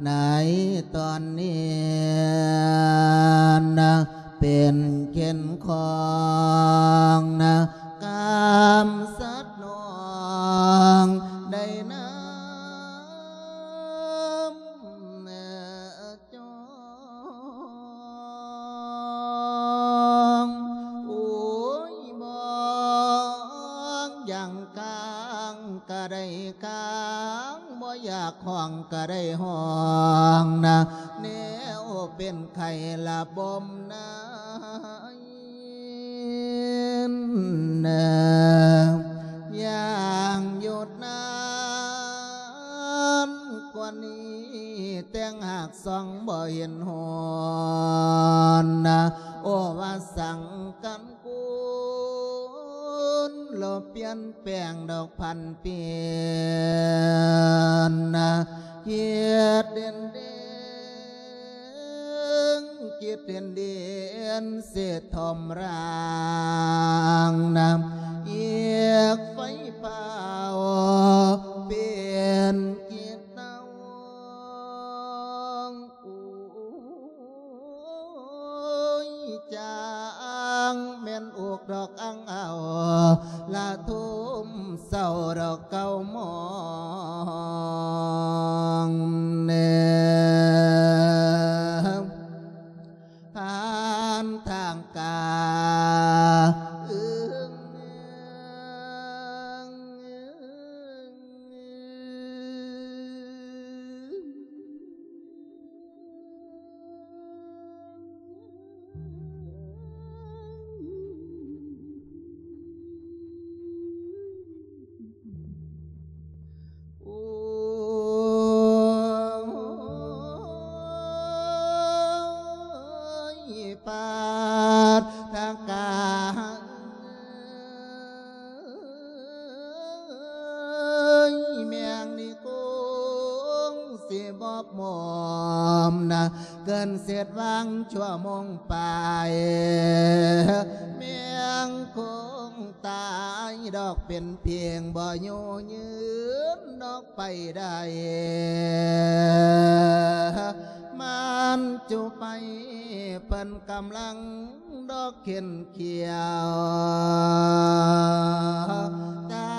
ໃນຕອນນີ້ນະ ເປັນເຂັນຂອງນະ ກາມສັດນ້ອງໄດ້ນຳຈອງ. ໂອ້ຍ ບໍ່ຢາກຄ້າງກໍໄດ້ຄ້າງ ບໍ່ຢາກຮ້ອງກໍໄດ້ຮ້ອງນະ ແນວເປັນໄຂ້ລະບົມນາຍ ນະ ຢ່າງຢຸດນານກວ່ານີ້ ແຕ່ງຫາກສ່ອງບໍ່ເຫັນຮອນນະ ໂອ ວ່າສັງກັນ ຄຸນ ລະປ່ຽນແປງດອກພັນປ່ຽນນະ ເຮັດເດັ່ນເດັ່ງ ກິດເດັ່ນເດັ່ງ ເສດຖົມຣາງນະ ເອກໄຟຟ້າວ ເປັນກິດເຕົາ. ໂອ້ຍ ຈາງແມ່ນອົກດອກອັງເອົາ ລະທຸ່ມເສົ້າດອກເກົ້າໂມງແນມ ຜ່ານທາງກາ ອຶງ ໂອ້ຍ ປາດທະກາ ເອີຍ ແມງນີ້ຄົງຊິບໍ່ໝອມນະ ເກີນເສດຫວ່າງຊົ່ວໂມງປາຍ ແມງຄົງຕາຍດອກ ເປັນພຽງບໍ່ຢູ່ຍືນດອກ ໄປໄດ້ ມັນຈຸໄປ ເພິ່ນກຳລັງດອກເຂັນຂຽວ ຕ່າ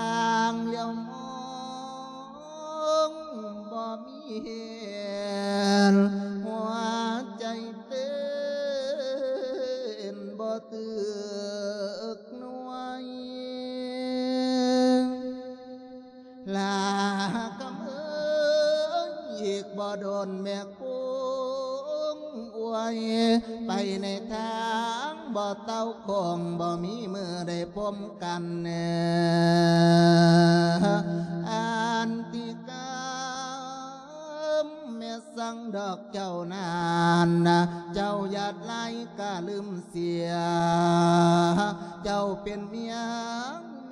ງຫຼຽວມອງບໍ່ມີເຫັນ ຫົວໃຈເຕັ້ນບໍ່ຕຶກໜ່ວຍ. ລາກຳເອີຍ ອີກບໍ່ດົນແມ່ຄົງອວຍ ໄປໃນທາງບໍ່ເຕົ້າຄົງ ບໍ່ມີມື້ໄດ້ພົມກັນແນ່ ອັນຕິກຳແມ່ ສັງດອກເຈົ້ານັ້ນນະ ເຈົ້າຢາດຫຼາຍກະລືມເສຍ ເຈົ້າເປັນເມຍ ເມ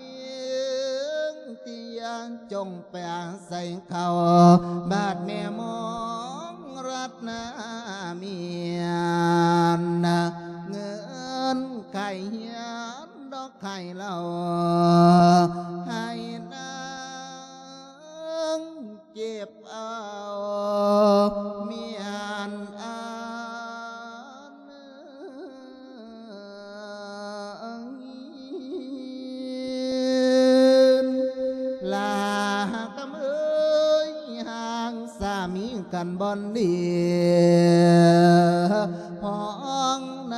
ຍທີ່ຢາກຈົ່ງໄປອາໄສເຂົາ ບາດແມ່ມອງລັດນາເມຍນະ ເງິນໄຂເຮືອນດອກໄຂເຫຼົ້າ ໃຫ້ນາງເກັບ ເອົາເມຍນອັນອື່ນ ລາກຳເອີຍ ຫາກສາມີກັນບ່ອນດີ ພ້ອງໃນ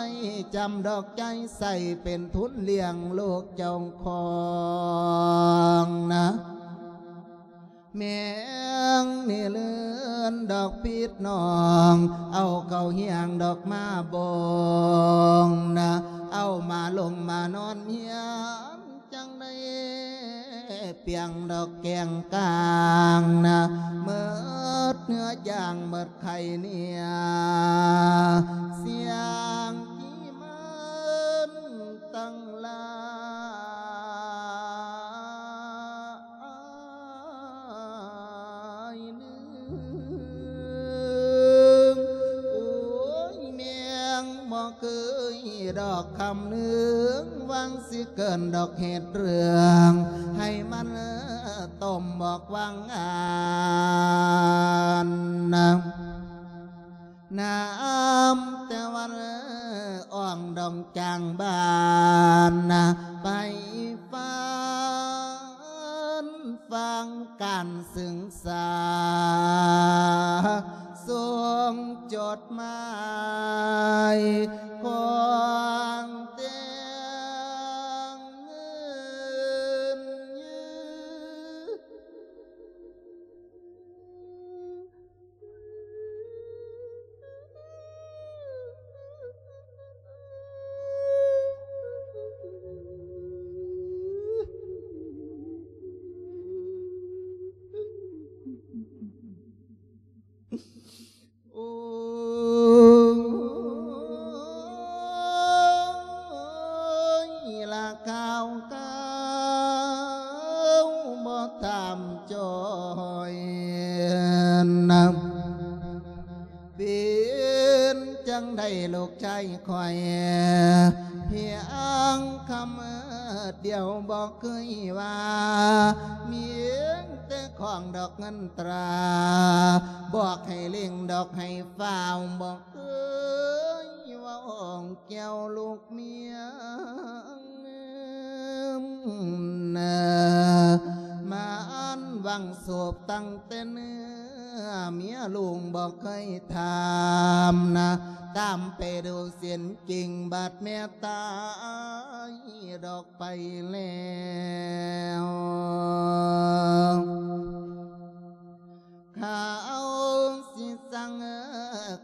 ຈຳດອກໃຈໃສ່ເປັນທຶນລ້ຽງລູກເຈົ້າຂອງນະ. ແມງນີ້ເລື່ອນດອກປິດນ້ອງ ເອົາເຂົ້າຮຽງດອກມາບົງນະ ເອົາມາລົງມານອນຮຽນ ຈັ່ງໄດ້ປ່ຽງດອກແກງກາງນະ ເໝິດເນື້ອຢ່າງເໝິດໄຂ່ເນຍ ສຽງທີ່ມັນຕັ້ງລາ ອາຍໜຶ່ງ ໂອ້ຍ ແມງບໍ່ເຄີຍດອກຄຳນຶງ ຫວັງຊິເກີນດອກເຮັດເລື່ອງ ໃຫ້ມັນຕົ້ມບອກຫວັງອັນນະ. ນຳແຕ່ວັນອ່ອງດອງຈາງບ້ານນະ ໄປຝັນຟັງການສຶກສາ ສົ່ງຈົດໝາຍຂອງແຕ່ງເງິນ ໂອ້ຍ ລະຂ່າວຄາວບໍ່ຖາມຈ່ອຍນຳ ເປັນຈັ່ງໃດລູກຊາຍຂ້ອຍ ພຽງຄຳດຽວບໍ່ເຄີຍວ່າ ມີແຕ່ຂອງດອກເງິນຕາ ບອກໃຫ້ເລັ່ງດອກໃຫ້ຟ້າວ ບໍ່ເຄີຍເວົ້າແກ່ວລູກເມຍ ມາອັນຫວັງສອບຕັ້ງແຕ່ເນື້ອ ເມຍລູກບໍ່ເຄີຍຖາມນະ ຕາມໄປດູເສັ້ນກິ່ງ ບາດແມ່ຕາຍດອກໄປແລ້ວ. ເຂົາຊິສັ່ງ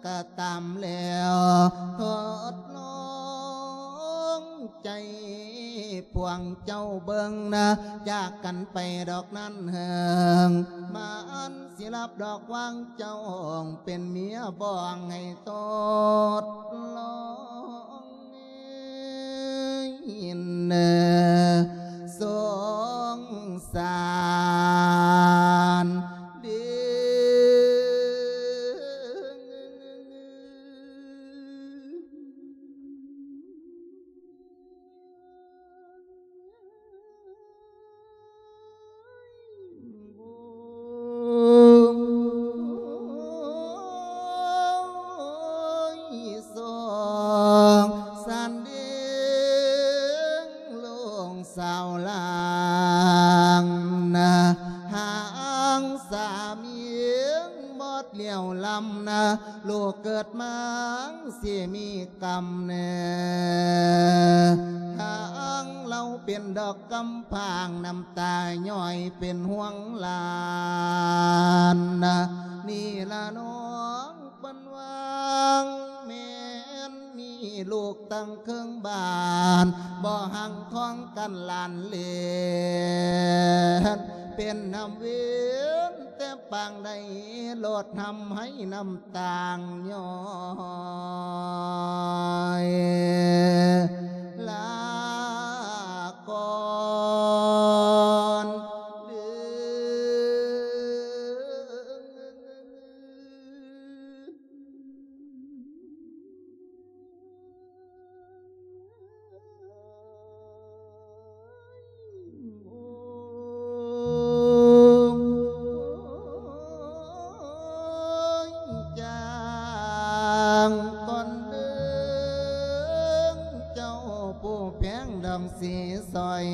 ກະຕາມແລ້ວ ທົດລອງໃຈພວກເຈົ້າເບິ່ງນະ ຈາກກັນໄປດອກນັ້ນເຫິງ ມັນຊິຮັບດອກຫວັງເຈົ້າເປັນເມຍ ບໍ່ໃຫ້ທົດລອງ ເອີຍ ສົງສານເດີ. ໂອ້ຍ ສົງສານເດີ ລູກສາວຫຼາງນະ ຫາງສາມີໝົດລ້ຽວລຳນະ ລູກເກີດມາຊິມີກຳເນີ ທາງລາວເປັນດອກກຳພ້າງ ນ້ຳຕາຍ້ອຍເປັນຫ່ວງຫຼານນະ ນີ້ລະນ້ອງເພິ່ນວ່າ ແມ່ນມີລູກຕັ້ງເຄິ່ງບ້ານ ບໍ່ຮັ່ງທ້ອງກັນຫຼານເລນ ເປັນນ້ຳເວນແຕ່ປາງໃດ ໂລດທຳໃຫ້ນ້ຳ ຕ່າງຍ້ອຍຫຼາ ຊິສອຍ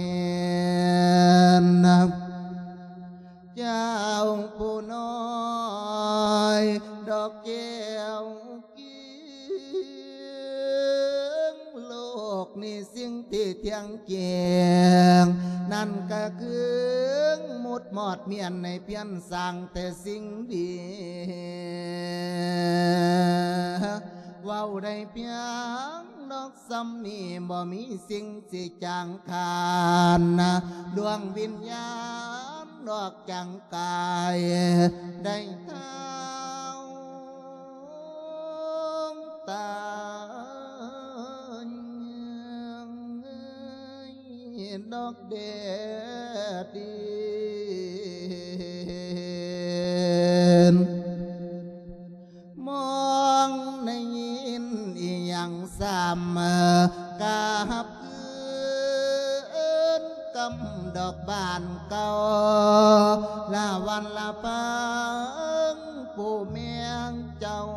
ເຈົ້າຜູ້ນ້ອຍ ດອກແກ້ວກິງ ໂລກນີ້ສິ່ງທີ່ທ່ຽງແຈ້ງ ນັ້ນກະຄືໝົດມອດ ມຽນໃນພຽນສ້າງແຕ່ສິ່ງດີ ເວົ້າໄດ້ພຽງດອກ ສ່ຳນີ້ ບໍ່ມີສິ່ງຊິຈາງຄານ ດວງວິນຍານອອກຈາກກາຍ ໄດ້ທ້າວຕາຍ ດອກແດດດິນ ມອງໄດ້ຍິນອີ່ຫຍັງຊ້ຳ ກະຮັບຄືນກຳດອກບ້ານເກົ່າ ລະວັນລະເພິງ ຜູ້ແມ່ນເຈົ້າ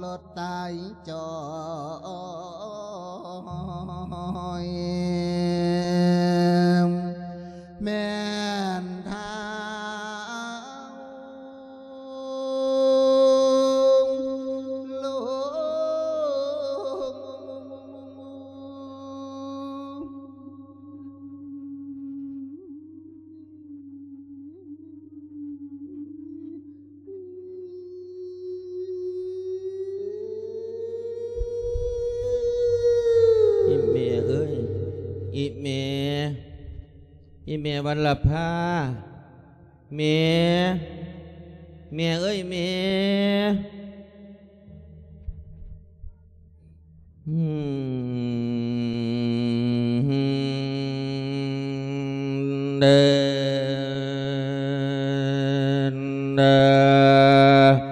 ລົດຕາຍຈ່ອຍ ແມ່ນທ້າວ ອີแม่เอ้ย อีแม่ อีแม่วัลลภา แม่ แม่เอ้ย แม่ อืม เดิน เดิน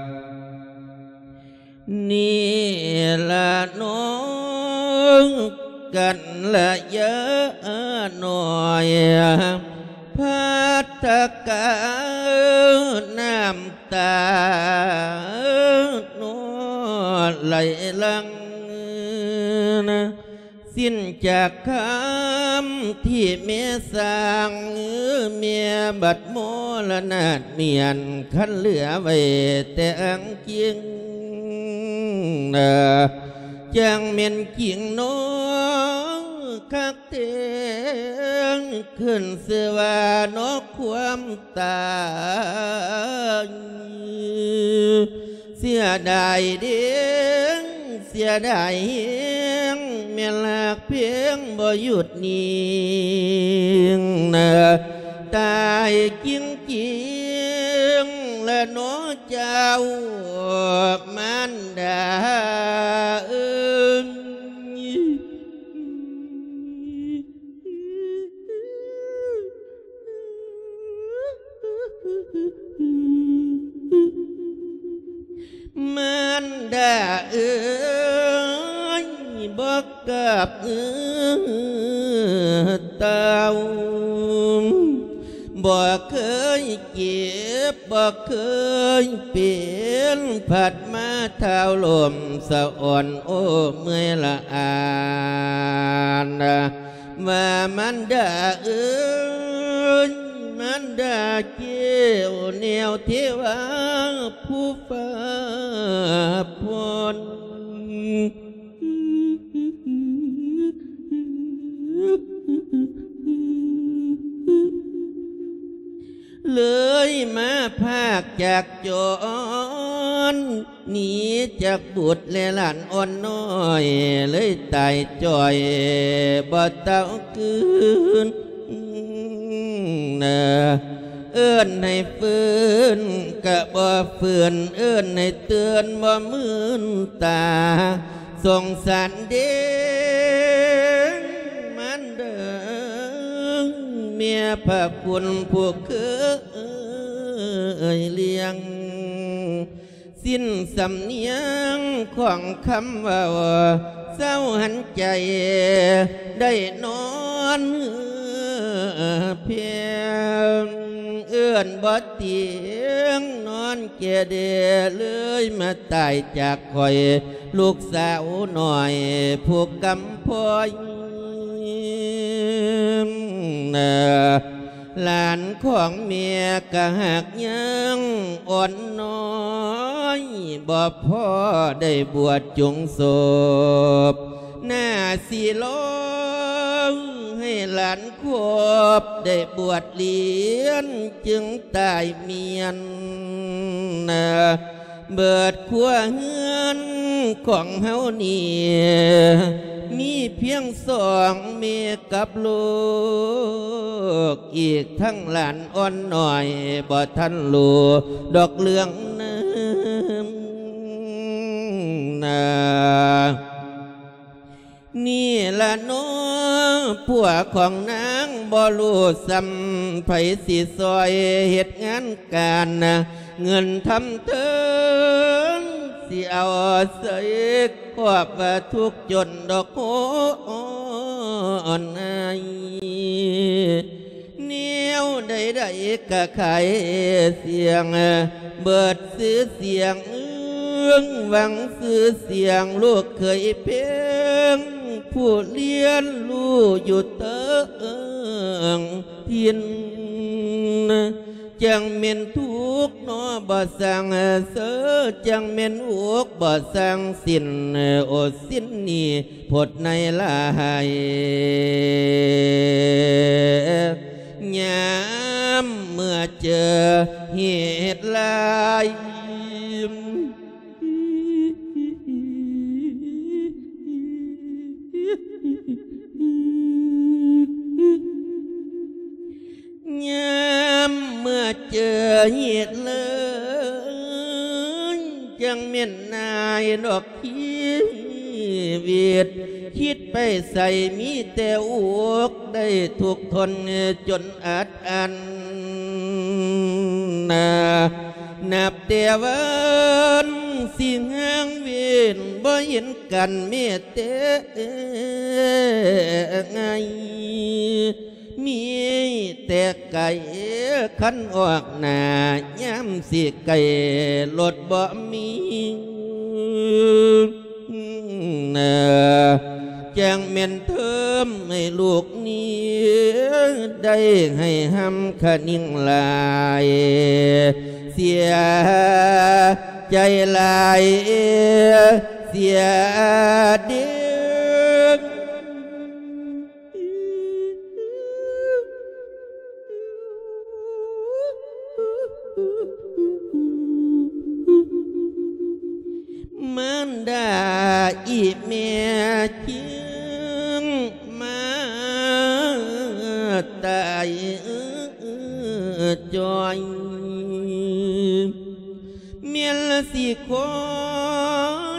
ນີ້ละน้อง กัลยาณน้อย พัทธกา น้ำตาน้อไหลหลั่ง สิ้นจากคำที่แม่สร้าง แม่บัดมรณะเมียน คันเหลือไว้แต่อังกิง จั่งแม่นจริงน้อคักแท้ ขึ้นชื่อว่านอความตาย เสียดายเด้ เสียดายแฮง แม่นฮักแพงบ่หยุดนิ่ง ตายจริงๆ ละน้อเจ้า มารดาเอ๋ย มารดาเอ๋ย บ่กราบเอื้อเต้า บ่เคยเจ็บ บ่เคยเป็น ผัดมาเท้าลมสะอ่อน โอ้ เมื่อยละอา ว่ามารดาเอ๋ย มารดาแก้วแนวเทวาผู้ฟ้าพร เลยมาพรากจากจร หนีจากบุตรและหลานอ่อนน้อย เลยตายจ้อยบ่เต้าคืน เอิ้นให้ฟื้นกะบ่ฟื้น เอิ้นให้ตื่นบ่มื่นตา สงสารเด้ มารดา แม่พระคุณผู้เคยเลี้ยง สิ้นสำเนียงของคำเว้า เศร้าหันใจได้นอนเพียง เอิ้นบ่เตียงนอนแก่เด เลยมาตายจากข้อย ลูกสาวน้อยผู้กำพร้อย ຫຼານຂອງແມ່ກະຫາກຍັງອ່ອນນ້ອຍ ບໍ່ພໍໄດ້ບວດຈົງສົບ ໜ້າຊິລອງໃຫ້ຫຼານຄົບໄດ້ບວດລຽນ ຈຶ່ງຕາຍເມຍນ ເບິດຄົວເຮືອນຂອງເຮົານີ້ ມີພຽງສອງແມ່ກັບລູກ ອີກທັງຫຼານອ່ອນນ້ອຍ ບໍ່ທັນຮູ້ດອກເລື່ອງນັ້ນນາ. ນີ້ລະເນາະ ຜົວຂອງນາງບໍ່ຮູ້ສ່ຳ ໃຜຊິຊ່ອຍເຮັດງານການ ເງິນທຳເທີນ ຊິເອົາໃສ່ຄອບວ່າທຸກຈົນດອກໂຫອ່ອນອາຍ ແນວໃດໆກະຂາຍສ່ຽງ ເບິດຊື່ສຽງ ເອີງຫວັງຊື່ສຽງ ລູກເຂີຍເພງ ຜູ້ລຽນຮູ້ຢູ່ເທິງຖິ່ນ ຈັ່ງແມ່ນທຸກເນາະບໍ່ຊ່າງເຊີ ຈັ່ງແມ່ນອຸກບໍ່ຊ່າງສິ້ນ ໂອສິ້ນນີ້ ພົດໃນຫຼາຍ ຍາມເມື່ອເຈີເຫດລາຍ ຍາມເມື່ອເຈີເຫດລາຍ ຈັ່ງແມ່ນນາຍດອກ ຊີວິດ ຄິດໄປໃສມີແຕ່ອຸກ ໄດ້ທຸກທົນຈົນອັດອັນນາ ນັບແຕ່ວັນຊິຫ່າງເວັ້ນ ບໍ່ເຫັນກັນແມ້ແຕ່ໄງ ມີແຕ່ໄກຄັນອອກໜ້າ ຍາມຊິໄກລົດບໍ່ມີ ຈັ່ງແມ່ນເທີມໃຫ້ລູກນີ້ ໄດ້ໃຫ້ຮ່ຳຄະນິງຫຼາຍ ເສຍໃຈຫຼາຍ ເສຍເດ. ມານດາອີແມ່ຈຶ່ງມາຕາຍຈ່ອຍ ແມ່ນລະຊິຄອ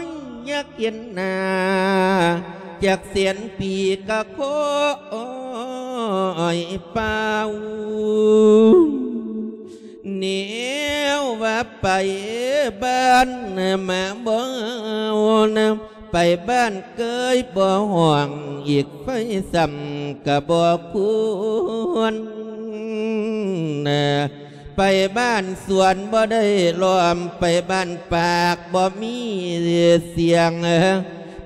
ຍຢາກເຫັນໜ້າ ຈັກແສນປີກະຂໍອອຍປ່າວ ແນວວ່າໄປບ້ານມາບໍ່ເອົານຳ ໄປບ້ານເກີຍບໍ່ຮ້ອງ ອີກໄຟຊ້ຳກະບໍ່ຄວນ ໄປບ້ານສວນບໍ່ໄດ້ລ້ອມ ໄປບ້ານປາກບໍ່ມີສຽງ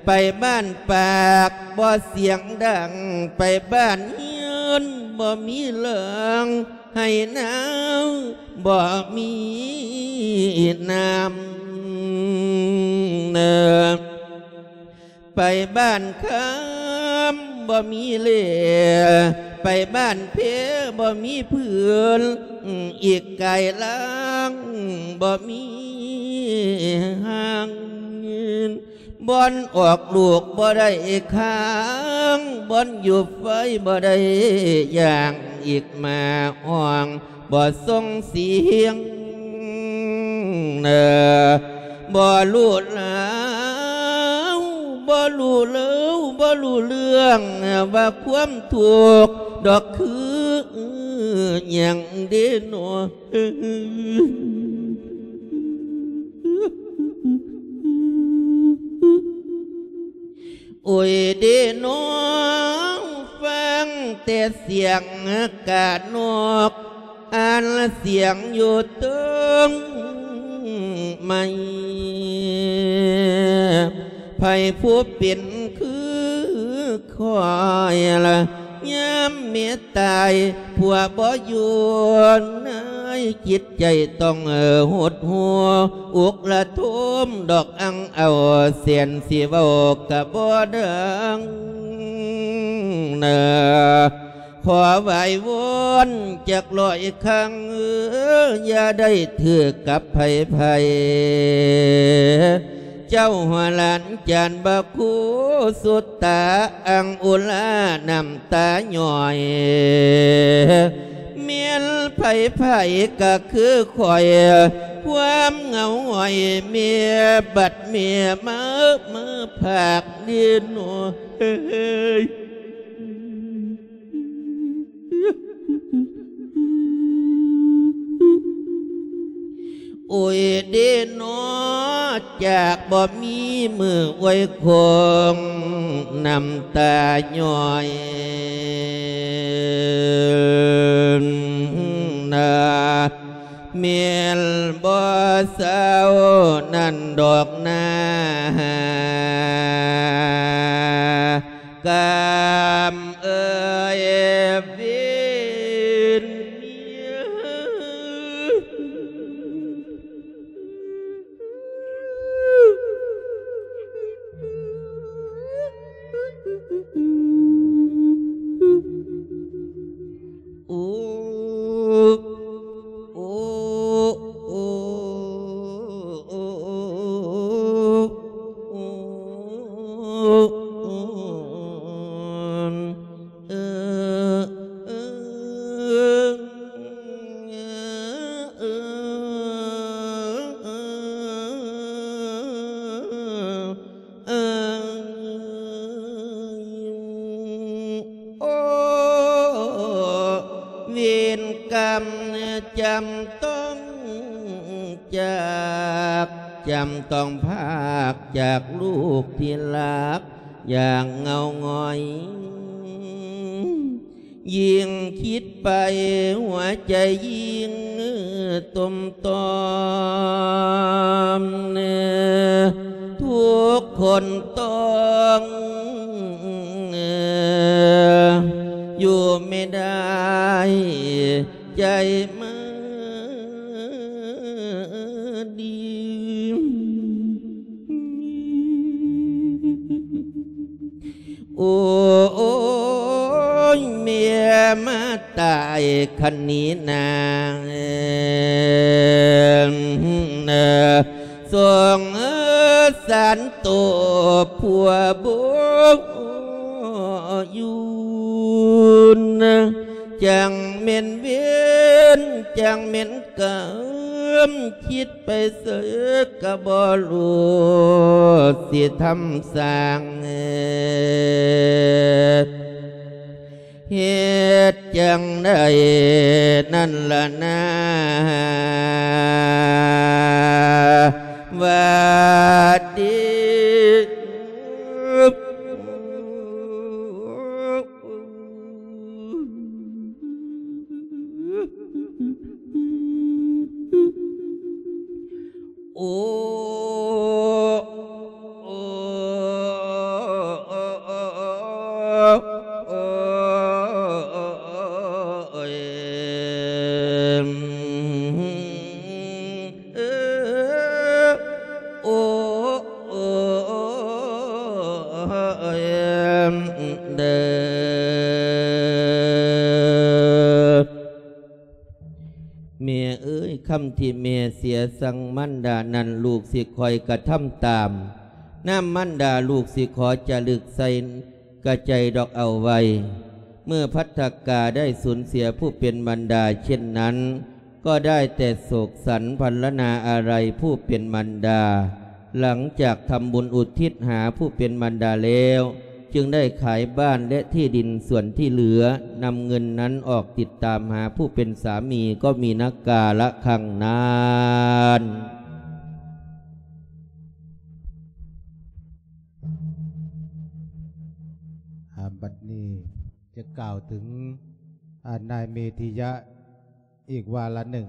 ໄປບ້ານປາກບໍ່ສຽງດັງ ໄປບ້ານເຮືອນບໍ່ມີເລື່ອງ ໄຮ່ນາບໍ່ມີນ້ຳ ໄປບ້ານຄຳບໍ່ມີເລ່ ໄປບ້ານເພບໍ່ມີຜືນ ອີກກາຍລ່າງບໍ່ມີຮ່າງ ບ່ອນອອກລູກບໍ່ໄດ້ຄ້າງ ບ່ອນຢູ່ໄຟບໍ່ໄດ້ຢ່າງ ອີກມາຮ້ອງບໍ່ສົ່ງສຽງ ບໍ່ຮູ້ລາວ ບໍ່ຮູ້ເລີວ ບໍ່ຮູ້ເລື່ອງ ວ່າຄວາມທຸກດອກຄືຫຍັງເດເນາະ. ໂອ້ຍເດນ້ອງ ຟັງແຕ່ສຽງການົກ ອັນສຽງຢູ່ເທິງໄມ້ ໃຜຜູ້ເປັນຄືຂ້ອຍລະ ຍາມເມຍຕາຍຜົວບໍ່ຢູ່ ໃນຈິດໃຈຕ້ອງຫົດຫູ ອຸກລະທົມດອກອັ່ງເອົາ ແສນຊິເວົ້າກະບໍ່ດັງນາ ຂໍໄຫວ້ວອນຈັກຮ້ອຍຄັ້ງ ຢ່າໄດ້ຖືກກັບໃຜໆ ເຈົ້າຫົວຫຼານຈານບາຄູ ສຸດຕາອັງອຸລາ ນ້ຳຕາຍ້ອຍ ແມ່ນໃຜໆກະຄືຂ້ອຍ ຄວາມເຫງົາຫງອຍເມຍ ບັດເມຍມາ ມາພາກເດໂນເອີຍ. ໂອຍເດເນາະ ຈາກບໍ່ມີມື້ອວຍຄົງ ນ້ຳຕາຍ້ອຍນາ ແມ່ນບໍ່ເຊົານັ້ນດອກນາ ກາມເອີຍເວນເມຍ. ໂອ ເວນກຳຈຳຕ້ອງຈາກ ຈຳຕ້ອງພາກຈາກລູກທີ່ຮັກຢ່າງເຫງົາຫງອຍ ຍິ່ງຄິດໄປຫົວໃຈຍິ່ງຕົມຕອມ ທຸກຄົນຕ້ອງຢູ່ໄມ່ໄດ້ ໃຈມາດີ ໂອ້ຍ ເມຍມາຕາຍຄັນນີ້ນາ ສົງສານໂຕຜົວບໍ່ຢູ່ນ ຈັ່ງແມ່ນເວນ ຈັ່ງແມ່ນກຳ ຄິດໄປໃສກະບໍ່ຮູ້ ຊິທຳສ້າງເຮັດຈັ່ງໃດນັ້ນລະນາ ວ່າດີ. ໂອ ໂອ ໂອ ໂອ ໂອ ໂອ ໂອ ໂອ ເອີ ໂອ ໂອ ເອີ ເດີ ແມ່ເອີຍ ຄຳທີ່ແມ່ເສຍສັ່ງມານດານັ້ນ ລູກຊິຄອຍກະທຳຕາມ. ນາມມານດາລູກຊິຂໍຈະລຶກໃສ່ກະໃຈດອກເອົາໄວ້. ເມື່ອພັດທະກາໄດ້ສູນເສຍຜູ້ເປັນມານດາເຊັ່ນນັ້ນ ກໍໄດ້ແຕ່ໂສກສັນພັນລະນາອາໄລຜູ້ເປັນມານດາ. ຫຼັງຈາກທຳບຸນອຸທິດຫາຜູ້ເປັນມານດາແລ້ວ ຈຶ່ງໄດ້ຂາຍບ້ານ ແລະ ທີ່ດິນສ່ວນທີ່ເຫຼືອ, ນຳເງິນນັ້ນອອກຕິດຕາມຫາຜູ້ເປັນສາມີ ກໍມີນະກາລະຄັ້ງນັ້ນ. ອາ ບັດນີ້ຈະກ່າວເຖິງ ອາ ນາຍເມທິຍະອີກວາລະໜຶ່ງ,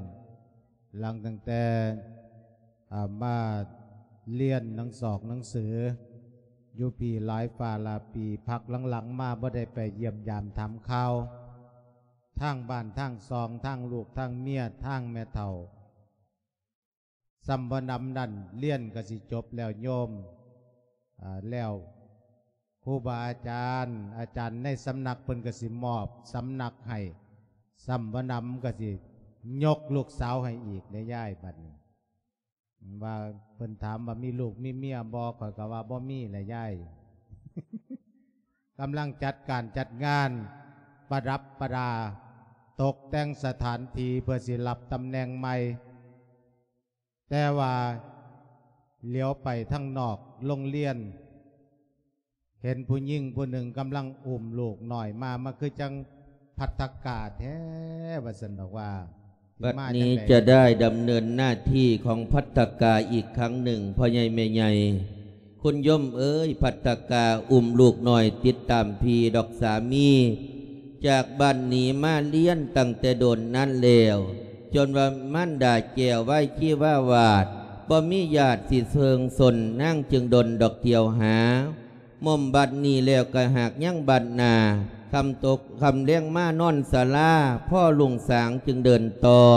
ຫຼັງຕັ້ງແຕ່ ອາ ມາລຽນໜັງສອກໜັງສື ຢູ່ພີ້ຫຼາຍຟ້າຫຼາຍປີ ພັກຫຼັງໆມາບໍ່ໄດ້ໄປຢ້ຽມຢາມຖາມຂ່າວ ທາງບ້ານທາງຊ່ອງ ທາງລູກທາງເມຍ ທາງແມ່ເຖົ້າ ສ່ຳບໍ່ນຳນັ້ນ ຮຽນກໍຊິຈົບແລ້ວໂຍມ ອາ ແລ້ວຄູບາອາຈານ ອາຈານໃນສຳນັກເພິ່ນກໍຊິມອບສຳນັກໃຫ້ ສ່ຳບໍ່ນຳກໍຊິຍົກລູກສາວໃຫ້ອີກເດ້ຍາຍ ບັດນີ້ ວ່າເພິ່ນຖາມວ່າມີລູກມີເມຍບໍ່ ຂ້ອຍກໍວ່າບໍ່ມີແຫຼະຍາຍ ກຳລັງຈັດການຈັດງານ ປະດັບປະດາ ຕົກແຕ່ງສະຖານທີ່ເພື່ອຊິຮັບຕຳແໜ່ງໃໝ່ ແຕ່ວ່າຫຼຽວໄປທາງນອກໂຮງຮຽນ ເຫັນຜູ້ຍິງຜູ້ໜຶ່ງກຳລັງອຸ້ມລູກນ້ອຍມາ ມາຄືຈັ່ງພັດທະກາແທ້ ວ່າຊັ້ນດອກວ່າ ບັດນີ້ຈະໄດ້ດຳເນີນໜ້າທີ່ຂອງພັດທະກາອີກຄັ້ງໜຶ່ງ ພໍ່ໃຫຍ່ແມ່ໃຫຍ່ ຄຸນໂຍມເອີຍ ພັດທະກາອຸ້ມລູກນ້ອຍຕິດຕາມພີ້ດອກສາມີ ຈາກບ້ານໜີມາຮຽນຕັ້ງແຕ່ດົນນັ້ນແລ້ວ ຈົນວ່າມານດາແກ້ວໄວຊີວາວາດ ບໍ່ມີຍາດຊິເຊີງຊົນ ນາງຈຶ່ງດົນດອກທ່ຽວຫາ ໝົມບັດນີ້ແລ້ວກະຫາກຍັງບັດໜ້າ ຄ່ຳຕົກຄ່ຳແລງມານອນສາລາ ພໍລຸງສາງຈຶ່ງເດີນຕໍ່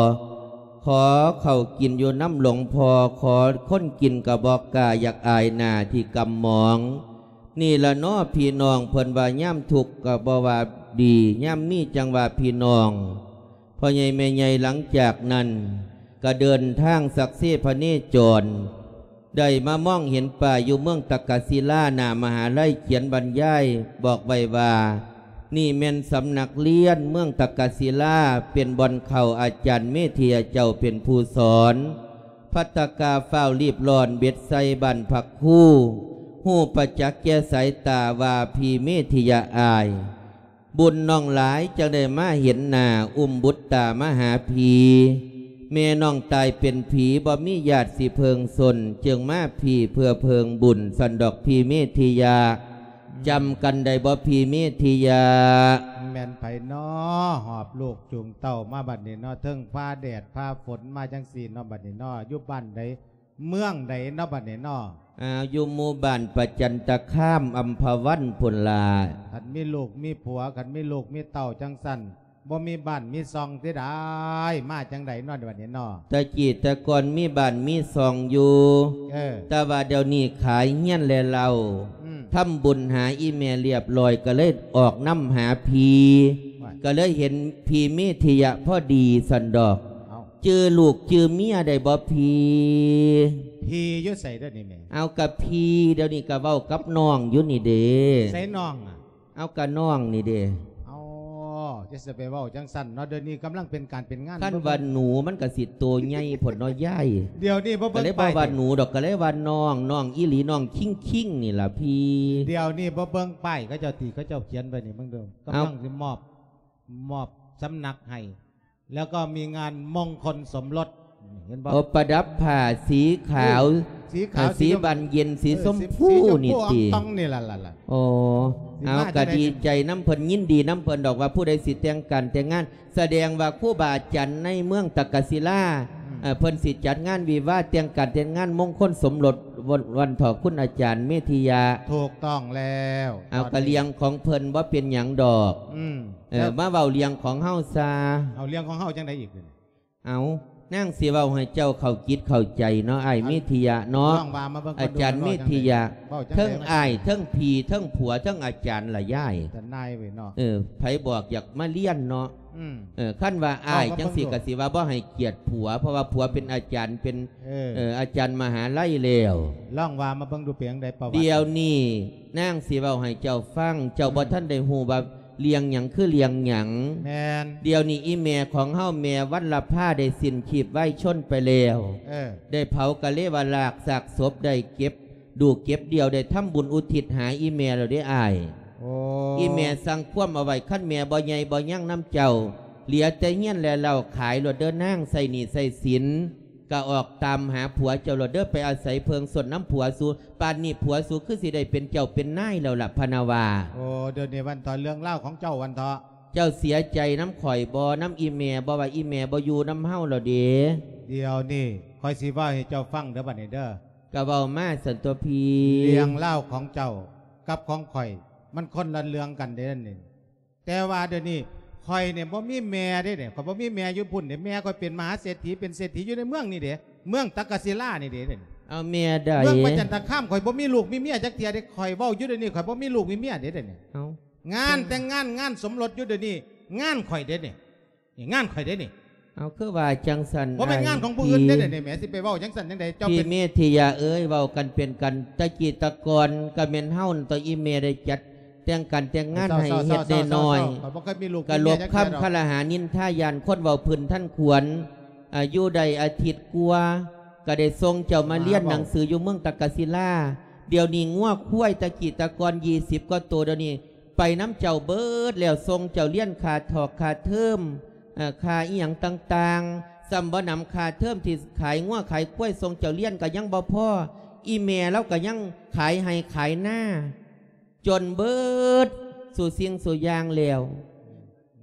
ຂໍເຂົ້າກິນຢູ່ນຳຫຼວງພໍ່ ຂໍຄົນກິນກະບໍ່ກ້າ ຢາກອາຍໜ້າທີ່ກຳໝອງ ນີ້ລະເນາະພີ່ນ້ອງ ເພິ່ນວ່າຍາມທຸກກະບໍ່ວ່າດີ ຍາມມີຈັ່ງວ່າພີ່ນ້ອງ ພໍ່ໃຫຍ່ແມ່ໃຫຍ່ ຫຼັງຈາກນັ້ນກະເດີນທາງສັກເຊພະເນຈອນ ໄດ້ມາມອງເຫັນປ້າຍຢູ່ເມືອງຕັກກະສິລາ ໜ້າມະຫາໄລ ຂຽນບັນຍາຍບອກໄວ້ວ່າ ນີ້ແມ່ນສຳນັກຮຽນເມືອງຕັກກະສິລາ ເປັນບ່ອນເຂົ້າ ອາຈານເມທິຍະເຈົ້າເປັນຜູ້ສອນ ພັດທະກາຟ້າວລີບລ້ອນເບັດໃສ່ບ້ານພັກຄູ ຮູ້ປະຈັກແກ່ສາຍຕາວ່າ ພີ້ເມທິຍະອ້າຍ ບຸນນ້ອງຫຼາຍ ຈັ່ງໄດ້ມາເຫັນໜ້າ ອຸ້ມບຸດຕາມາຫາພີ້ ແມ່ນ້ອງຕາຍເປັນຜີ ບໍ່ມີຍາດຊິເພິ່ງຊົນ ຈຶ່ງມາພີ້ເພື່ອເພິ່ງບຸນ ຊັ້ນດອກ ພີ້ເມທິຍະ ອືມ ຈຳກັນໄດ້ບໍ່ ພີ້ເມທິຍະ? ແມ່ນໃຜນໍ ຫອບລູກຈູງເຕົ້າມາບັດນີ້ນໍ ເທິງຟ້າແດດຟ້າຝົນມາຈັ່ງຊີ້ນໍ ບັດນີ້ນໍ ຢູ່ບ້ານໃດ ເມືອງໃດເນາະບັດນີ້ເນາະ? ອ່າ ຢູ່ໝູ່ບ້ານປະຈັນຕະຄາມ ອຳພະວັນພຸ້ນລະ. ຄັນມີລູກມີຜົວ ຄັນມີລູກມີເຕົ້າຈັ່ງຊັ້ນ ບໍ່ມີບ້ານມີຊ່ອງຕິດາຍ ມາຈັ່ງໃດເນາະບັດນີ້ເນາະ? ແຕ່ກີ້ແຕ່ກ່ອນມີບ້ານມີຊ່ອງຢູ່ ເອີ ແຕ່ວ່າດຽວນີ້ຂາຍເຮືອນແລະເລົ້າ ອືມ ທຳບຸນຫາອີ່ແມ່ລຽບລ້ອຍ ກໍເລີຍອອກນຳຫາພີ້ ວ່າ ກໍເລີຍເຫັນພີ້ເມທິຍະພໍດີຊັ້ນດອກ. ເອົ້າ ຈື່ລູກຈື່ເມຍໄດ້ບໍ່ພີ້? ພີ້ຢູ່ໃສດຽວນີ້ແມ່? ເອົາ ກະພີ້ ດຽວນີ້ກະເວົ້າກັບນ້ອງຢູ່ນີ້ເດ້. ໃສນ້ອງອະ? ເອົາ ກະນ້ອງນີ້ເດ້. ອໍ ຈະຊິໄປເວົ້າຈັ່ງຊັ້ນເນາະ ດຽວນີ້ກຳລັງເປັນການເປັນງານ. ຄັນວ່າໜູມັນກະຊິໂຕໃຫຍ່ພຸ້ນເນາະຍາຍ. ດຽວນີ້ບໍ່ເບິ່ງປ້າຍ ກະເລີຍບໍ່ວ່າໜູດອກ ກະເລີຍວ່ານ້ອງ ນ້ອງອີ່ຫຼີ ນ້ອງຄິງໆ ນີ້ລະພີ້. ດຽວນີ້ບໍ່ເບິ່ງປ້າຍເຂົາເຈົ້າຕິ ເຂົາເຈົ້າຂຽນໄວ້ນີ້ ເບິ່ງເດີ ກຳລັງຊິມອບ ມອບສຳນັກໃຫ້ ແລ້ວກໍມີງານມົງຄົນສົມລົດ ເຫັນບໍ່? ໂອ ປະດັບຜ້າສີຂາວ ເອີ ສີຂາວ ເອີ ສີບານເຢັນ ສີ ເອີ ຊົມພູ ສີ ສີຊົມພູ ນີ້ອ່ອງ ຕິ ຕອງນີ້ລະ ລະ ລະ. ໂອ ເອົາ ກະດີໃຈນຳເພິ່ນ ຍິນດີນຳເພິ່ນດອກວ່າ ຜູ້ໃດຊິແຕ່ງການແຕ່ງງານ ສະແດງວ່າຄູບາອາຈານໃນເມືອງຕັກກະສິລາ ອືມ ເອີ ເພິ່ນຊິຈັດງານວິວາ ແຕ່ງການແຕ່ງງານມົງຄົນສົມລົດ ວັນ ວັນເຖາະ ຄຸນອາຈານເມທິຍະ. ຖືກຕ້ອງແລ້ວ. ເອົາ ກະເລື່ອງຂອງເພິ່ນ ບໍ່ເປັນຫຍັງດອກ. ອືມ. ເອີ ແລ້ວ ມາເວົ້າເລື່ອງຂອງເຮົາຊະ. ເອົາ ເລື່ອງຂອງເຮົາຈັ່ງໃດອີກ? ເອົາ ນາງຊິເວົ້າໃຫ້ເຈົ້າເຂົ້າຈິດເຂົ້າໃຈເນາະ ອ້າຍເມທິຍະເນາະ. ອາຈານເມທິຍະ ເວົ້າຈັ່ງໃດ? ເຖິງອ້າຍ ເຖິງພີ່ ເຖິງຜົວ ເຖິງອາຈານລະຍາຍ. ເອີ ໃຜບອກຢາກມາຮຽນເນາະ. ອືມ. ເອີ ຄັນວ່າອ້າຍຈັ່ງຊີ້ກະຊິວ່າບໍ່ໃຫ້ກຽດຜົວ ເພາະວ່າຜົວເປັນອາຈານ ເປັນ ເອີ ເອີ ອາຈານມະຫາໄລແລ້ວ. ລອງວ່າມາເບິ່ງດູເປັນຈັ່ງໃດປະຫວັດ. ດຽວນີ້ນາງຊິເວົ້າໃຫ້ເຈົ້າຟັງ ເຈົ້າ ອືມ ບໍ່ທັນໄດ້ຮູ້ວ່າເລື່ອງຫຍັງຄືເລື່ອງຫຍັງ. ແມ່ນ. ດຽວນີ້ອີ່ແມ່ຂອງເຮົາ ແມ່ວັນລະພາ ໄດ້ສິ້ນຊີບວາຍຊົນໄປແລ້ວ. ເອີ. ໄດ້ເຜົາກະເລວະລາກຊາກສົບ ໄດ້ເກັບ ດູເກັບດ່ຽວ ໄດ້ທຳບຸນອຸທິດຫາອີ່ແມ່ແລ້ວເດ້ອ້າຍ. ໂອ້ ອີ່ແມ່ສັ່ງຄວາມເອົາໄວ້ ຄັນແມ່ບໍ່ໃຫຍ່ບໍ່ຍັງນຳເຈົ້າ ເຫຼືອແຕ່ເຮືອນແລະເລົ້າຂາຍໂລດເດີນາງ ໃຊ້ໜີ້ໃຊ້ສິນ ກະອອກຕາມຫາຜົວເຈົ້າໂລດເດີ ໄປອາໄສເພິ່ງຊົນນຳຜົວສູ. ປານນີ້ຜົວສູຄືຊິໄດ້ເປັນເຈົ້າເປັນນາຍແລ້ວລະ ພະນະວ່າ. ໂອ້ ດຽວນີ້ວັນເຖາະ ເລື່ອງລາວຂອງເຈົ້າວັນເຖາະ ເຈົ້າເສຍໃຈນຳຂ້ອຍບໍ່ ນຳອີ່ແມ່ບໍ່ ວ່າອີ່ແມ່ບໍ່ຢູ່ນຳເຮົາແລ້ວເດ. ດຽວນີ້ຂ້ອຍຊິເວົ້າໃຫ້ເຈົ້າຟັງເດີ ບັດນີ້ເດີ. ກໍເວົ້າມາຊັ້ນຕົວພີ່. ເລື່ອງລາວຂອງເຈົ້າກັບຂອງຂ້ອຍ ມັນຄົນລະເລື່ອງກັນເດ້ນີ້. ແຕ່ວ່າດຽວນີ້ຂ້ອຍນີ້ບໍ່ມີແມ່ເດ້ນີ້ ຂ້ອຍບໍ່ມີແມ່ຢູ່ພຸ້ນເດ້. ແມ່ຂ້ອຍເປັນມະຫາເສດຖີ ເປັນເສດຖີຢູ່ໃນເມືອງນີ້ເດ້ ເມືອງຕັກກະສິລານີ້ເດ້. ເອົາແມ່ໃດ? ເມືອງປະຈັນຕະຄາມ. ຂ້ອຍບໍ່ມີລູກມີເມຍຈັກເທື່ອເດ້. ຂ້ອຍເວົ້າຢູ່ດຽວນີ້ ຂ້ອຍບໍ່ມີລູກມີເມຍເດ້ນີ້. ເອົາ ງານແຕ່ງງານ ງານສົມລົດຢູ່ດຽວນີ້ ງານຂ້ອຍເດ້ນີ້. ນີ້ງານຂ້ອຍເດ້ນີ້. ເອົາ ຄືວ່າຈັ່ງຊັ້ນ? ບໍ່ແມ່ນງານຂອງຜູ້ອື່ນເດ້ນີ້. ແມ່ຊິໄປເວົ້າຈັ່ງຊັ້ນຈັ່ງໃດ? ເຈົ້າເປັນ ພີ່ເມທິຍາເອີຍ ເວົ້າກັນເປັນກັນ. ຕະກີ້ຕະກ່ອນກໍແມ່ນເຮົານັ້ນຕົວະ ອີ່ແມ່ໄດ້ຈັດແຕ່ງການແຕ່ງງານໃຫ້ເຮັດນ້ອຍໆ. ຂ້ອຍບໍ່ເຄີຍມີລູກມີເມຍຈັກເທື່ອດອກ. ກໍຫຼົບຄຳຄະລະຫານິນທາ ຢ້ານຄົນເວົ້າພື້ນທັນຂວັນ. ອາ ຢູ່ໄດ້ອາທິດກວ່າ ກໍໄດ້ສົ່ງເຈົ້າມາຮຽນໜັງສືຢູ່ເມືອງຕັກກະສິລາ. ດຽວນີ້ງົວຄວາຍ ຕະກີ້ຕະກ່ອນ ຊາວກວ່າໂຕ ດຽວນີ້ ໄປນຳເຈົ້າເບິດແລ້ວ. ສົ່ງເຈົ້າຮຽນຄ່າຖອກຄ່າເທີມ ເອີ ຄ່າອີ່ຫຍັງຕ່າງໆ. ສ່ຳບໍ່ໜຳຄ່າເທີມທີ່ຂາຍງົວຂາຍຄວາຍສົ່ງເຈົ້າຮຽນກໍຍັງບໍ່ພໍ. ອີ່ແມ່ລາວກໍຍັງຂາຍໄຮ່ຂາຍນາ ຈົນເບິດສູ່ສິ່ງສູ່ຢ່າງແລ້ວ.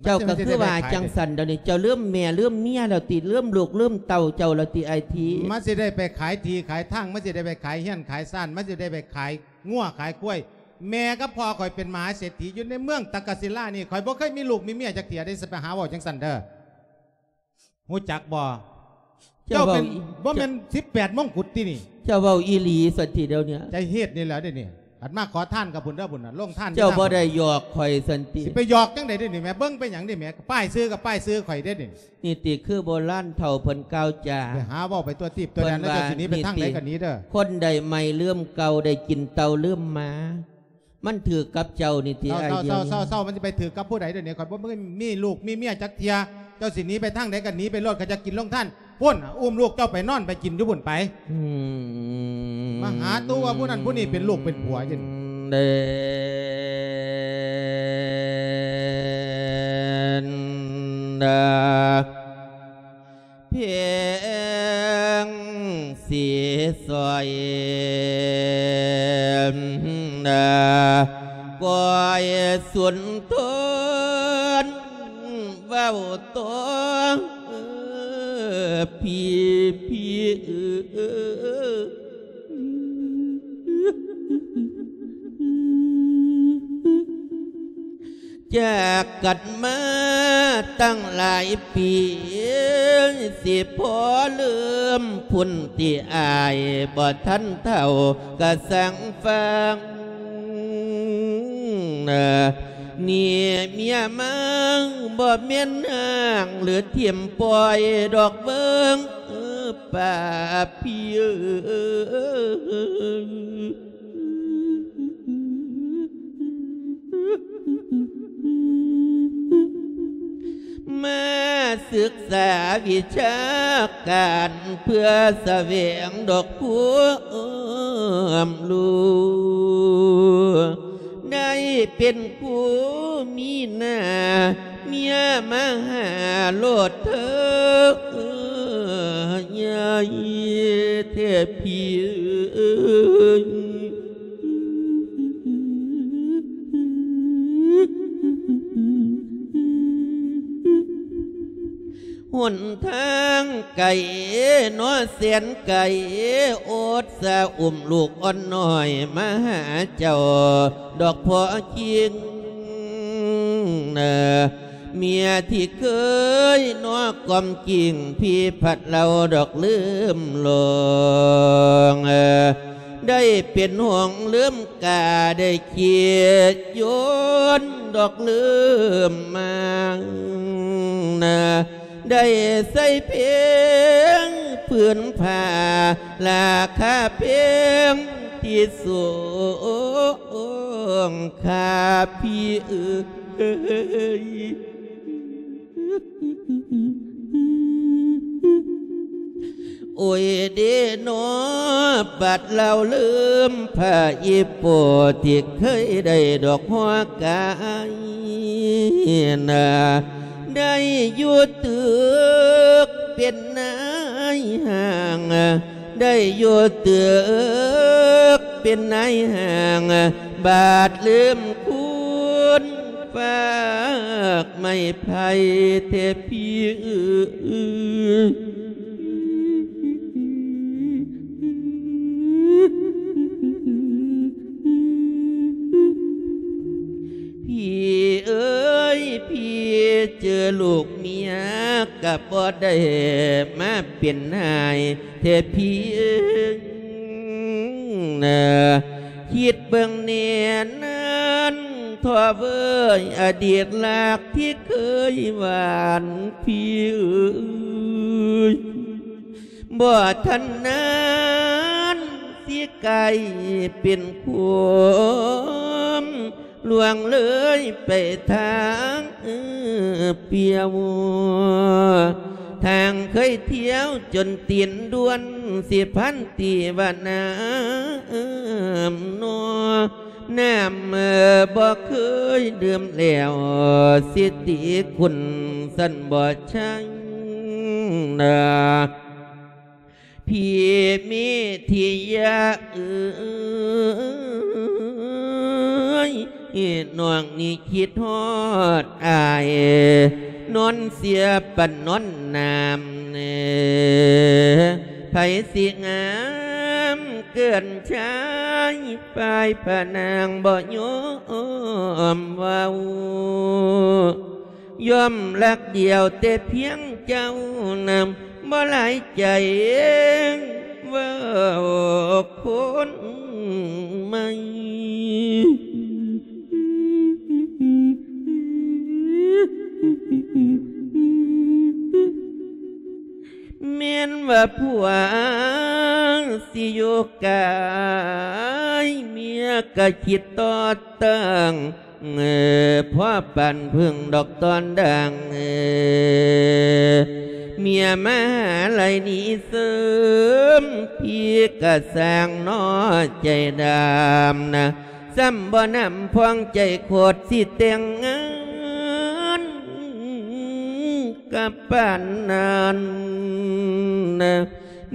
ເຈົ້າກໍຄືວ່າຈັ່ງຊັ້ນດຽວນີ້. ເຈົ້າລືມແມ່ລືມເມຍແລ້ວຕິ? ລືມລູກລືມເຕົ້າເຈົ້າແລ້ວຕິ ອ້າຍທີ? ມັນຊິໄດ້ໄປຂາຍທີ່ຂາຍທາງ ມັນຊິໄດ້ໄປຂາຍເຮືອນຂາຍຊານ ມັນຊິໄດ້ໄປຂາຍ ງົວຂາຍຄວາຍ. ແມ່ກັບພໍ່ຂ້ອຍເປັນມະຫາເສດຖີຢູ່ໃນເມືອງຕັກກະສິລານີ້. ຂ້ອຍບໍ່ເຄີຍມີລູກມີເມຍຈັກເທື່ອເດ້. ຊິໄປຫາເວົ້າຈັ່ງຊັ້ນເດີ. ຮູ້ຈັກບໍ່? ເຈົ້າເປັນ ເຈົ້າເວົ້າອີ ບໍ່ແມ່ນສິບແປດມົງກຸດຕິນີ້? ເຈົ້າເວົ້າອີ່ຫຼີຊັ້ນຕິດຽວນີ້? ໃຈເຮັດນີ້ແຫຼະເດນີ້. ອັນມາຂໍທານກັບພຸ້ນເດີ ພຸ້ນນະ ລົງທານ. ເຈົ້າບໍ່ໄດ້ຫຍອກຂ້ອຍຊັ້ນຕິ? ຊິໄປຫຍອກຈັ່ງໃດເດນີ້ແມ່? ເບິ່ງໄປຫຍັງນີ້ແມ່? ປ້າຍຊື່ກັບປ້າຍຊື່ຂ້ອຍເດນີ້. ນີ້ຕິ ຄືໂບລານເຖົ້າເພິ່ນກ່າວຈາ ໄປຫາເວົ້າໄປຕົວະຕິບຕົວະແດນ ແລ້ວເຈົ້າຊິໜີໄປທາງໃດກໍໜີເດີ. ຄົນໃດໃໝ່ລືມເກົ່າ ໄດ້ກິນເຕົາລືມໝາ. ມັນຖືກກັບເຈົ້ານີ້ຕິ ອ້າຍ. ເຊົາໆໆໆ ມັນຊິໄປຖືກກັບຜູ້ໃດດຽວນີ້? ຂ້ອຍບໍ່ມີລູກມີເມຍຈັກເທື່ອ. ເຈົ້າຊິໜີໄປທາງໃດກໍໜີໄປໂລດ. ຂ້ອຍຈະກິນໂລງທານ ພຸ້ນ ອຸ້ມລູກເຈົ້າໄປນອນໄປກິນຢູ່ພຸ້ນໄປ. ອືມ ມາຫາຕົວະຜູ້ນັ້ນຜູ້ນີ້ເປັນລູກເປັນຜົວຢູ່ນີ້. ເດີນດາ ພຽງຊິຊ່ອຍນາ ກອຍສຸນທົນເວົ້າຕໍ່ ເອີ ພີ່ ພີ່ເອີ. ຈາກກັນມາຕັ້ງຫຼາຍປີ ຊິພໍລືມພຸ້ນຕິ ອ້າຍບໍ່ທັນເຖົ້າກະສັງຟັງ. ນີ້ເມຍມາບໍ່ແມ່ນຫ້າງ ຫຼືຖິ້ມປ່ອຍດອກເບິ່ງ ປ້າພີ່ເອີຍ. ມາສຶກສາວິຊາການ ເພື່ອສະແຫວງດອກຄວາມຮູ້ ໄດ້ເປັນຄູມີໜ້າ ເມຍມາຫາໂລດເທີ ໃຫຍ່ແທ້ພີ່ເອີຍ. ຫົນທາງໄກເນາະແສນໄກ ອົດສາອຸ້ມລູກອ່ອນນ້ອຍມາຫາເຈົ້າດອກພໍ່ຈິງ. ເມຍທີ່ເຄີຍເນາະກອມກິ້ງ ພີ່ພັດເລົ່າດອກລືມລອງ ໄດ້ເປັນຫ່ວງລືມກາ ໄດ້ຄິດຢົນດອກລືມມາ ໄດ້ໃສ່ເພງຜືນຜ້າ ລາຄາແພງທີ່ສຸດ ຂ້າພີ່ເອີຍ. ໂອ້ຍເດເນາະ ບັດລາວລືມພະອີ່ພໍ່ ທີ່ເຄີຍໄດ້ດອກຫົວກາຍນາ ໄດ້ຢູ່ຕຶກເປັນນາຍຫ້າງ ໄດ້ຢູ່ຕຶກເປັນນາຍຫ້າງ ບາດລືມຄຸນ ຝາກໄມ້ໄຜ່ແທ້ພີ່ເອີຍ. ເຈີລູກເມຍກະບໍ່ໄດ້ມາເປັນຫາຍແທ້ພີ່ເອີຍນາ. ຄິດເບິ່ງແນ່ນັ້ນ ທໍ່ເອີຍ ອະດີດລັກທີ່ເຄີຍຫວານພີ່ເອີຍ ບໍ່ທັນນານ ຊິກາຍເປັນຄວາມລ່ວງເລີຍໄປທາງປ່ຽວ. ທາງເຄີຍທ່ຽວຈົນຕີນດ້ວນ ຊິພັນຕີວ່ານ້ຳນອ. ນ້ຳບໍ່ເຄີຍດື່ມແລ້ວ ຊິຕີຄຸນຊັ້ນບໍ່ໃຊ່ນາ ພີ່ເມທິຍາເອີຍ. ນ້ອງນີ້ຄິດຮອດອ້າຍ ນອນເສຍປານນອນນ້ຳ ໃຜຊິງາມເກີນຊາຍ ຝ່າຍພະນາງບໍ່ຍອມເວົ້າ ຍອມລັກດຽວແຕ່ພຽງເຈົ້ານຳ ບໍ່ຫຼາຍໃຈເວົ້າຄົນໃໝ່. ແມ່ນວ່າຜົວຊິຢູ່ກາຍ ເມຍກະຄິດຕໍ່ຕັ້ງ ພໍປານເພິ່ງດອກຕອນດາງ ເມຍມາຫາໄຫຼໜີເສີມ ພີ່ກະສ້າງໜໍໃຈດຳນະ ຊ້ຳບໍ່ນຳພອງໃຈໂຄດ ຊິແຕ່ງງານກັບປານນັ້ນນະ.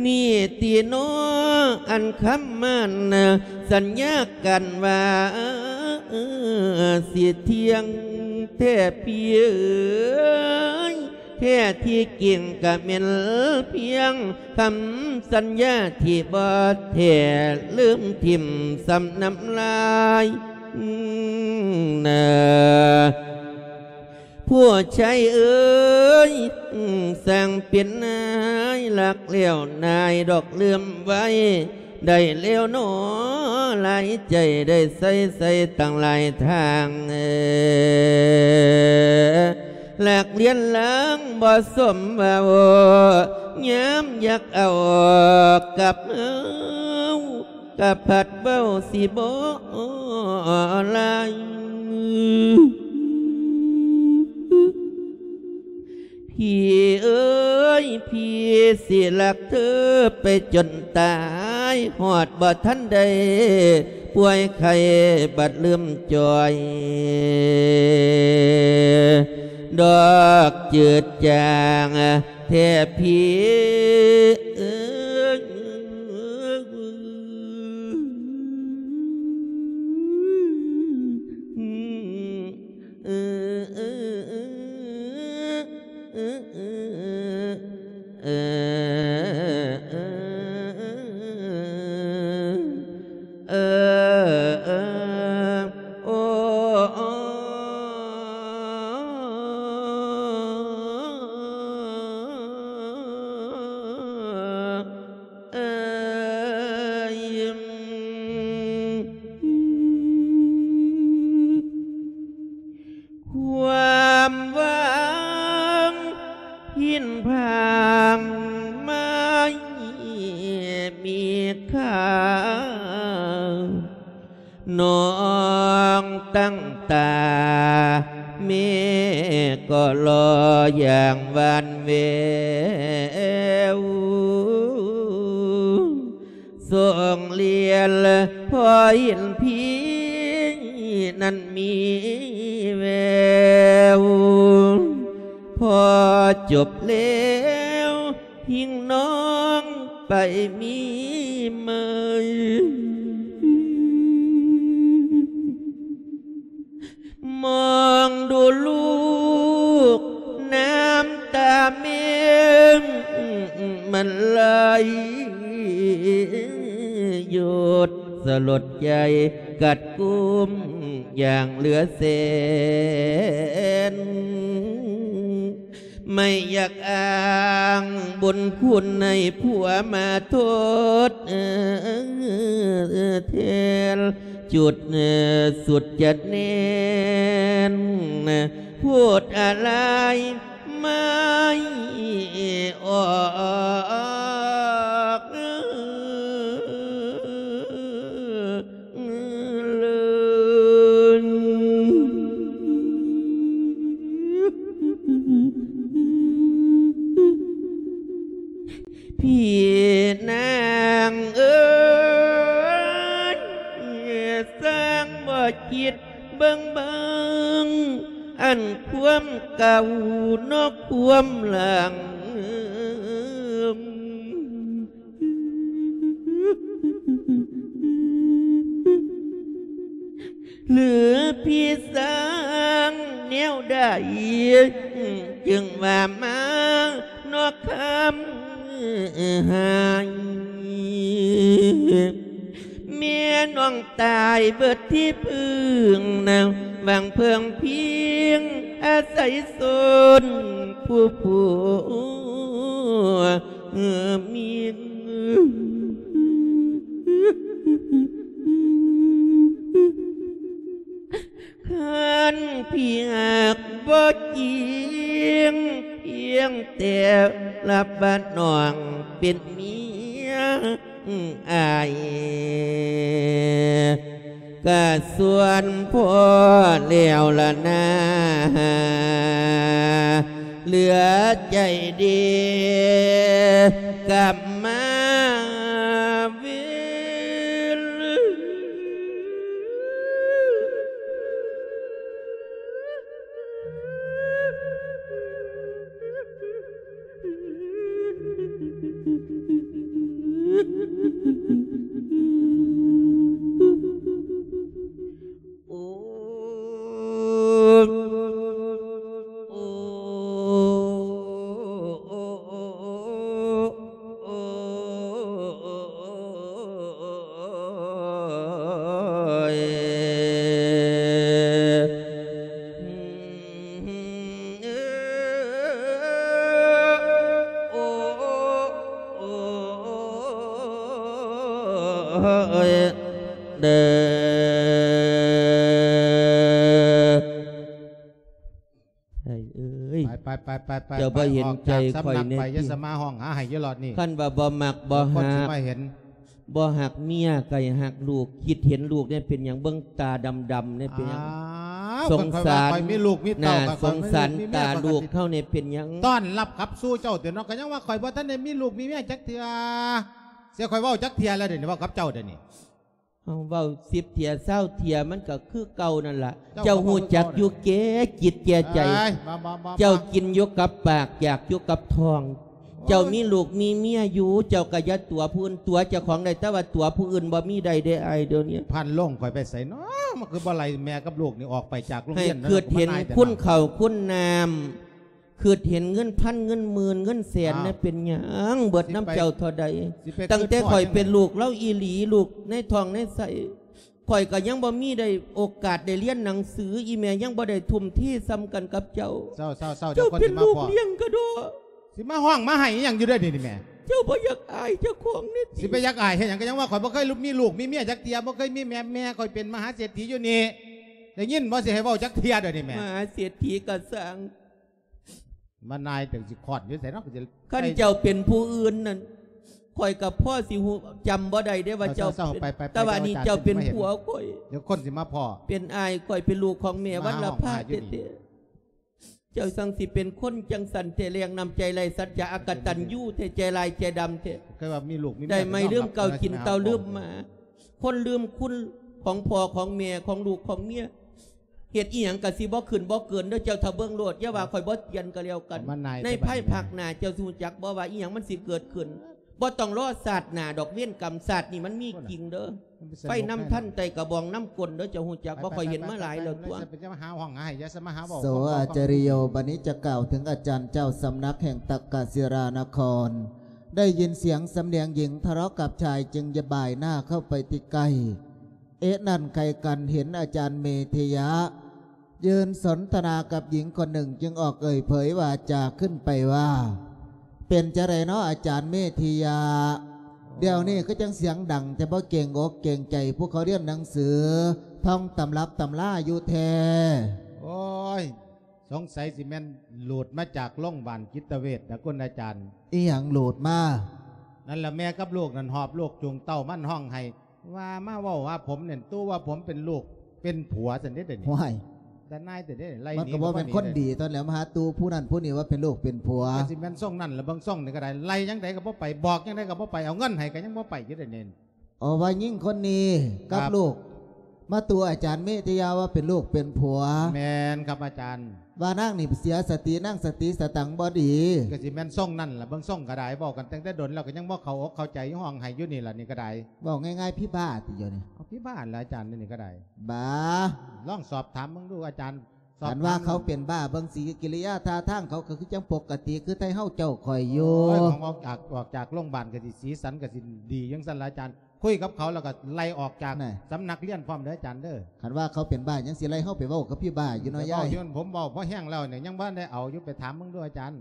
ນີ້ຕິໜໍ ອັນຄຳໝັ້ນສັນຍາກັນວ່າ ຊິທ່ຽງແທ້ພີ່ເອີຍ ແທ້ທີ່ຈິງກະແມ່ນພຽງຄຳສັນຍາທີ່ບໍ່ແທ້ ລືມຖິ້ມຊ້ຳນ້ຳລາຍນາ. ຜູ້ຊາຍເອີຍ ຊ່າງເປັນນາຍ ລັກແລ້ວນາຍດອກລືມໄວ້ ໄດ້ແລ້ວໜໍ ຫຼາຍໃຈໄດ້ໃຊ້ໃຊ້ຕັ້ງຫຼາຍທາງ ລັກລຽນລາງບໍ່ສົມເວົ້າ ຍາມຢາກເອົາກັບເຮົາ ກະພັດເວົ້າຊິບໍ່ຫຼາຍ ພີ່ເອີຍ ພີ່ຊິລັກເທີໄປຈົນຕາຍ ຮອດບໍ່ທັນໄດ້ປ່ວຍໄຂ້ບັດລືມຈ່ອຍ ດອກຈືດຈາງ ແທ້ພີ່ເອີຍ. ຄວາມຫວັງຫີນຜາງໄມ້ມີຄ່າ ນ້ອງຕັ້ງຕາ ແມ່ກໍລໍຢ່າງຫວານແວວ ສົ່ງລຽນພໍເຫັນພີ່ນັ້ນມີແວວ ພໍຈົບແລ້ວ ຫິ້ງນ້ອງໄປມີໃໝ່ ມອງດູລູກ ນ້ຳຕາແມ່ມັນໄຫຼຢົດ ສະຫຼົດໃຈກັດກຸມຢ່າງເຫຼືອແສນ. ໄມ່ຢາກອ້າງບຸນຄຸນໃຫ້ຜົວມາທົດແທນ ຈຸດສຸດຈະແໜ້ນ ໂພດອາໄລໄມ້ອອກ ເລີຍ ພີ່ນາງເອີຍ ຊ່າງບໍ່ຄິດເບິ່ງເບິ່ງ ອັນຄວາມເກົ່ານອກຄວາມຫຼັງ. ຫຼືພີ່ສ້າງແນວໃດ ຈຶ່ງວ່າມານອກຄຳຮ້າຍ ແມ່ນ້ອງຕາຍເບິດທີ່ເພິ່ງນາງ ຫວັງເພິ່ງພິງອາໄສຊົນຜູ້ຜົວເມຍ ຄັນພີ່ຮັກບໍ່ຈິງ ພຽງແຕ່ຮັບວ່ານ້ອງເປັນເມຍ ອ້າຍກະສ່ວນພໍ່ແລ້ວລະນາ ເຫຼືອໃຈເດກັບມາເວນ. ໂອ້ ໂອ້ ໂອ້ ໂອ້ ໂອ້ ໂອ້ຍ ໂອ້ ໂອ້ ໂອ້ ເດີ ໄອ້ເອີຍ ໄປໆໆໆ ເຈົ້າບໍ່ເຫັນໃຈຂ້ອຍແດ່ຕິ ຢ່າສະມາຮ້ອງຫາໄຫ້ຢູ່ລອດນີ້ ຄັນວ່າບໍ່ມັກບໍ່ຮັກ ບໍ່ຮັກເມຍກໍໃຫ້ຮັກລູກ ຄິດເຫັນລູກແດ່ ເປັນຫຍັງເບິ່ງຕາດຳໆແດ່ ເປັນຫຍັງ ສົງສານ ຂ້ອຍວ່າຂ້ອຍມີລູກມີເຕົ້າ ໜ້າສົງສານຕາລູກເຮົາແດ່ ເປັນຫຍັງ ຕ້ອນຮັບກັບສູ່ເຈົ້າເຕີເນາະ ກໍຍັງວ່າຂ້ອຍບໍ່ທັນໄດ້ມີລູກມີເມຍຈັກເທື່ອ ເສຍຂ້ອຍເວົ້າຈັກເທື່ອແລ້ວເດນີ້ ເວົ້າກັບເຈົ້າເດນີ້ ເຮົາເວົ້າສິບເທື່ອຊາວເທື່ອມັນກໍຄືເກົ່ານັ້ນລະ ເຈົ້າກໍເວົ້າຄືເກົ່າ ເຈົ້າຮູ້ຈັກຢູ່ແກ່ຈິດແກ່ໃຈ ເຈົ້າກິນຢູ່ກັບປາກ ຢາກຢູ່ກັບທ້ອງ ເຈົ້າມີລູກມີເມຍຢູ່ ເຈົ້າກໍຢ່າຕົວະຜູ້ອື່ນ ຕົວະເຈົ້າຂອງໄດ້ ແຕ່ວ່າຕົວະຜູ້ອື່ນບໍ່ມີໄດ້ເດ້ອ້າຍ ດຽວນີ້ ພັນລົງຂ້ອຍໄປໃສເນາະ ມັນຄືບໍ່ໄລ່ແມ່ກັບລູກນີ້ອອກໄປຈາກໂຮງຮຽນ ໃຫ້ຄິດເຫັນຄຸນເຂົ້າຄຸນນ້ຳ ຄິດເຫັນເງິນພັນເງິນໝື່ນເງິນແສນ ອ້າວ ເນຍ ເປັນຫຍັງເບິດນຳເຈົ້າເທົ່າໃດ ຊິໄປ ຕັ້ງແຕ່ຂ້ອຍເປັນລູກລາວອີ່ຫຼີ ລູກໃນທ້ອງໃນໄສ້ ຂ້ອຍກໍຍັງບໍ່ມີໄດ້ໂອກາດໄດ້ຮຽນໜັງສື ອີ່ແມ່ຍັງບໍ່ໄດ້ທຸ່ມເທສ່ຳກັນກັບເຈົ້າ ເຈົ້າ ເຈົ້າ ເຈົ້າ ເຈົ້າເປັນລູກລ້ຽງກະດໍ ຊິມາຮ້ອງມາໄຫ້ອີ່ຫຍັງຢູ່ເດ້ນີ້ແມ່ ເຈົ້າບໍ່ຢາກອາຍເຈົ້າຂອງນີ້ຕິ ຊິໄປຢາກອາຍເຮັດຫຍັງ ກໍຍັງວ່າຂ້ອຍບໍ່ເຄີຍມີລູກມີເມຍຈັກເທື່ອ ບໍ່ເຄີຍມີແມ່ ແມ່ຂ້ອຍເປັນມະຫາເສດຖີຢູ່ນີ້ ໄດ້ຍິນບໍ່ ຊິໃຫ້ເວົ້າຈັກເທື່ອເດນີ້ແມ່ ມະຫາເສດຖີກໍຊ່າງ ມານາຍ ເຈົ້າຊິຄ້ອນຢູ່ໃສເນາະ ຄັນເຈົ້າເປັນຜູ້ອື່ນນັ້ນ ຂ້ອຍກໍພໍຊິຮູ້ ຈຳບໍ່ໄດ້ເດ້ວ່າເຈົ້າເປັນ ແຕ່ວ່ານີ້ເຈົ້າເປັນຜົວຂ້ອຍ ດຽວຄົນຊິມາພໍ້ ເປັນອ້າຍຂ້ອຍ ເປັນລູກຂອງແມ່ວັນລະພາແທ້ໆ ເຈົ້າຈັ່ງຊິເປັນຄົນຈັ່ງຊັ້ນແທ້ ແລງນ້ຳໃຈໄຮ້ສັດຈະ ອະກະຕັນຍູແທ້ ໃຈຮ້າຍໃຈດຳແທ້ ໄດ້ໄໝລືມເກົ່າ ກິນເຕົ່າລືມໝາ ຄົນລືມຄຸນຂອງພໍ່ຂອງແມ່ ຂອງລູກຂອງເມຍ ເຮັດອີ່ຫຍັງກະຊິບໍ່ຂຶ້ນບໍ່ເກີນເດີ ເຈົ້າຖ້າເບິ່ງໂລດ ຢ່າວ່າຂ້ອຍບໍ່ເຕືອນກໍແລ້ວກັນ ໃນພາຍພາກໜ້າເຈົ້າຊິຮູ້ຈັກບໍ່ວ່າອີ່ຫຍັງມັນຊິເກີດຂຶ້ນ ບໍ່ຕ້ອງລໍຊາດໜ້າດອກ ເວນກຳຊາດນີ້ມັນມີຈິງເດີ ໄຟນຳທັນໄຕ່ກະບອງນຳກົ້ນເດີ ເຈົ້າຮູ້ຈັກບໍ່ ຂ້ອຍເຫັນມາຫຼາຍແລ້ວຕົວະ ໂສອາຈາລິໂຍ ບັດນີ້ຈະກ່າວເຖິງອາຈານເຈົ້າສຳນັກແຫ່ງຕັກກະສິລານະຄອນ ໄດ້ຍິນສຽງສຳນຽງຍິງທະເລາະກັບຊາຍ ຈຶ່ງຢາຍບາຍໜ້າເຂົ້າໄປທີ່ໃກ້ ເອະນັ້ນໄກກັນເຫັນອາຈານເມເທຍະ ยืนสนทนากับหญิงคนหนึ่ง จึงออกเอ่ยเผยวาจาขึ้นไปว่า เป็นจั่งใดเนาะอาจารย์เมธิยะ เดี๋ยวนี้คือจั่งเสียงดังแต่บ่เกรงอกเกรงใจผู้เขาเรียนหนังสือ ท่องตำรับตำราอยู่แท้ โอ้ย สงสัยสิแม่นหลุดมาจากโรงพยาบาลจิตเวชนะคุณอาจารย์ อีหยังหลุดมา นั่นล่ะแม่กับลูกนั่นหอบลูกจูงเต้ามันฮ้องไห้ ว่ามาเว้าว่าผมเนี่ย ตัวว่าผมเป็นลูกเป็นผัวซั่นเด้ เดี๋ยวนี้ ห้วย แต่นายแต่เด้ ไล่หนี มันก็บ่แม่นคนดีตอนแล้ว มาหาตู่ผู้นั้นผู้นี้ว่าเป็นลูกเป็นผัว ก็สิแม่นทรงนั่นล่ะ เบิ่งทรงนี่ก็ได้ ไล่จั่งใดก็บ่ไป บอกจั่งใดก็บ่ไป เอาเงินให้ก็ยังบ่ไปอยู่เด้นี่ เอาว่าหญิงคนนี้กับ ครับ ลูก มาตู่อาจารย์เมธิยะว่าเป็นลูกเป็นผัว แม่นครับอาจารย์ ว่านางนี่เสียสติ นางสติสตังค์บ่ดี ก็สิแม่นทรงนั่นล่ะ เบิ่งทรงก็ได้ เว้ากันตั้งแต่ดนแล้วก็ยังบ่เข้าอกเข้าใจ ฮ้องไห้อยู่นี่ล่ะนี่ก็ได้ เว้าง่ายๆ ผีบ้าติอยู่นี่ เอาผีบ้าล่ะอาจารย์ นี่ก็ได้ บ้า ลองสอบถามเบิ่งดูอาจารย์ สอบถาม คันว่าเขาเป็นบ้า เบิ่งสีกิริยาท่าทางเขาก็คือจั่งปกติ คือไทเฮาเจ้าข่อยอยู่ โอ้ย ของออกจาก ออกจากโรงพยาบาลก็สิสีสันก็สิดีจั่งซั่นล่ะอาจารย์ คุยกับเขาแล้วก็ไล่ออกจาก น่ะ สำนักเรียนพร้อมเด้ออาจารย์เด้อ คันว่าเขาเป็นบ้ายังสิไล่เฮาไปเว้ากับผีบ้าอยู่เนาะ ไปเว้ายาย อยู่ ผมเว้าพอแฮงแล้วเนี่ย ยังบ่ทันได้เอาอยู่ ไปถามเบิ่งดูอาจารย์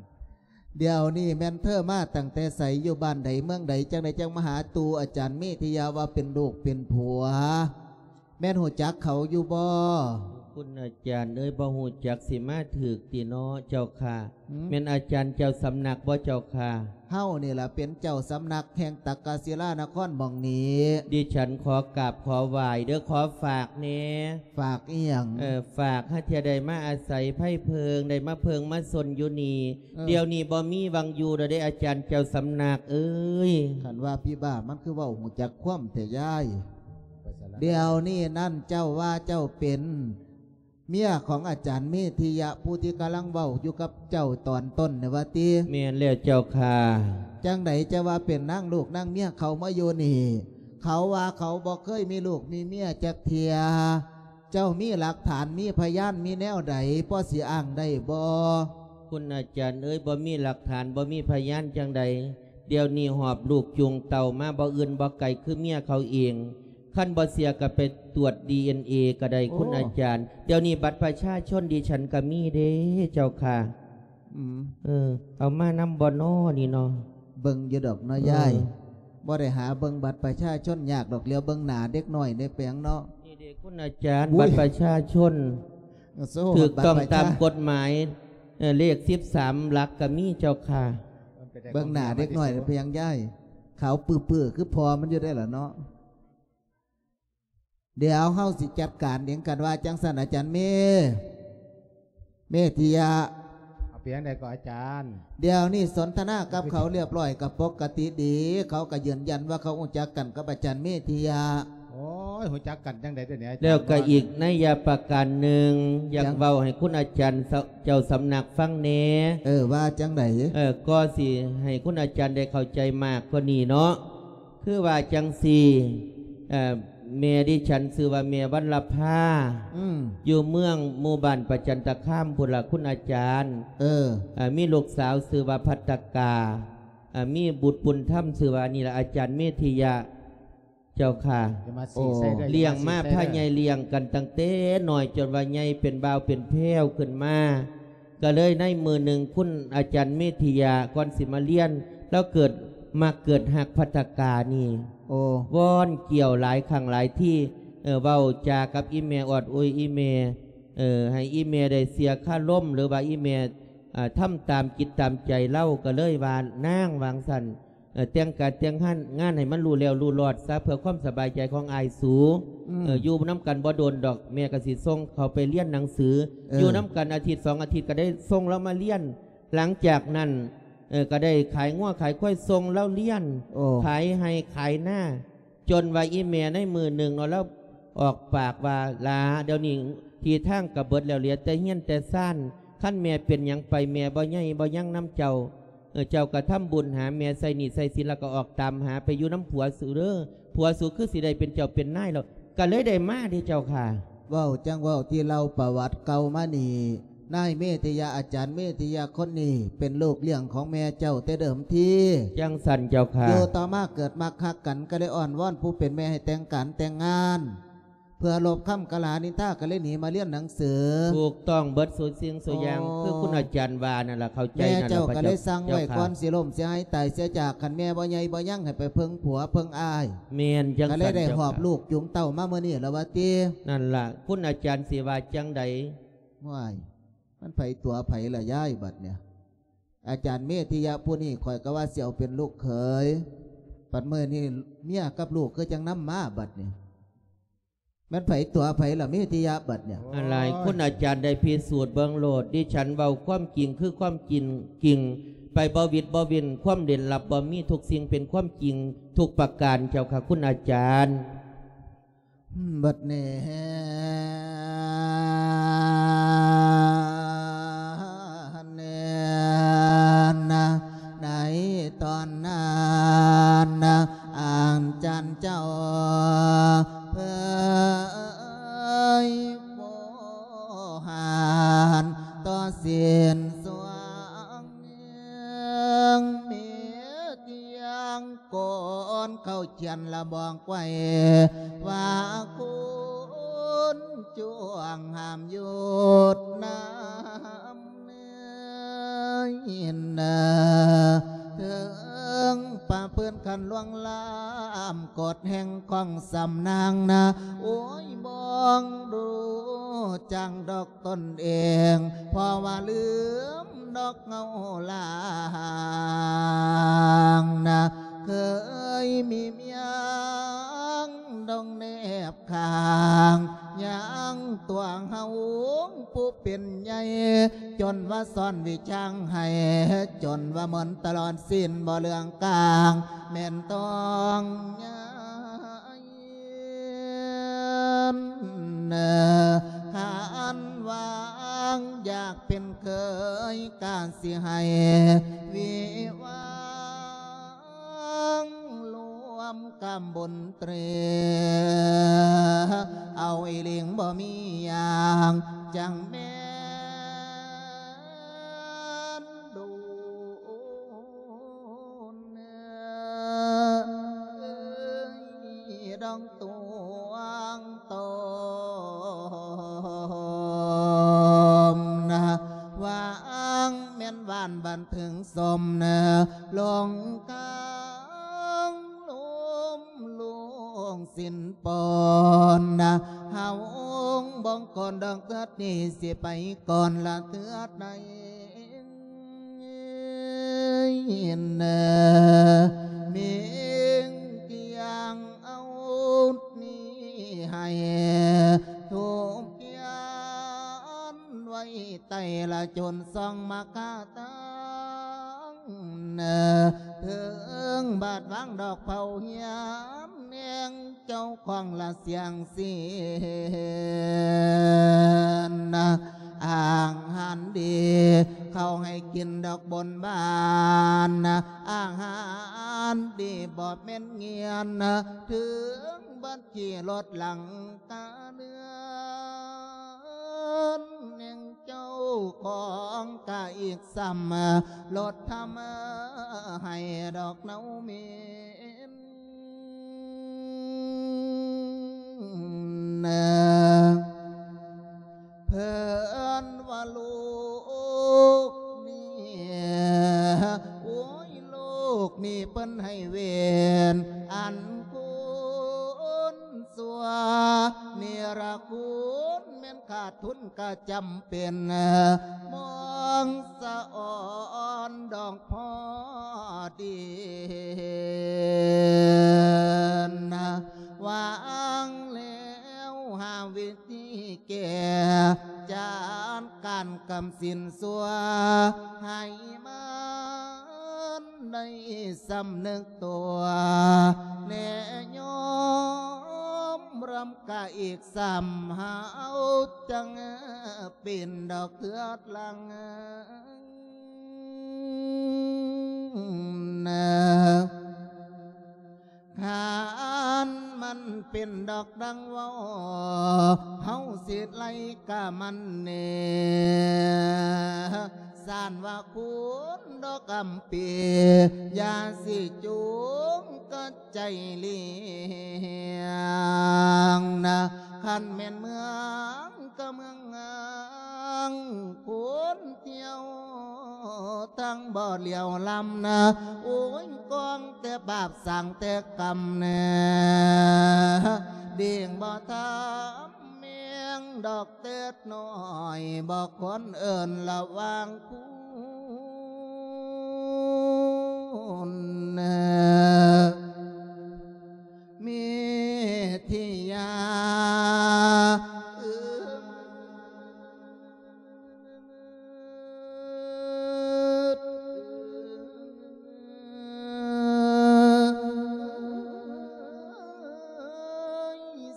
เดี๋ยวนี้แม่นเธอมาตั้งแต่ไส อยู่บ้านใดเมืองใด จั่งใดจั่งมาหาตู่อาจารย์เมธิยะว่าเป็นลูกเป็นผัว แม่นฮู้จักเขาอยู่บ่ คุณอาจารย์เอ้ย บ่ฮู้จัก สิมาถูกติเนาะเจ้าค่ะ หืม แม่นอาจารย์เจ้าสำนักบ่เจ้าค่ะ เฮานี่ล่ะเป็นเจ้าสำนักแห่งตักกศิลานครหม่องนี้ ดิฉันขอกราบขอไหว้เด้อ ขอฝากแหน่ ฝากอีหยัง เอ่อ ฝากหาเทื่อได้มาอาศัยไผเพิง ได้มาเพิงมาซนอยู่นี่ เออ เดี๋ยวนี้บ่มีหว่างอยู่แล้วเด้อาจารย์เจ้าสำนักเอ้ย คันว่าผีบ้ามันคือเว้าฮู้จักความแท้ยาย เดี๋ยวนี้นั่นเจ้าว่าเจ้าเป็นเมียของอาจารย์เมธิยะ ผู้ที่กำลังเว้าอยู่กับเจ้าตอนต้นนี่ว่าติ แม่นแล้วเจ้าค่ะ จั่งใดจะว่าเป็นนางลูกนางเมียเขามาอยู่นี่ เขาว่าเขาบ่เคยมีลูกมีเมียจักเทื่อ เจ้ามีหลักฐานมีพยานมีแนวใดพอสิอ้างได้บ่ คุณอาจารย์เอ้ย บ่มีหลักฐานบ่มีพยานจั่งใด เดี๋ยวนี้หอบลูกจูงเต้ามาบ่อื่นบ่ไกลคือเมียเขาเอง คันบ่เชื่อก็ไปตรวจ ดีเอ็นเอ ก็ได้ โอ้ คุณอาจารย์ เดี๋ยวนี้บัตรประชาชนดิฉันก็มีเด้เจ้าค่ะ อืม เออ เอามานำบ่น้อนี่เนาะ เบิ่งอยู่ดอกเนาะ เออ ยาย บ่ได้หาเบิ่งบัตรประชาชนยากดอก เหลียวเบิ่งหน้าเด็กน้อยได้เปียงเนาะ นี่เด้คุณอาจารย์ อุ๊ย บัตรประชาชน โซ่ ถูกต้อง บัตรประชา ตามกฎหมาย เอ่อ เลขสิบสามหลักก็มีเจ้าค่ะ เบิ่งหน้าเด็กน้อยได้เปียงยาย ขาวปื้อๆ คือพ่อมันอยู่ได้ล่ะเนาะ เดี๋ยวเฮาสิจัดการเองกันว่าจั่งซั่น อาจารย์เม เมธิยะ เอาเปียงใดก็อาจารย์ เดี๋ยวนี้สนทนากับเขาเรียบร้อยก็ปกติดี เขาก็ยืนยันว่าเขารู้จักกันกับอาจารย์เมธิยะ โอ้ย รู้จักกันจั่งใด๋เดี๋ยวนี้อาจารย์ แล้วก็อีกนัยยะประการหนึ่ง อยาก ยัง เว้าให้คุณอาจารย์เจ้าสำนักฟังแหน่ เออ ว่าจั่งใด๋ เออ ก็สิให้คุณอาจารย์ได้เข้าใจมากกว่านี้เนาะ คือว่าจั่งซี้ เอ่อ แม่ดิฉันชื่อว่าแม่วรรณภา อืม อยู่เมืองหมู่บ้านประจันตคามพุ้นล่ะคุณอาจารย์ เออ เอ่อ มีลูกสาวชื่อว่าภัตตกา เอ่อ มีบุตรบุญธรรมชื่อว่านี่ล่ะอาจารย์เมธิยะ เจ้าค่ะ อย่ามาซี้ใส่เด้อ โอ้ อย่ามาซี้ใส่เด้อ เลี้ยงมาพาใหญ่เลี้ยงกันตั้งแต่น้อยจนว่าใหญ่เป็นบ่าวเป็นแพรวขึ้นมา ก็เลยในมื้อหนึ่งคุณอาจารย์เมธิยะก่อนสิมาเรียน ลาวเกิดมักเกิดฮักภัตตกานี่ โอ้ วอนเกี่ยวหลายครั้งหลายที เอ่อ เว้าจากับอีแม่ออดอวยอีแม่ เอ่อ ให้อีแม่ได้เสียคารม หรือว่าอีแม่ อ่า ทำตามจิตตามใจลาว ก็เลยว่านางว่าจั่งซั้น เอ่อ แต่งการแต่งงาน งานให้มันรู้แล้วรู้รอดซะ เพื่อความสบายใจของอ้ายสู อืม เอ่อ อยู่นำกันบ่โดนดอก แม่ก็สิส่งเขาไปเรียนหนังสือ เออ อยู่นำกันอาทิตย์สองอาทิตย์ก็ได้ส่งลาวมาเรียน หลังจากนั้น เอ่อ ก็ได้ขายงัวขายควายส่งลาวเรียน โอ้ ขายไร่ขายนา จนว่าอีแม่ในมื้อหนึ่งเนาะ ลาวออกปากว่า หล้า เดี๋ยวนี้ที่ทางก็เบิดแล้ว เหลือแต่เฮือนแต่ซาน คันแม่เป็นหยังไป แม่บ่ใหญ่บ่ยังนำเจ้า เออ เจ้าก็ทำบุญหาแม่ ใช้หนี้ใช้สิน แล้วก็ออกตามหาไปอยู่นำผัวสูเด้อ ผัวสูคือสิได้เป็นเจ้าเป็นนายแล้ว ก็เลยได้มาเด้เจ้าค่ะ เว้าจั่งเว้า ที่เล่าประวัติเก่ามานี่ นายเมธิยะ อาจารย์เมธิยะคนนี้เป็นลูกเลี้ยงของแม่เจ้าแต่เดิมที จั่งซั้นเจ้าค่ะ อยู่ต่อมาเกิดมักฮักกัน ก็เลยอ้อนวอนผู้เป็นแม่ให้แต่งการแต่งงาน ເພື່ອລົບຄຳກ່າວຫານິນທາ ກໍເລີຍໜີມາຮຽນໜັງສື. ຖືກຕ້ອງເບິດສູ່ສິ່ງສູ່ຢ່າງ ໂອ້ ຄືຄຸນອາຈານວ່ານັ້ນລະ ເຂົ້າໃຈນັ້ນລະ ແມ່ເຈົ້າກໍເລີຍສັ່ງໄວ້ ພະເຈົ້າ ກ່ອນຊິລົ້ມເສຍຫາຍຕາຍເສຍຈາກ. ຄັນແມ່ບໍ່ໃຫຍ່ບໍ່ຍັງ ໃຫ້ໄປເພິ່ງຜົວເພິ່ງອ້າຍ. ແມ່ນຈັ່ງຊັ້ນ ກໍເລີຍໄດ້ຫອບລູກຈູງເຕົ້າມາມື້ນີ້ລະວ່າຕິ. ນັ້ນລະ ຄຸນອາຈານຊິວ່າຈັ່ງໃດ? ໂອ້ຍ ມັນໃຜຕົວະໃຜລະຍາຍບັດນີ້? ອາຈານເມທິຍະຜູ້ນີ້ ຂ້ອຍກໍວ່າຊິເອົາເປັນລູກເຂີຍ ບັດມື້ນີ້ເມຍກັບລູກຄືຈັ່ງນຳມາບັດນີ້. ແມ່ນໃຜຕົວະໃຜລະເມທິຍະບັດນີ້? ອັນຫຼາຍ ໂອ້ຍ ຄຸນອາຈານໄດ້ພິສູດເບິ່ງໂລດ. ດິສັນເວົ້າຄວາມຈິງຄືຄວາມຈິງ ຈິງ ໄປບໍ່ວິດບໍ່ວິນ ຄວາມເຫຼັນລັບບໍ່ມີ ທຸກສິ່ງເປັນຄວາມຈິງທຸກປະການ ເຈົ້າຄ່ະ ຄຸນອາຈານ. ບັດນີ້ນະ ໃນຕອນນັ້ນນະ ອາຈານເຈົ້າເຜີຍໂວຫານຕໍ່ສິນສວງ ເມືອງເມທຽງ ກ່ອນເຂົ້າຂຽນລະບອກໄວ້ວ່າ ຄຸນຈວງຫ້າມຢຸດນຳ ເຖິງປະພຶດຂັດລ່ວງລ້ຳ ກົດແຫ່ງຂອງສຳນາງນະ ໂອ້ຍ ບໍ່ຮູ້ຈັກດອກ ຕົນເອງ ເພາະວ່າລືມດອກເງົາລາງນະ ເຄີຍມີມຽງດອງແນບຂ້າງ ຍັງຕົວເຮົາຜູ້ເປັນໃຫຍ່ ຈົນວ່າສອນວິຊາໃຫ້ ຈົນວ່າໝົດຕະຫຼອດສິ້ນບໍ່ເລື່ອງກາງ ແມ່ນຕ້ອງຍາ ນ ຄັນຫວັງຢາກເປັນເຂີຍ ກະຊິໃຫ້ວິວາງລວມກຳບຸນເຕຣ ເອົາອີ່ຫຼີງບໍ່ມີຢ່າງ ຈັ່ງແມ່ນດູ ດອງຕວງຕົມນະ ຫວັງແມ່ນຫວານບັນເທີງສົມນະ ລົງກາງລົມລວງສິນປອນນະ ເຮົາອົງບອງກ່ອນດອກເທື່ອນີ້ ຊິໄປກ່ອນລະເທື່ອໃດ. ເນ ເມງກຽງເອົານີ້ໃຫ້ທຸກກຽນໄວ້ໃຕ້ລະຈົນສ່ອງມາກາຕັງ ເນ ເຖິງບາດວາງດອກເຜົາຮຽມແນງ ເຈົ້າຂອງລະສຽງສິນນະ ອາຫານດີເຂົາໃຫ້ກິນດອກບົນບານນະ ອາຫານດີບໍ່ແມ່ນງຽນນະ ເຖິງບັດຂີ່ລົດຫຼັງກາເຮືອນແຫ່ງເຈົ້າຂອງກະອີກຊ້ຳ ລົດທຳໃຫ້ດອກເນົາເໝັນ ເພິ່ນວ່າລູກນີ້ ໂອ້ຍ ລູກນີ້ເພິ່ນໃຫ້ເວນ ອັນຄຸນຊົ່ວເນລະຄຸນ ແມ່ນຂາດທຶນກະຈຳເປັນ ມອງສະອອນດອກພໍດີ ຫວັງແລ້ວຫາວິທີແກ້ ຈັດການກຳສິນຊົ່ວ ໃຫ້ມັນໄດ້ສຳນຶກຕົວ ແລະຍອມຮັບກະອີກຊ້ຳ ເຮົາຈັ່ງປິ່ນດອກເທື່ອຫຼັງ ຄັນມັນເປັນດອກດັ່ງເວົ້າ ເຮົາຊິໄລ່ກະມັນແນ່ ສານວ່າຄຸນດອກອຳປີ ຢ່າຊິຈູງກັດໃຈລ້ຽງນະ ຄັນແມ່ນເມືອງກະເມືອງງາມ ຄົນທ່ຽວທັງບໍ່ຫຼຽວລຳນະ ໂອ້ຍ ກອງແຕ່ບາບສ້າງແຕ່ກຳແນ່ ເດ້ງບໍ່ທຳ ແມງດອກເຕີດນ້ອຍ ບໍ່ຄວນເອີ້ນລະຫວ່າງຄຸນເມທິຍາ ເອີ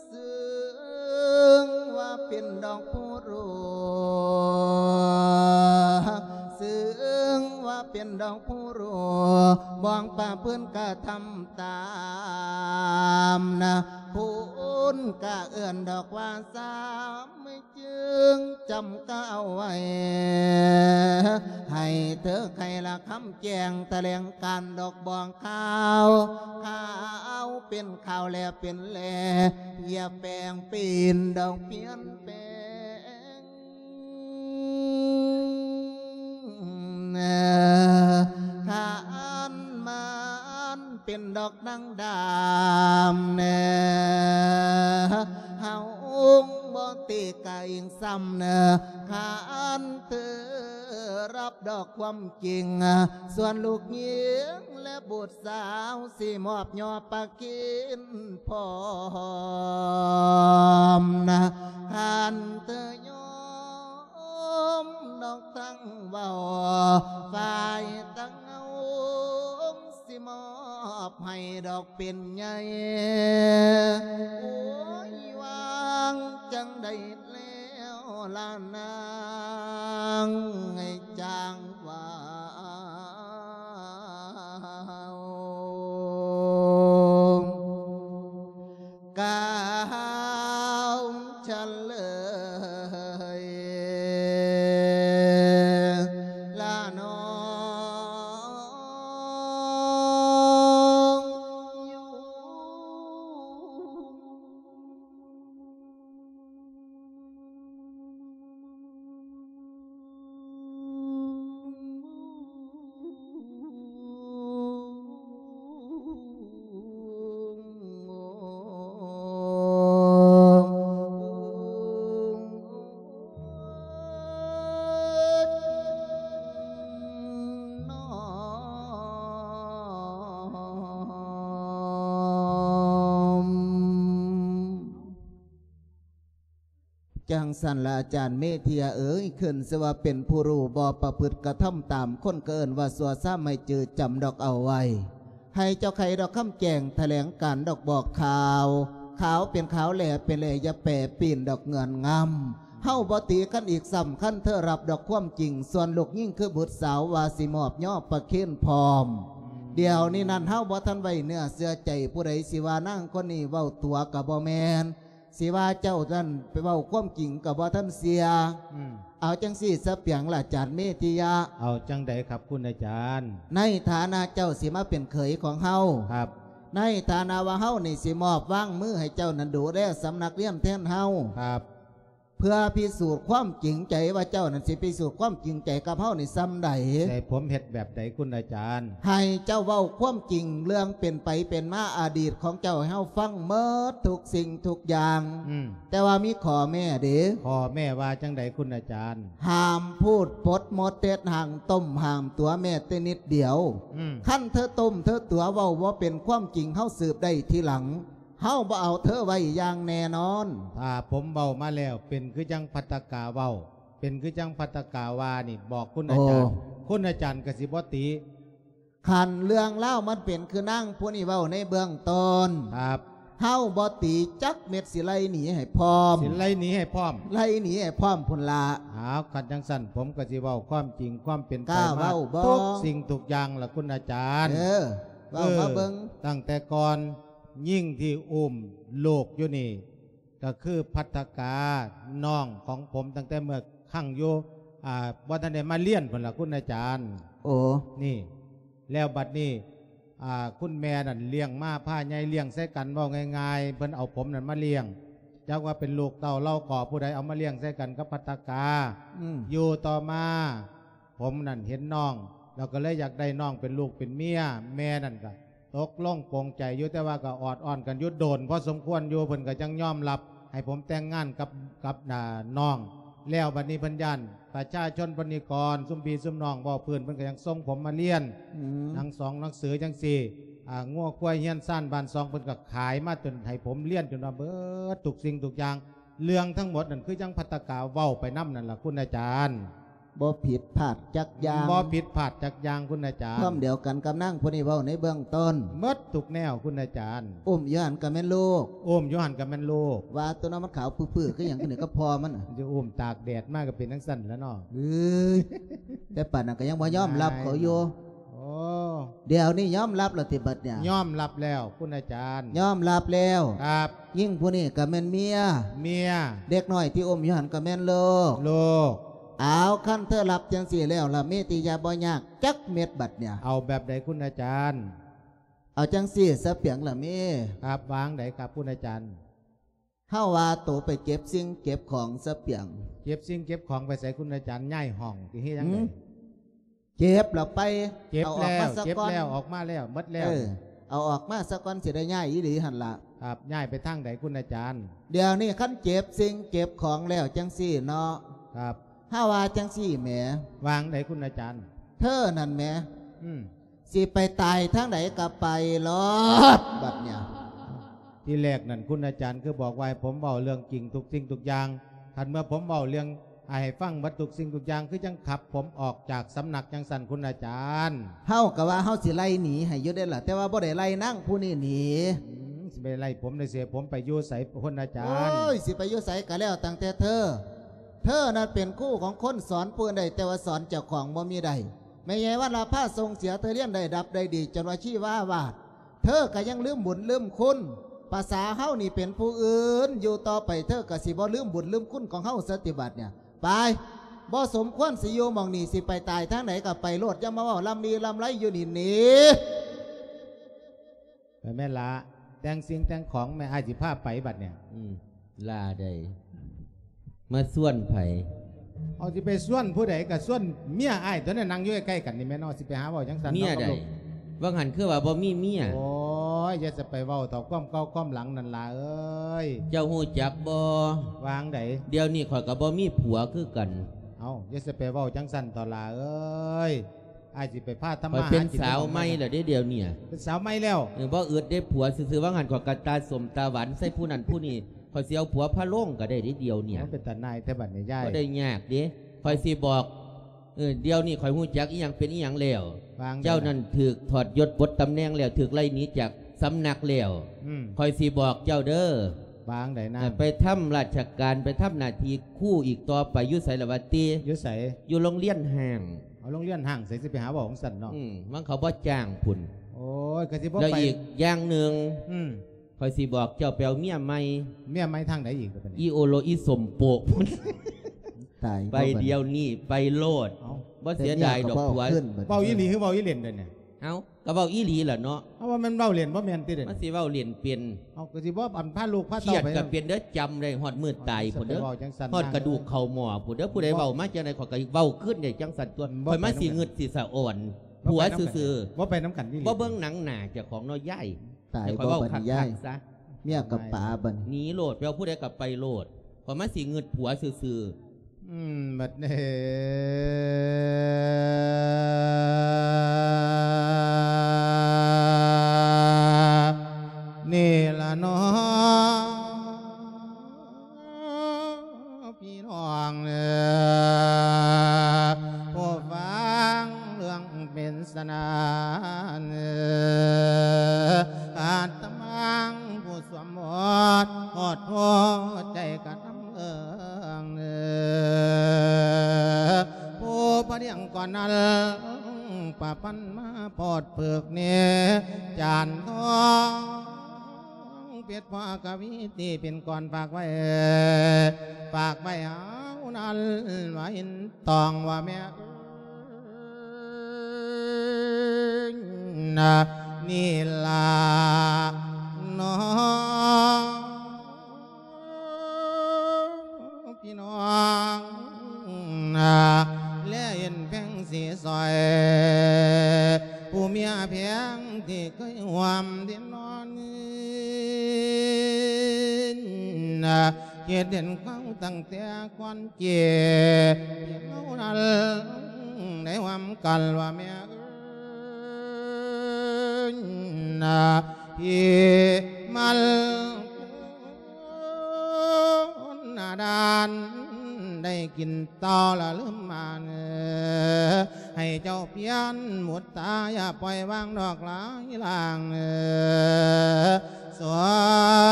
ເຊິ່ງວ່າເປັນດອກຜູ້ຮູ້ ເຊິ່ງວ່າເປັນດອກຜູ້ຮູ້ ບອກປະພຶດກະທຳຕາມນະ ຄຸນກະເອີ້ນດອກວ່າສາມ ຈຶ່ງຈຳກາວໄວ້ ໃຫ້ເທີໄຂລະຄຳແຈ້ງ ຖະແຫຼງການດອກບອກຂ່າວ ຂ່າວເປັນຂ່າວແລເປັນແລ ຢ່າແປງປ່ຽນດອກປ່ຽນແປງ ຄັນມັນເປັນດອກນາງດຳແນ່ ເຮົາບໍ່ຕິກະອີງຊ້ຳເນີ ຄັນເທີຮັບດອກຄວາມຈິງ ສ່ວນລູກຍິງແລະບຸດສາວ ຊິມອບຍໍປະເຄນພ້ອມນະ ຄັນເທີຍອມ ອມດອກທັງເວົ້າ ຝ່າຍທັງເຮົາ ຊິມອບໃຫ້ດອກເປັນໃຫຍ່ ໂອ້ຍ ວາງຈັ່ງໃດແລ້ວລະນາງ ໃຫ້ຈາງວ່າ ກ່າວສະເຫຼີຍລະນ້ອງຢູ່. ຈັ່ງຊັ້ນລະອາຈານເມທິຍາເອີຍ ຂຶ້ນຊື່ວ່າເປັນຜູ້ຮູ້ ບໍ່ປະພຶດກະທຳຕາມ ຄົນກະເອີ້ນວ່າຊົ່ວ ສາມໃຫ້ຈື່ຈຳດອກເອົາໄວ້ ໃຫ້ເຈົ້າໄຂດອກຄຳແຈ້ງ ຖະແຫຼງການດອກບອກຂ່າວ ຂາວເປັນຂາວ ແຫຼເປັນແຫຼ ຢ່າແປປີ້ນດອກເງື່ອນງຳ ເຮົາບໍ່ຕີກັນອີກຊ້ຳ ຄັນເທີຮັບດອກຄວາມຈິງ ສ່ວນລູກຍິງຄືບຸດສາວ ວ່າຊິມອບຍໍປະເຄນພ້ອມ ດຽວນີ້ນັ້ນເຮົາບໍ່ທັນໄວ້ເນື້ອເຊື່ອໃຈ ຜູ້ໃດຊິວ່ານາງຄົນນີ້ເວົ້າຕົວະກະບໍ່ແມ່ນ ຊິວ່າເຈົ້ານັ້ນໄປເວົ້າຄວາມຈິງກະບໍ່ທັນເຊື່ອ ອືມ ເອົາຈັ່ງຊີ້ຊະປຽງລະອາຈານເມທິຍະ ເອົາຈັ່ງໃດຄັບຄຸນອາຈານ? ໃນຖານະເຈົ້າຊິມາເປັນເຂີຍຂອງເຮົາ ຄັບ ໃນຖານະວ່າເຮົານີ້ຊິມອບວາງມືໃຫ້ເຈົ້ານັ້ນດູແລສຳນັກຮຽນແທນເຮົາ ຄັບ ເພື່ອພິສູດຄວາມຈິງໃຈວ່າເຈົ້ານັ້ນຊິພິສູດຄວາມຈິງໃຈກັບເຮົານີ້ສ່ຳໃດ? ໃຫ້ຜົມເຮັດແບບໃດຄຸນອາຈານ? ໃຫ້ເຈົ້າເວົ້າຄວາມຈິງເລື່ອງເປັນໄປເປັນມາອະດີດຂອງເຈົ້າໃຫ້ເຮົາຟັງໝົດທຸກສິ່ງທຸກຢ່າງ ອືມ ແຕ່ວ່າມີຂໍ້ແມ້ເດ້ ຂໍ້ແມ້ວ່າຈັ່ງໃດຄຸນອາຈານ? ຫ້າມພູດປົດມົດເດັດ ຫ້າມຕົ້ມຫ້າມຕົວະແມ້ແຕ່ນິດດຽວ ອືມ ຄັນເທີຕົ້ມເທີຕົວະເວົ້າບໍ່ເປັນຄວາມຈິງ ເຮົາສືບໄດ້ທີຫຼັງ ເຮົາບໍ່ເອົາເທີໄວ້ຢ່າງແນ່ນອນ. ຖ້າຜົມເວົ້າມາແລ້ວເປັນຄືຈັ່ງພັດຕະກາເວົ້າ ເປັນຄືຈັ່ງພັດຕະກາວ່ານີ້ ບອກຄຸນອາຈານ ໂອ້ ຄຸນອາຈານກະຊິບໍ່ຕິ. ຄັນເລື່ອງລາວມັນເປັນຄືນາງຜູ້ນີ້ເວົ້າໃນເບື້ອງຕົ້ນ ຄັບ ເຮົາບໍ່ຕີຈັກເມັດ ຊິໄລ່ໜີໃຫ້ພ້ອມ ຊິໄລ່ໜີໃຫ້ພ້ອມ ໄລ່ໜີໃຫ້ພ້ອມພຸ້ນລະ. ອ້າວ ຄັນຈັ່ງຊັ້ນ ຜົມກະຊິເວົ້າຄວາມຈິງຄວາມເປັນໄປມາທຸກສິ່ງທຸກຢ່າງລະຄຸນອາຈານ. ເອີ ເວົ້າມາເບິ່ງ ຕັ້ງແຕ່ກ່ອນ ຍິງທີ່ອຸ້ມລູກຢູ່ນີ້ ກະຄືພັດຕະກາ ນ້ອງຂອງຜົມ ຕັ້ງແຕ່ເມື່ອຄັ້ງຢູ່ ອ່າ ບໍ່ທັນໄດ້ມາລຽນພຸ້ນລະຄຸນອາຈານ. ໂອ້ ນີ້ ແລ້ວບັດນີ້ ອ່າ ຄຸນແມ່ນັ້ນລ້ຽງມາພາໃຫຍ່ລ້ຽງໃສ່ກັນ ເວົ້າງ່າຍໆ ເພິ່ນເອົາຜົມນັ້ນມາລ້ຽງ ຈັກວ່າເປັນລູກເຕົ້າເຫຼົ່າກໍຜູ້ໃດເອົາມາລ້ຽງໃສ່ກັນກັບພັດຕະກາ. ອືມ ຢູ່ຕໍ່ມາ ຜົມນັ້ນເຫັນນ້ອງ ແລ້ວກໍເລີຍຢາກໄດ້ນ້ອງເປັນລູກເປັນເມຍ ແມ່ນັ້ນກໍຕົກລົງປົງໃຈຢູ່ ແຕ່ວ່າກໍອອດອ້ອນກັນຢູ່ໂດນພໍສົມຄວນຢູ່ ເພິ່ນກໍຈັ່ງຍອມຮັບໃຫ້ຜົມແຕ່ງງານກັບ ກັບ ອ່າ ນ້ອງ. ແລ້ວບັດນີ້ເພິ່ນຢ້ານປະຊາຊົນເພິ່ນນີ້ກ່ອນ ຊຸມພີ່ຊຸມນ້ອງເວົ້າພື້ນ ເພິ່ນກໍຍັງສົ່ງຜົມມາລຽນ ອືມ ໜັງສອງໜັງສືຈັ່ງຊີ້ ອ່າ ງົວຄວາຍເຮືອນຊານບ້ານຊ່ອງ ເພິ່ນກໍຂາຍມາຈົນໃຫ້ຜົມລຽນຈົນວ່າເບິດທຸກສິ່ງທຸກຢ່າງ. ເລື່ອງທັງໝົດນັ້ນຄືຈັ່ງພັດຕະກາເວົ້າໄປນຳນັ້ນລະຄຸນອາຈານ. ບໍ່ຜິດພາດຈັກຢ່າງ ບໍ່ຜິດພາດຈັກຢ່າງຄຸນອາຈານ. ຄວາມດຽວກັນກັບນາງຜູ້ນີ້ເວົ້າໃນເບື້ອງຕົ້ນ ໝົດທຸກແນວຄຸນອາຈານ. ອຸ້ມຢູ່ຫັ້ນກໍແມ່ນລູກ ອຸ້ມຢູ່ຫັ້ນກໍແມ່ນລູກ. ວ່າຕົວນັ້ນມັນຂາວປຶ້ໆຄືຫຍັງ ຄືນີ້ກັບພໍ່ມັນນະ ຈະອຸ້ມຕາກແດດມາກໍເປັນຈັ່ງຊັ້ນລະເນາະ. ເອີຍ ແຕ່ປານນັ້ນກໍຍັງບໍ່ຍອມຮັບເຂົາຢູ່. ໂອ້ ດຽວນີ້ຍອມຮັບແລ້ວຕິບັດນີ້? ຍອມຮັບແລ້ວຄຸນອາຈານ. ຍອມຮັບແລ້ວ. ຄັບ. ຍິງຜູ້ນີ້ກໍແມ່ນເມຍ ເມຍ. ເດັກນ້ອຍທີ່ອຸ້ມຢູ່ຫັ້ນກໍແມ່ນລູກ ລູກ. ເອົາ ຄັນເທີຮັບຈັ່ງຊີ້ແລ້ວລະ ມີແຕ່ຢ່າບໍ່ຍາກຈັກເມັດບັດນີ້. ເອົາແບບໃດຄຸນອາຈານ? ເອົາຈັ່ງຊີ້ສະປຽງລະເມ. ຄັບ. ວ່າຈັ່ງໃດຄັບຄຸນອາຈານ? ເຮົາວ່າໂຕໄປເກັບສິ່ງເກັບຂອງສະປຽງ. ເກັບສິ່ງເກັບຂອງໄປໃສຄຸນອາຈານ? ຍ້າຍຫ້ອງຕິ ເຮັດຫຍັງໃດ? ເກັບແລ້ວໄປ ເກັບແລ້ວ ເອົາອອກມາສະກ່ອນ ເກັບແລ້ວ ອອກມາແລ້ວ ໝົດແລ້ວ. ເອີ ເອົາອອກມາສະກ່ອນ ຊິໄດ້ຍ້າຍອີ່ຫຼີຫັ້ນລະ. ຄັບ. ຍ້າຍໄປທາງໃດຄຸນອາຈານ? ດຽວນີ້ຄັນເກັບສິ່ງເກັບຂອງແລ້ວຈັ່ງຊີ້ເນາະ. ຄັບ. ເຮົາວ່າຈັ່ງຊີ້ແໝ. ວ່າຈັ່ງໃດຄຸນອາຈານ? ເທີນັ້ນແໝ. ອືມ. ຊິໄປຕາຍທາງໃດກໍໄປໂລດບັດນີ້. ທີແລກນັ້ນຄຸນອາຈານຄືບອກວ່າໃຫ້ຜົມເວົ້າເລື່ອງຈິງທຸກສິ່ງທຸກຢ່າງ. ຄັນເມື່ອຜົມເວົ້າເລື່ອງ ອາ ໃຫ້ຟັງເບິດທຸກສິ່ງທຸກຢ່າງ ຄືຈັ່ງຂັບຜົມອອກຈາກສຳນັກຈັ່ງຊັ້ນຄຸນອາຈານ. ເຮົາກໍວ່າເຮົາຊິໄລ່ໜີໃຫ້ຢູ່ເດ້ລະ ແຕ່ວ່າບໍ່ໄດ້ໄລ່ນາງຜູ້ນີ້ໜີ. ອືມ ຊິໄປໄລ່ຜົມໄດ້ເສຍ ຜົມໄປຢູ່ໃສພຸ້ນອາຈານ? ໂອ້ຍ ຊິໄປຢູ່ໃສກໍແລ້ວຕັ້ງແຕ່ເທີ. ເທີນັ້ນເປັນຄູຂອງຄົນ ສອນຜູ້ອື່ນໄດ້ ແຕ່ວ່າສອນເຈົ້າຂອງບໍ່ມີໄດ້. ແມ່ໃຫຍ່ວັນລະພາສົ່ງເສຍເທີຮຽນໄດ້ດັບໄດ້ດີ ຈົນວ່າຊີວາວາດ. ເທີກໍຍັງລືມບຸນລືມຄຸນ. ພາສາເຮົານີ້ເປັນຜູ້ອື່ນ ຢູ່ຕໍ່ໄປເທີກໍຊິບໍ່ລືມບຸນລືມຄຸນຂອງເຮົາສະຕິບັດນີ້. ໄປ ບໍ່ສົມຄວນຊິຢູ່ໝ່ອງນີ້ ຊິໄປຕາຍທາງໃດກໍໄປໂລດ ຢ່າມາເວົ້າລຳລີລຳໄລຢູ່ນີ້ໜີ. ໄປແມ່ນລະ ແຕ່ງສິ່ງແຕ່ງຂອງແມ່ ອ້າຍຊິພາໄປບັດນີ້. ອືມ ລາໃດ ມາຊວນໃຜ? ເອົາ ຊິໄປຊວນຜູ້ໃດ ກໍຊວນເມຍອ້າຍຕົວນັ້ນ ນັ່ງຢູ່ໃກ້ໆກັນນີ້ແມ່ເນາະ. ຊິໄປຫາເວົ້າຈັ່ງຊັ້ນ ເມຍໃດ? ວ່າຫັ້ນຄືວ່າບໍ່ມີເມຍ. ໂອ້ຍ ຢ່າຊິໄປເວົ້າເຖາະ ຄວາມເກົ່າຄວາມຫຼັງນັ້ນຫຼ້າເອີຍ. ເຈົ້າຮູ້ຈັກບໍ່? ວ່າຈັ່ງໃດ? ດຽວນີ້ຂ້ອຍກໍບໍ່ມີຜົວຄືກັນ. ເອົ້າ ຢ່າຊິໄປເວົ້າຈັ່ງຊັ້ນເຖາະຫຼ້າເອີຍ. ອ້າຍຊິໄປພາທຳມາຫາກິນ ຂ້ອຍເປັນສາວໃໝ່ແລ້ວເດ້ດຽວນີ້. ເປັນສາວໃໝ່ແລ້ວ? ເອີ ບໍ່ອຶດເດ້ ຜົວຊື່ໆ ວ່າຫັ້ນຂ້ອຍກໍຕາສົ້ມຕາຫວານໃສ່ຜູ້ນັ້ນຜູ້ນີ້ ຂ້ອຍຊິເອົາຜົວພາໂລງກໍໄດ້ເດ້ດຽວນີ້. ໂອ້ ເປັນຕາໜ່າຍແທ້ບັດນີ້ຍາຍ. ບໍ່ໄດ້ຍາກເດ້ ຂ້ອຍຊິບອກ. ເອີ ດຽວນີ້ຂ້ອຍຮູ້ຈັກອີ່ຫຍັງເປັນອີ່ຫຍັງແລ້ວ. ວ່າຈັ່ງໃດ? ເຈົ້ານັ້ນຖືກຖອດຍົດປົດຕຳແໜ່ງແລ້ວ ຖືກໄລ່ໜີຈາກສຳນັກແລ້ວ. ອືມ ຂ້ອຍຊິບອກເຈົ້າເດີ. ວ່າຈັ່ງໃດນາງ? ໄປທຳລາຊະການ ໄປທຳໜ້າທີ່ຄູອີກຕໍ່ໄປຢູ່ໃສລະວະຕິ? ຢູ່ໃສ? ຢູ່ໂຮງຮຽນຮ້າງ. ເອົາ ໂຮງຮຽນຮ້າງໃສ ຊິໄປຫາເວົ້າຈັ່ງຊັ້ນເນາະ. ອືມ ມັນເຂົາບໍ່ຈ້າງພຸ້ນ. ໂອ້ຍ ກໍຊິບໍ່ໄປ. ແລ້ວອີກຢ່າງໜຶ່ງ ອືມ ຂ້ອຍຊິບອກເຈົ້າໄປເອົາເມຍໃໝ່. ເມຍໃໝ່ທາງໃດອີກບັດນີ້? ອີໂອໂລ ອີສົມໂປກພຸ້ນ. ຕາຍ ໄປ ບໍ່ບັດນີ້ ດຽວນີ້ໄປໂລດ. ເອົ້າ ບໍ່ເສຍດາຍດອກຜົວ. ເວົ້າອີ່ຫຼີຄືເວົ້າອີ່ເລ່ນເດນີ້? ເອົ້າ ກໍເວົ້າອີ່ຫຼີລະເນາະ. ເອົາ ວ່າແມ່ນເວົ້າເລ່ນບໍ່ແມ່ນຕິເດນີ້? ມັນຊິເວົ້າເລນເປັນ. ເອົາ ກໍຊິບໍ່ອັນພາລູກພາເຕົ້າໄປ. ຄຽດກໍເປັນເດີ ຈຳໄດ້ຮອດມື້ຕາຍພຸ້ນເດີ. ຮອດກະດູກເຂົາໝໍ້ພຸ້ນເດີ. ຜູ້ໃດເວົ້າມາຈັ່ງໃດ ຂ້ອຍກໍເວົ້າຄືນໄດ້ຈັ່ງຊັ້ນຕົວະ. ຂ້ອຍມາຊິງຶດຊິສະອອນຜົວຊື່ໆ. ບໍ່ໄປນຳກັນອີ່ຫຼີ. ບໍ່ເບິ່ງໜັງໜ້າເຈົ້າຂອງເນາະຍາຍ. ຕາຍ ຂ້ອຍເວົ້າຄັກໆຊະ. ເມຍກັບປາບັດນີ້ ໜີໂລດ ໄປເອົາຜູ້ໃດກໍໄປໂລດ. ຂ້ອຍມາຊິງຶດຜົວຊື່ໆ. ອືມ ບັດນີ້ ນີ້ລະເນາະ ພີ່ນ້ອງເອີ ຜູ້ຟັງເລື່ອງເປັນສະໜານເອີ ອາດຕະມັງຜູ້ ສວມໝົດ ຮອດຫົວໃຈກະນຳເອີງເອີ ຜູ້ພະດຽງກ່ອນນັ້ນ ປະພັນມາປອດເພິກເນ ຈານທອງ ເປັດພໍ່ກະວີ ທີ່ເປັນກ່ອນຝາກໄວ້ ຝາກໄວ້ເອົາ ນັ້ນວ່າເຫັນຕ້ອງວ່າແມ່ເອີຍນະ ນີ້ລະນ້ອງ ພີ່ນ້ອງນະ ແລເຫັນແພງສີສອຍ ຜູ້ເມຍແພງທີ່ເຄີຍຮ່ວມເດນນອນນະ ເຮັດເຫັນເຂົາຕັ້ງແຕ່ກ່ອນເກ ເຮົານັ້ນໄດ້ຮ່ວມກັນວ່າແມ່ເອີຍນະ ທີ່ມັນ ໜ້າດ້ານໄດ້ກິນເຕົ້າລະລືມມານ ໃຫ້ເຈົ້າປ່ຽນມຸດຕາ ຢ່າປ່ອຍວາງດອກຫຼາຍລ່າງ ສົ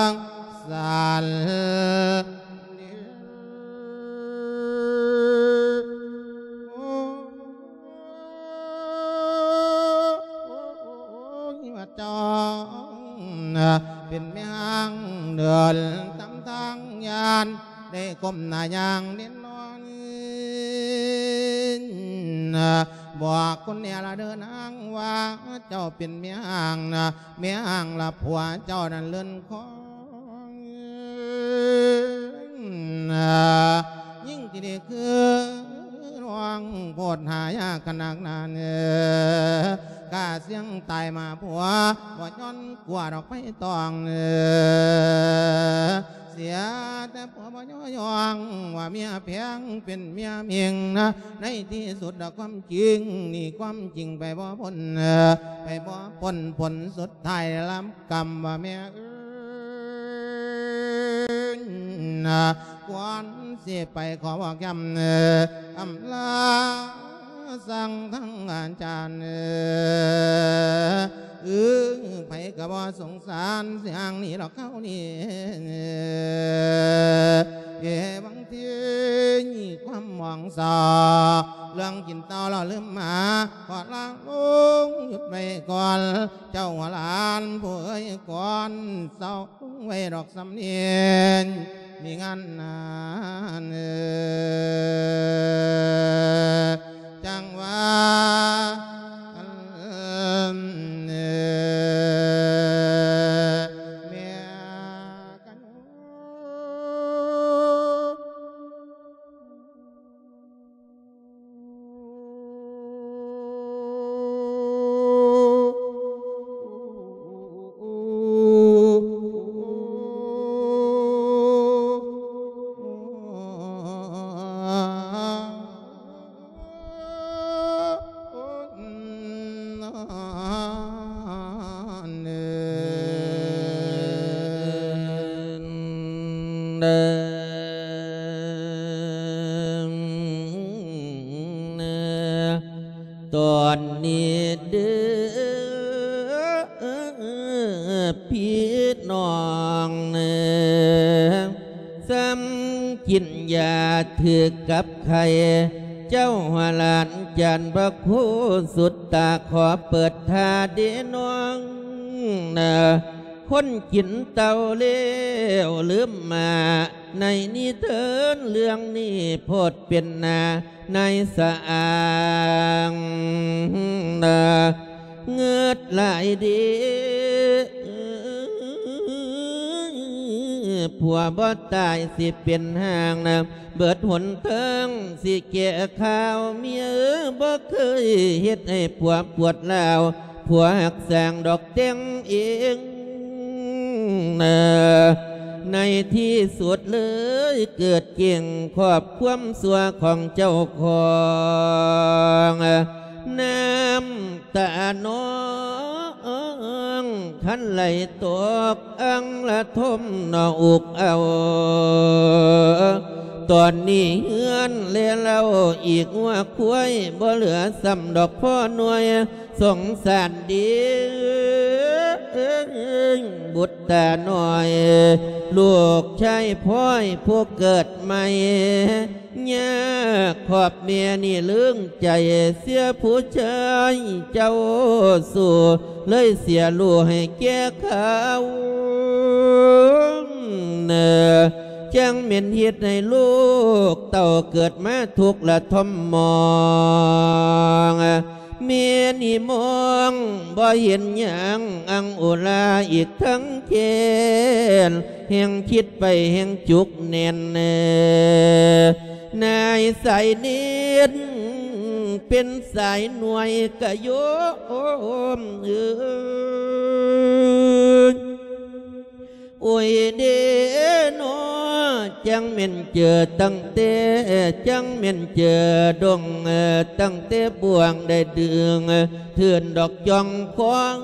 ງສານ ໂອ້ຍ ວ່າເຈົ້າເປັນແມ່ຮ້າງເດີນຕາມທາງ ຢ້ານໄດ້ກົ້ມໜ້າຍ່າງເດນນອນ ບອກຄົນແດ່ລະເດີນາງວ່າ ເຈົ້າເປັນແມ່ຮ້າງນະ ແມ່ຮ້າງລະຜົວເຈົ້ານັ້ນເລື່ອນຄອງ ຍິ່ງທີ່ໄດ້ຄືນ້ອງໂພດຫາຍາກຂະໜາດນັ້ນ ກ້າສ່ຽງຕາຍມາຜົວ ບໍ່ຍ້ອນກົວດອກໄຟຕອງ ເສຍແຕ່ຜົວບໍ່ຍໍຍ້ອງ ວ່າເມຍແພງເປັນເມຍເມັງນະ ໃນທີ່ສຸດດອກຄວາມຈິງ ໜີຄວາມຈິງໄປບໍ່ພົ້ນ ໄປບໍ່ພົ້ນ ຜົນສຸດທ້າຍໄດ້ຮັບກຳວ່າແມ່ເອີຍ ກ່ອນຊິໄປຂໍບອກຢ້ຳ ອຳລາສັ່ງທາງອາຈານ ເອີ ໃຜກໍບໍ່ສົງສານ ຊິຫ່າງໜີດອກເຂົານີ້ ເອ ບາງທີມີຄວາມໝອງເສົ້າ ເລື່ອງກິນເຕົ້າລະລືມມາ ຂໍລາລົງຢຸດໄວ້ກ່ອນ ເຈົ້າຫົວຫຼານຜູ້ເອີຍ ກ່ອນເຊົາ ໄວ້ດອກສຳເນີນ ມີງານນານ ຈັ່ງວ່າ ອັນ ແມ່ກັນ ຕອນນີ້ເດີພີ່ນ້ອງເອີຍ ສ່ຳກິນຢາຖືກກັບໄຂ້ ເຈົ້າຫຼານຈານພະຄູສຸດຕາ ຂໍເປີດທ່າເດນ້ອງເອີຍ ຄົນກິນເຕົ້າແລ້ວລືມມາ ໃນນິທານເລື່ອງນີ້ໂພດເປັນນາ ນາຍສະອາງ ເງິດຫຼາຍເດ ຜົວບໍ່ຕາຍຊິເປັນຮ່າງນະ ເບິດຫົນທາງຊິແກ້ຂ່າວ ເມຍເອີຍບໍ່ເຄີຍເຮັດໃຫ້ຜົວປວດຮ້າວ ຜົວຮັກສ້າງດອກແຕ່ງເອງ ໃນທີ່ສຸດເລີຍເກີດເກັ່ງຄອບຄວາມຊົ່ວຂອງເຈົ້າຂອງ ນ້ຳຕານ້ອງຄັນໄຫຼຕົກອັ່ງລະທົມໜໍ່ອຸກເອົາ ຕອນນີ້ເຮືອນແລເລົ້າອີກງົວຄວາຍ ບໍ່ເຫຼືອຊ້ຳດອກພໍໜ່ວຍ ສົງສານເດ ບຸດຕານ້ອຍ ລູກຊາຍພອຍຜູ້ເກີດໃໝ່ ຍາກຂອບແມ່ນີ້ເລີງໃຈ ເສຍຜູ້ຊາຍເຈົ້າສູ່ ເລີຍເສຍລູກໃຫ້ແກ່ເຂົາ ເນີ ຈັ່ງແມ່ນເຮັດໃຫ້ລູກເຕົ້າເກີດມາທຸກລະທົນມອງ ແມ່ນີ້ມອງບໍ່ເຫັນຫຍັງອັງອຸລາອີກທັງແຄ້ນ ແຮ່ງຄິດໄປແຮ່ງຈຸກແໜ້ນ ນາຍສາຍເນນ ເປັນສາຍໜ່ວຍກະໂຍມເອີຍ ໂອ້ຍເດນໍ ຈັ່ງແມ່ນເຈີຕັ້ງແຕ່ ຈັ່ງແມ່ນເຈີດົງ ຕັ້ງແຕ່ບ່ວງໄດ້ດຶງ ເທີນດອກຈອງຂອງ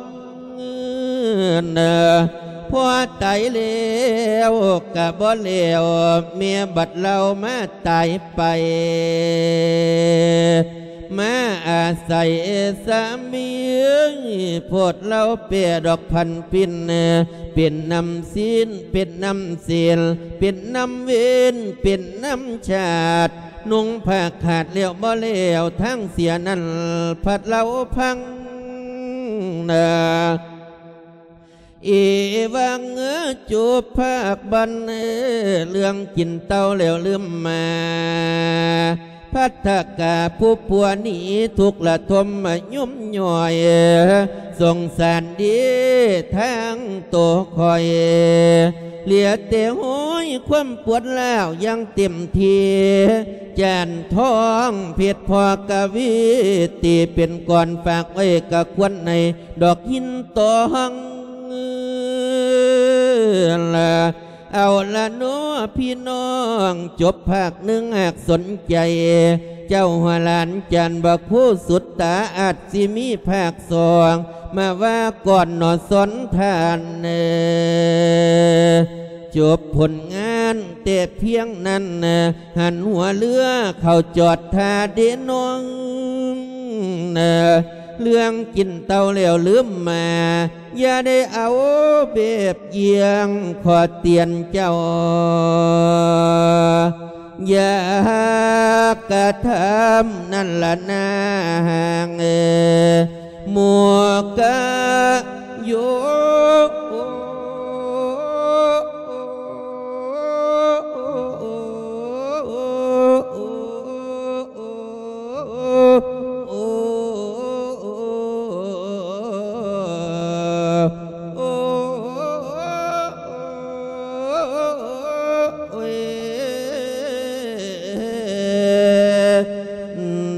ພໍຕາຍແລ້ວກະບໍ່ແລ້ວ ແມ່ບັດລາວມາຕາຍໄປ ມາອາໄສສາມີ ໂພດລາວແປດອກພັນປິ່ນ ເປັນນ້ຳຊີ້ນ ເປັນນ້ຳເສັ້ນ ເປັນນ້ຳເວັນ ເປັນນ້ຳຊາດ ນຸ່ງຜ້າຂາດແລ້ວບໍ່ແລ້ວ ທາງເສຍນັ້ນພັດລາວພັງນາ ເອວັງ ຈົບພາກບັນ ເລື່ອງກິນເຕົ້າແລ້ວລືມມາ ພັດທະກາຜູ້ປົວໜີ ທຸກລະທົນມາຫຍຸມຫຍ້ອຍ ສົງສານເດທາງໂຕຂ້ອຍ ເຫຼືອແຕ່ຫ້ອຍຄວາມປວດຮ້າວຢ່າງເຕັມທີ່ ຈານທອງເພັດພໍ່ກະວີ ຕີເປັນກ່ອນຝາກໄວ້ກະຄວນໃນ ດອກຫີນຕອງ ເອົາລະເນາະພີ່ນ້ອງ ຈົບພາກໜຶ່ງຫາກສົນໃຈ ເຈົ້າຫົວຫຼານຈັນພະຄູສຸດຕາ ອາດຊິມີພາກສອງ ມາວ່າກ່ອນເນາະສອນທ່ານເອີ ຈົບຜົນງານແຕ່ພຽງນັ້ນ ຫັນຫົວເຮືອເຂົ້າຈອດທ່າເດນ້ອງ ເລື່ອງກິນເຕົ້າແລ້ວລືມມາ ຢ່າໄດ້ເອົາແບບຢ່ຽງ ຂໍເຕືອນເຈົ້າ ຢ່າກະທຳນັ້ນລະນາງເອີ ໝູ່ກະໂຍ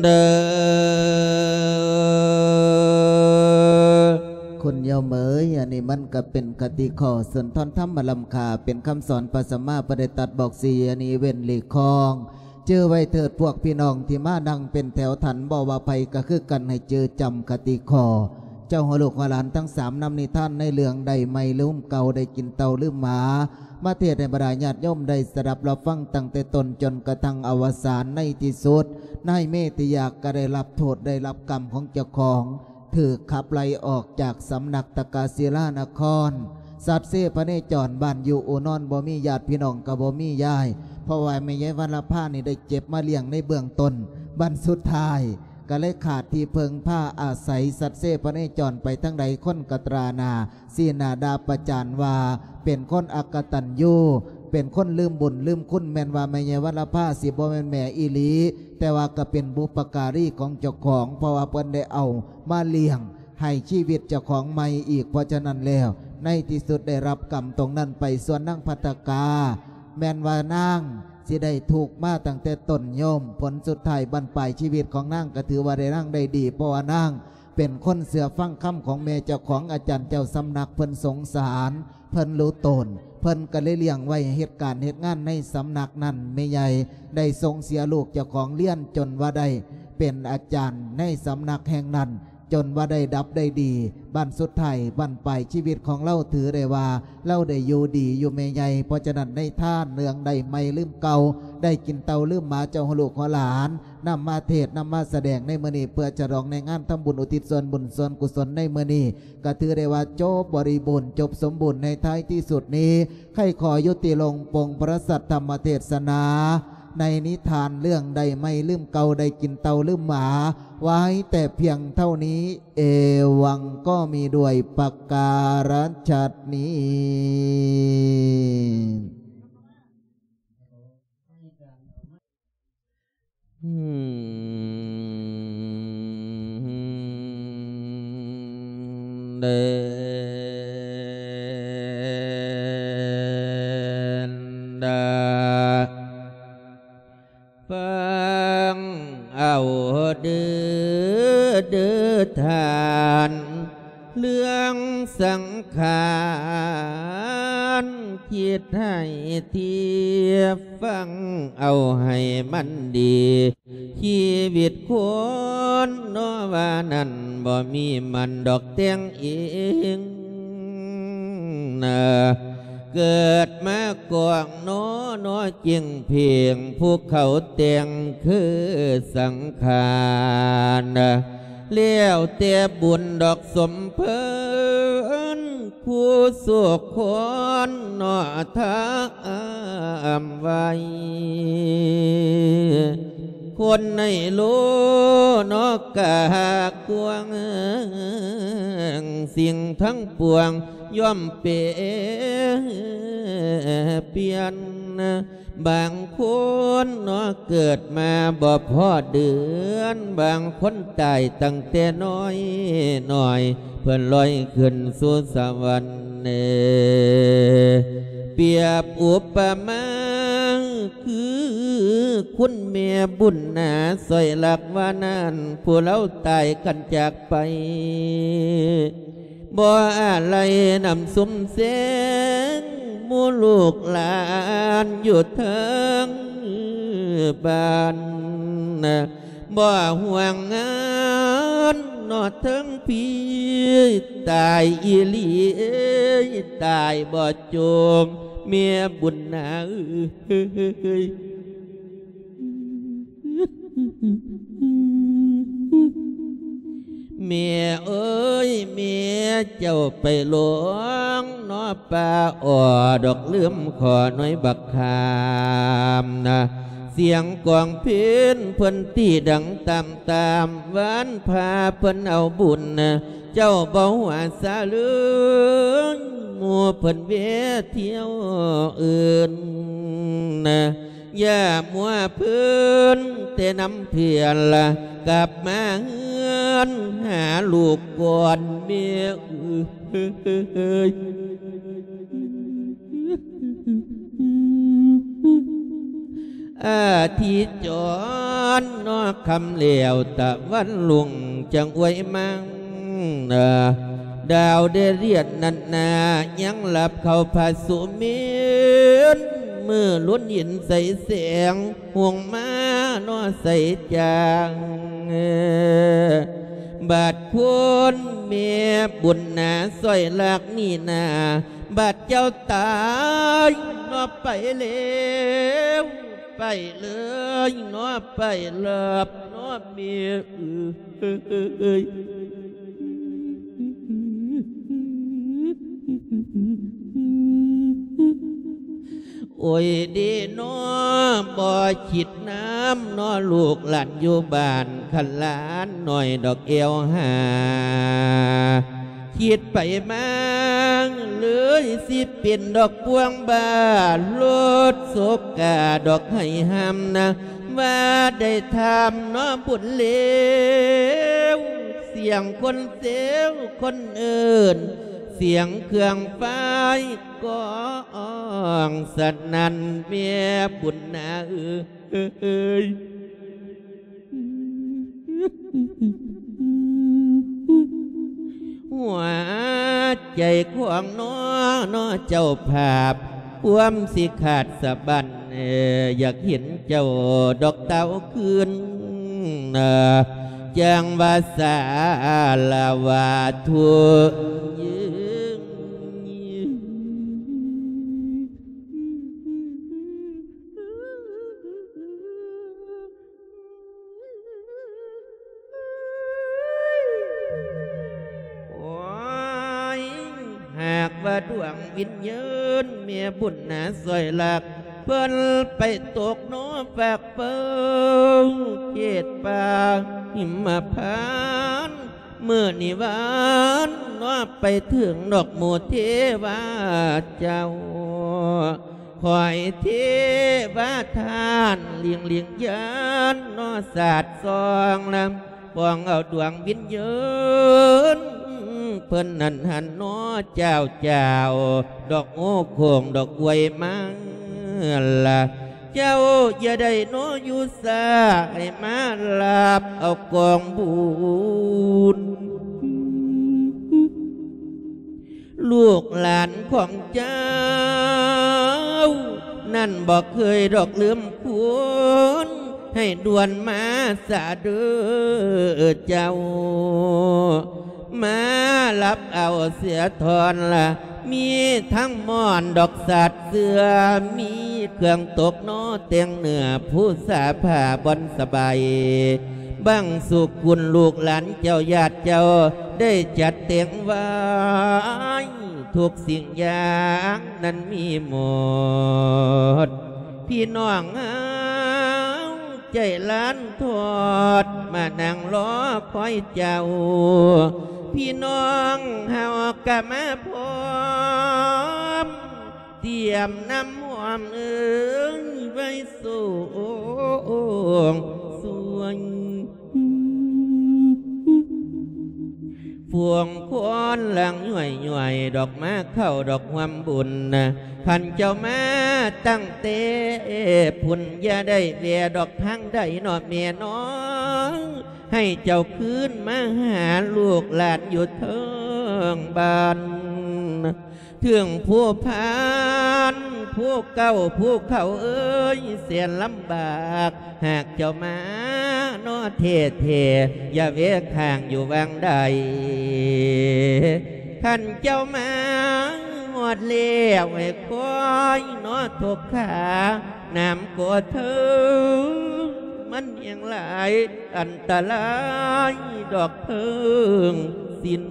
ເດີ ຄຸນໂຍມເອີຍ ອັນນີ້ມັນກະເປັນຄະຕິຂໍ້ ສຸນທອນທຳມະລ້ຳຄ່າ ເປັນຄຳສອນພະສຳມາພຸດທະເຈົ້າຕັດບອກສີ ອັນນີ້ເວັ້ນຫຼີກຄອງ ຈື່ໄວ້ເທີດພວກພີ່ນ້ອງທີ່ມານັ່ງເປັນແຖວທັນ ບໍ່ວ່າໃຜກະຄືກັນ ໃຫ້ຈື່ຈຳຄະຕິຂໍ້ ເຈົ້າຫົວລູກຫົວຫຼານທັງສາມ ນຳນິທານໃນເລື່ອງໄດ້ໃໝ່ລືມເກົ່າ ໄດ້ກິນເຕົ້າລືມໝາ ມາເທດໃຫ້ບັນດາຍາດໂຍມໄດ້ສະດັບຮັບຟັງຕັ້ງແຕ່ຕົ້ນຈົນກະທັ່ງອະວະສານ ໃນທີ່ສຸດ ນາຍເມດທີ່ຢາກກະໄດ້ຮັບໂທດໄດ້ຮັບກຳຂອງເຈົ້າຂອງ ຖືກຂັບໄລ່ອອກຈາກສຳນັກຕະກະສິລານະຄອນ ສັດເຊພະເນຈອນ ບ້ານຢູ່ອູ່ນອນບໍ່ມີ ຍາດພີ່ນ້ອງກະບໍ່ມີ ຍ້າຍ ເພາະວ່າແມ່ໃຫຍ່ວັນລະພານີ້ໄດ້ເກັບມາລ້ຽງໃນເບື້ອງຕົ້ນ ບັດສຸດທ້າຍກະເລີຍຂາດທີ່ເພິ່ງພາອາໄສ ສັດເຊພະເນຈອນໄປທາງໃດຄົນກະຕຣາໜ້າ ຊີ້ໜ້າດ່າປະຈານວ່າເປັນຄົນອະກະຕັນຍູ ເປັນຄົນລືມບຸນລືມຄຸນ ແມ່ນວ່າແມ່ໃຫຍ່ວັນລະພາຊິບໍ່ແມ່ນແມ່ອີ່ຫຼີ ແຕ່ວ່າກະເປັນບຸບປະກາລີຂອງເຈົ້າຂອງ ເພາະວ່າເພິ່ນໄດ້ເອົາມາລ້ຽງໃຫ້ຊີວິດເຈົ້າຂອງໃໝ່ອີກ ເພາະສະນັ້ນແລ້ວ ໃນທີ່ສຸດໄດ້ຮັບກຳຕົງນັ້ນໄປ ສ່ວນນາງພັດທະກາ ແມ່ນວ່ານາງຊິໄດ້ທຸກມາຕັ້ງແຕ່ຕົ້ນໂຍມ ຜົນສຸດທ້າຍບັ້ນປາຍຊີວິດຂອງນາງກະຖືວ່າໄດ້ ນາງໄດ້ດີ ເພາະວ່ານາງ ເປັນຄົນເຊື່ອຟັງຄຳຂອງແມ່ເຈົ້າຂອງ ອາຈານເຈົ້າສຳນັກ ເພິ່ນສົງສານ ເພິ່ນຮູ້ຕົນ ເພິ່ນກະເລີຍລ້ຽງໄວ້ເຮັດການເຮັດງານໃນສຳນັກນັ້ນ ແມ່ໃຫຍ່ໄດ້ສົ່ງເສຍລູກເຈົ້າຂອງຮຽນຈົນວ່າໄດ້ເປັນອາຈານໃນສຳນັກແຫ່ງນັ້ນ ຈົນວ່າໄດ້ດັບໄດ້ດີ ບັ້ນສຸດທ້າຍບັ້ນປາຍຊີວິດຂອງລາວ ຖືໄດ້ວ່າລາວໄດ້ຢູ່ດີຢູ່ແມ່ໃຫຍ່ ເພາະສະນັ້ນໃນທານເລື່ອງໄດ້ໃໝ່ລືມເກົ່າ ໄດ້ກິນເຕົ້າລືມໝາ ເຈົ້າຫົວລູກຫົວຫຼານ ນຳມາເທດນຳມາສະແດງໃນມື້ນີ້ ເພື່ອສະຫຼອງໃນງານທຳບຸນອຸທິດສ່ວນບຸນສ່ວນກຸສົນໃນມື້ນີ້ ກະຖືໄດ້ວ່າຈົບບໍລິບູນ ຈົບສົມບູນໃນທ້າຍທີ່ສຸດນີ້ ຂ້າຂອຍຸຕິລົງປົງພະລັດສັດທຳມະເທດສະໜາ ໃນນິທານເລື່ອງໄດ້ໃໝ່ລືມເກົ່າ ໄດ້ກິນເຕົ້າລືມໝາ ໄວ້ແຕ່ພຽງເທົ່ານີ້ ເອວັງ ກໍມີດ້ວຍປະກາລະສັດນີ້. ເດີນດາ ຟັງເອົາເດີ ເດີທ່ານ ເລື່ອງສັງຂານ ຄິດໃຫ້ທຽບ ຟັງເອົາໃຫ້ມັນດີ ຊີວິດຄົນເນາະວ່ານັ້ນ ບໍ່ມີມັນດອກແຕ່ງເອງນະ ເກີດມາກອງເນາະ ເນາະຈິງເພງ ຜູ້ເຂົາແຕ່ງຄືສັງຂານ ແລ້ວແຕ່ບຸນດອກສົມເພິ່ນ ຜູ້ສຸກຄົນເນາະທຳໄວ້ ຄົນໃນໂລກເນາະກະກວ້າງ ສິ່ງທັງປວງ ຍ່ອມເປປ່ຽນ ບາງຄົນເນາະເກີດມາບໍ່ພໍເດືອນ ບາງຄົນຕາຍຕັ້ງແຕ່ນ້ອຍນ້ອຍ ເພິ່ນລອຍຂຶ້ນສູ່ສະຫວັນເນ ປຽບອຸປະມາ ຄືຄຸນແມ່ບຸນນາ ຊ່ອຍລັກວ່ານັ້ນ ຜູ້ລາວຕາຍກັນຈາກໄປ ບໍ່ອາໄລນຳຊຸມແສງ ໝູ່ລູກຫຼານຢູ່ເທິງບ້ານ ບໍ່ຫ່ວງງານເນາະເທິງພີ້ ຕາຍອີ່ຫຼີ ຕາຍບໍ່ໂຈງ ແມ່ບຸນນາເອີຍ ແມ່ເອີຍ ແມ່ເຈົ້າໄປຫຼົງເນາະປ່າອໍ ດອກລືມຂໍໜ່ວຍບັກຂາມນະ ສຽງກອງເພນເພິ່ນຕີດັງຕາມໆ ວານພາເພິ່ນເອົາບຸນນະ ເຈົ້າບໍ່ຫົວສາເລີຍ ໝູ່ເພິ່ນແວ່ທຽວອື່ນນະ ຢ່າມົວເພີນແຕ່ນຳເພື່ອນລະ ກັບມາເຮືອນຫາລູກກ່ອນແມ່ເອີຍ ອາທິດຈອນເນາະຄ່ຳແລ້ວຕາວັນລຸງ ຈັ່ງອວຍມາ ດາວໄດ້ລຽນນັ້ນນາ ຍັງຫຼັບເຂົ້າພະສຸເມນ ມື້ລຸນເຫັນໃສແສງ ຮຸ່ງມາເນາະໃສຈາງ ບາດຄົນແມ່ບຸນນາ ຊ່ອຍລັກນີ້ນາ ບາດເຈົ້າຕາຍເນາະໄປແລ້ວ ໄປເລີຍເນາະ ໄປລັບເນາະແມ່ເອີຍ ໂອ້ຍເດເນາະ ບໍ່ຄິດນຳເນາະ ລູກຫຼານຢູ່ບ້ານ ຄັນຫຼານນ້ອຍດອກແອວຫາ ຄິດໄປມາເລີຍ ຊິເປັນດອກພວງບາດ ລົດສົບກາດອກໄຫ້ຫ້າມນະ ວ່າໄດ້ຖາມເນາະບຸນເລວ ສຽງຄົນເຊວຄົນເອີ້ນ ສຽງເຄື່ອງໄຟກ້ອງສະໜັ່ນ ແມ່ບຸນນາເອີຍ ຫົວໃຈຂອງນ້ອ ນ້ອເຈົ້າພາບ ຄວາມຊິຂາດສະບັ້ນ ຢາກເຫັນເຈົ້າດອກເຕົ້າຄືນ ຈັ່ງວ່າສາລະວາທຸຍືງ ໂອ້ຍ ຫາກວ່າດວງວິນຍານແມ່ບຸນນາຊ່ອຍລັກ ເພິ່ນໄປຕົກເນາະຟາກເປົ່າເຂດປ່າຫິມມະພານ ມື້ນີ້ວານເນາະ ໄປເຖິງດອກໝູ່ເທວາເຈົ້າ ຂ້ອຍເທວະທ່ານ ລິງລິງຍານເນາະ ສາດສ່ອງລຳ ປ່ອງເອົາດວງວິນຍານ ເພິ່ນນັ້ນຫັ້ນເນາະ ເຈົ້າ ເຈົ້າ ດອກໂອ້ໂຄ້ງດອກອວຍມາລະ ເຈົ້າຢ່າໄດ້ເນາະຢູ່ຊ້າ ໃຫ້ມາຮັບເອົາກອງບຸນ ລູກຫຼານຂອງເຈົ້າ ນັ້ນບໍ່ເຄີຍດອກລືມຄຸນ ໃຫ້ດ່ວນມາສາເດີເຈົ້າ ມາຮັບເອົາເສຍທ່ອນລະ ມີທັງໝອນດອກສາດເສື່ອ ມີເຄື່ອງຕົກເນາະແຕ່ງເນື້ອ ພູສາຜ້າບ່ອນສະບາຍ ບັງສຸກຸນລູກຫຼານເຈົ້າ ຍາດເຈົ້າໄດ້ຈັດແຕ່ງໄວ້ ທຸກສິ່ງຢ່າງນັ້ນມີໝົດ ພີ່ນ້ອງເຮົາໃຈລ້ານທອດ ມານັ່ງລໍຄອຍເຈົ້າ ພີ່ນ້ອງເຮົາກະມາພ້ອມ ຕຽມນ້ຳຫອມເອີຍ ໄວ້ສວງສວຍ ຟວງຄວັນຫຼັງຍ້ອຍໆ ດອກມາເຂົ້າດອກຮ່ວມບຸນນະ ຄັນເຈົ້າມາຕັ້ງແຕ່ພຸ້ນ ຢ່າໄດ້ແວ່ດອກທາງໃດເນາະແມ່ນ້ອງ ໃຫ້ເຈົ້າຄືນມາຫາລູກຫຼານຢູ່ເທິງບ້ານ ເທິງພູພານ ພູເກົ່າ ພູເກົ່າເອີຍ ແສນລຳບາກ ຫາກເຈົ້າມາເນາະແທ້ໆ ຢ່າແວ່ຄ້າງຢູ່ຫວ່າງໃດ ຄັນເຈົ້າມາຮອດແລ້ວ ໃຫ້ຄອຍເນາະທົກຂາ ນ້ຳກໍເທີງ ມັນແຮງຫຼາຍ ອັນຕະລາຍດອກເພິ່ງສິ້ນ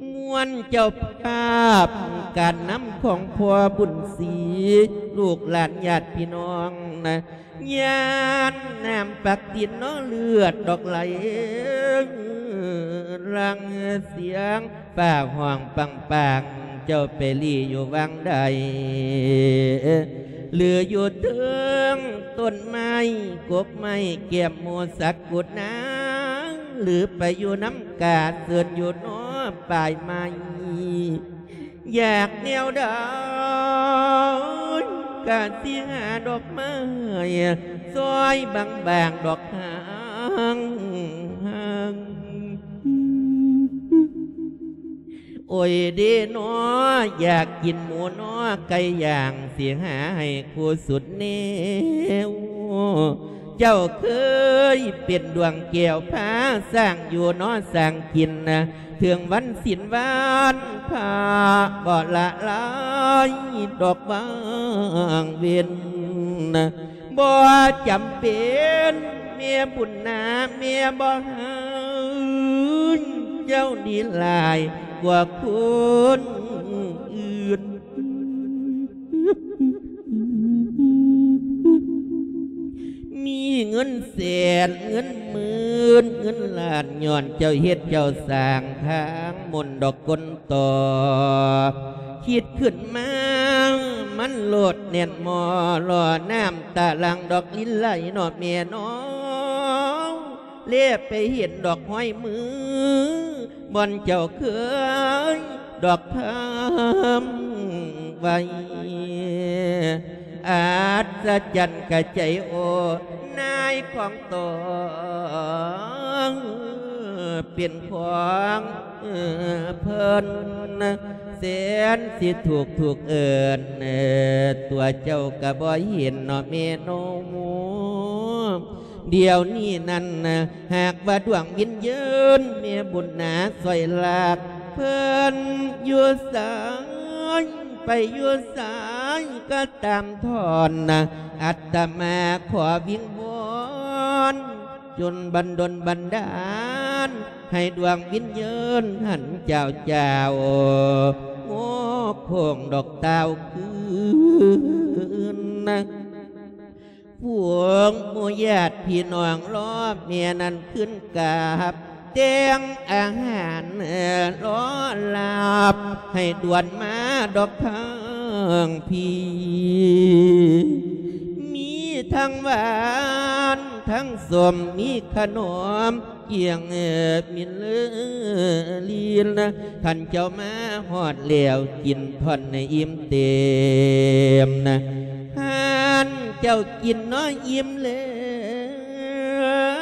ມ່ວນເຈົ້າພາບການນຳຂອງພໍ່ບຸນສີ ລູກຫຼານຍາດພີ່ນ້ອງນະ ຍາດນ້ຳປັກຕິນເນາະເລືອດດອກໄຫຼ ຫຼັ່ງສຽງຟ້າຮ້ອງປັງໆ ເຈົ້າໄປຫຼີ້ຢູ່ຫວ່າງໃດ ຫຼືຢູ່ເທິງຕົ້ນໄມ້ກົກໄມ້ແກ້ມໝູສັກກຸດນາ ຫຼືໄປຢູ່ນຳກາເຊີນຢູ່ນອບປາຍໄມ້ ຢາກແນວໃດກະຊິຫາດອກໄມ້ ຊອຍບາງໆ ດອກຫາງ ໂອຍເດເນາະ ຢາກກິນໝູເນາະ ໄກ່ຍ່າງ ຊິຫາໃຫ້ຄູ່ສຸດແນວ ເຈົ້າເຄີຍເປັນດວງແກ້ວພາຊ້າງຢູ່ເນາະ ຊ້າງກິນນະ ເຖິງວັນສິນວັນພະບໍ່ລະລາຍດອກຫວ່າງເວັນ ບໍ່ຈຳເປັນແມ່ບຸນນາ ແມ່ບໍ່ໃຫ້ເຈົ້າດີຫຼາຍກວ່າຄົນອື່ນ ມີເງິນແສນເງິນໝື່ນເງິນລ້ານ ຍ້ອນເຈົ້າເຮັດເຈົ້າສ້າງທາງມົນດອກກົນຕໍ່ ຄິດຂຶ້ນມາມັນໂລດແໜ້ນໝໍ່ ຫຼໍ່ນ້ຳຕາຫຼັງດອກລິນໄຫຼເນາະແມ່ເນາະ ແລໄປເຫັນດອກຮອຍມື ບ່ອນເຈົ້າເຄີຍດອກທຳໄວ້ ອັດສະຈັນກະໃຈໂອ ນາຍຂອງໂຕເປັນຂອງເພິ່ນ ແສນຊິທຸກທຸກເອີ້ນ ຕົວເຈົ້າກະບໍ່ເຫັນເນາະແມ່ເນາະ ດຽວນີ້ນັ້ນນະ ຫາກວ່າດວງວິນຍານແມ່ບຸນນາຊ່ອຍລາກ ເພິ່ນຢູ່ໃສ ໄປຢູ່ໃສກໍຕາມທ່ອນນະ ອາດຕະມາຂໍວິງວອນ ຈົນບັນດົນບັນດານ ໃຫ້ດວງວິນຍານຫັ້ນເຈົ້າເຈົ້າ ໂງໂຄ້ງດອກຕ່າວຄືນນະ ພວກໝູ່ຍາດພີ່ນ້ອງລໍແມ່ນັ້ນຄືນກັບ ແຕ່ງອາຫານລໍລາບ ໃຫ້ດ່ວນມາດອກເທີ ງພີ່ ມີທັງຫວານທັງສົ້ມ ມີຂະໜົມກຽງເອີບມິນເລີລີນນະ ຄັນເຈົ້າມາຮອດແລ້ວ ກິນທ່ອນໃຫ້ອີ່ມເຕັມນະ ຄັນເຈົ້າກິນນ້ອຍອີ່ມແລ້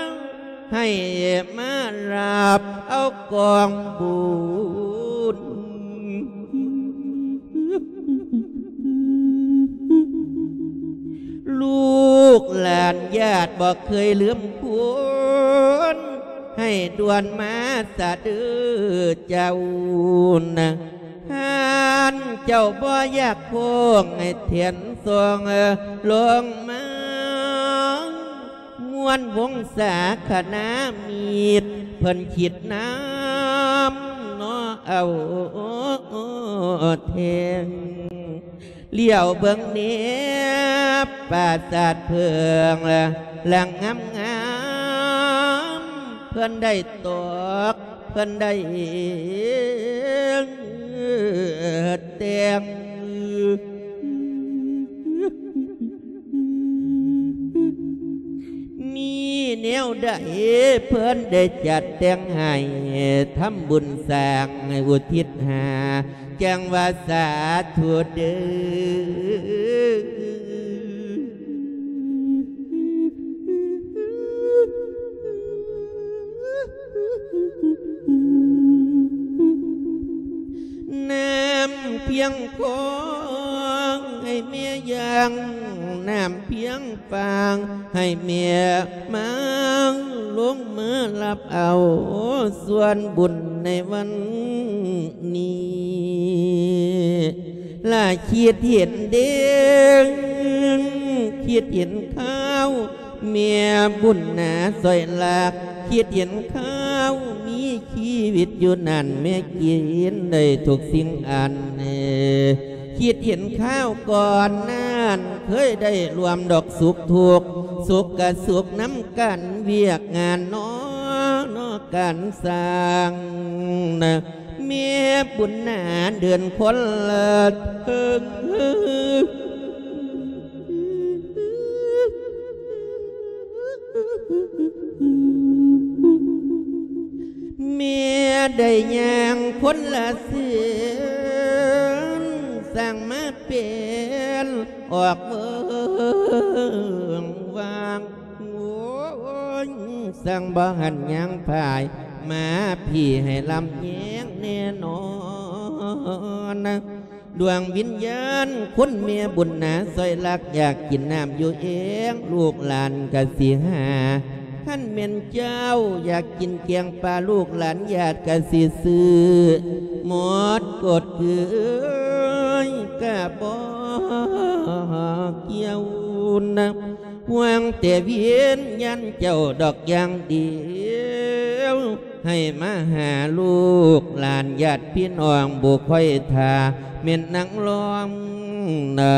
ວ ໃຫ້ມາຮັບເອົາກອງບຸນ ລູກຫຼານຍາດບໍ່ເຄີຍລືມຄຸນ ໃຫ້ດ່ວນມາສະເດີເຈົ້ານະ ຄັນເຈົ້າບໍ່ຢາກໂຄ້ງ ໃຫ້ແທນສອງລົງມາ ມ່ວນວົງສາຄະນາມິດ ເພິ່ນຄິດນຳເນາະເອົາແທງ ຫຼຽວເບິ່ງແນບປາສາດເພິ່ງ ລະງາມໆ ເພິ່ນໄດ້ຕອກ ເພິ່ນໄດ້ແຕ່ງ ມີແນວໃດເພິ່ນໄດ້ຈັດແຕ່ງໃຫ້ ທຳບຸນສ້າງໃຫ້ອຸທິດຫາ ຈັ່ງວ່າສາທຸເດີ. ນ້ຳພຽງຄອງໃຫ້ແມ່ຍ່າງ ນ້ຳພຽງຟາງໃຫ້ແມ່ມາງ ລົງມາຮັບເອົາສ່ວນບຸນໃນວັນນີ້ ລະຄິດເຫັນເດ້ງ ຄິດເຫັນຄາວ ແມ່ບຸນໜາຊອຍລັກ ຄິດເຫັນຄາວມີຊີວິດຢູ່ນັ້ນ ແມ່ກິນໄດ້ທຸກສິ່ງອັນ ຄິດເຫັນຄາວກ່ອນນັ້ນ ເຄີຍໄດ້ຮ່ວມດອກສຸກທຸກ ສຸກກະສຸກນຳກັນ ວຽກງານເນາະ ເນາະການສ້າງນະ ແມ່ບຸນໜາເດີນຄົນລະເທິງ ແມ່ໄດ້ຍ່າງຄົນລະເຊືອນ ສ້າງມາເປັນອອກເບິ່ງວ່າງ ໂອ້ຍ ຊ່າງບໍ່ຫັນຍ່າງພາຍ ມາພີ້ໃຫ້ລຳແຍງແນ່ນອນນະ ດວງວິນຍານ ຄຸນແມ່ບຸນໜາຊອຍລັກ ຢາກກິນນ້ຳຢູ່ເອງ ລູກຫຼານກະຊິຫາ ຄັນແມ່ນເຈົ້າຢາກກິນແກງປາ ລູກຫຼານຍາດກະຊິຊື້ ໝົດກົດຄືເອີຍ ກະບໍ່ກ່ຽວນະ ຫວັງແຕ່ວຽນຍານເຈົ້າດອກຢ່າງດຽວ ໃຫ້ມາຫາລູກຫຼານຍາດພີ່ນ້ອງ ບໍ່ຄ່ອຍຖ້າແມ່ນນາງລອມນະ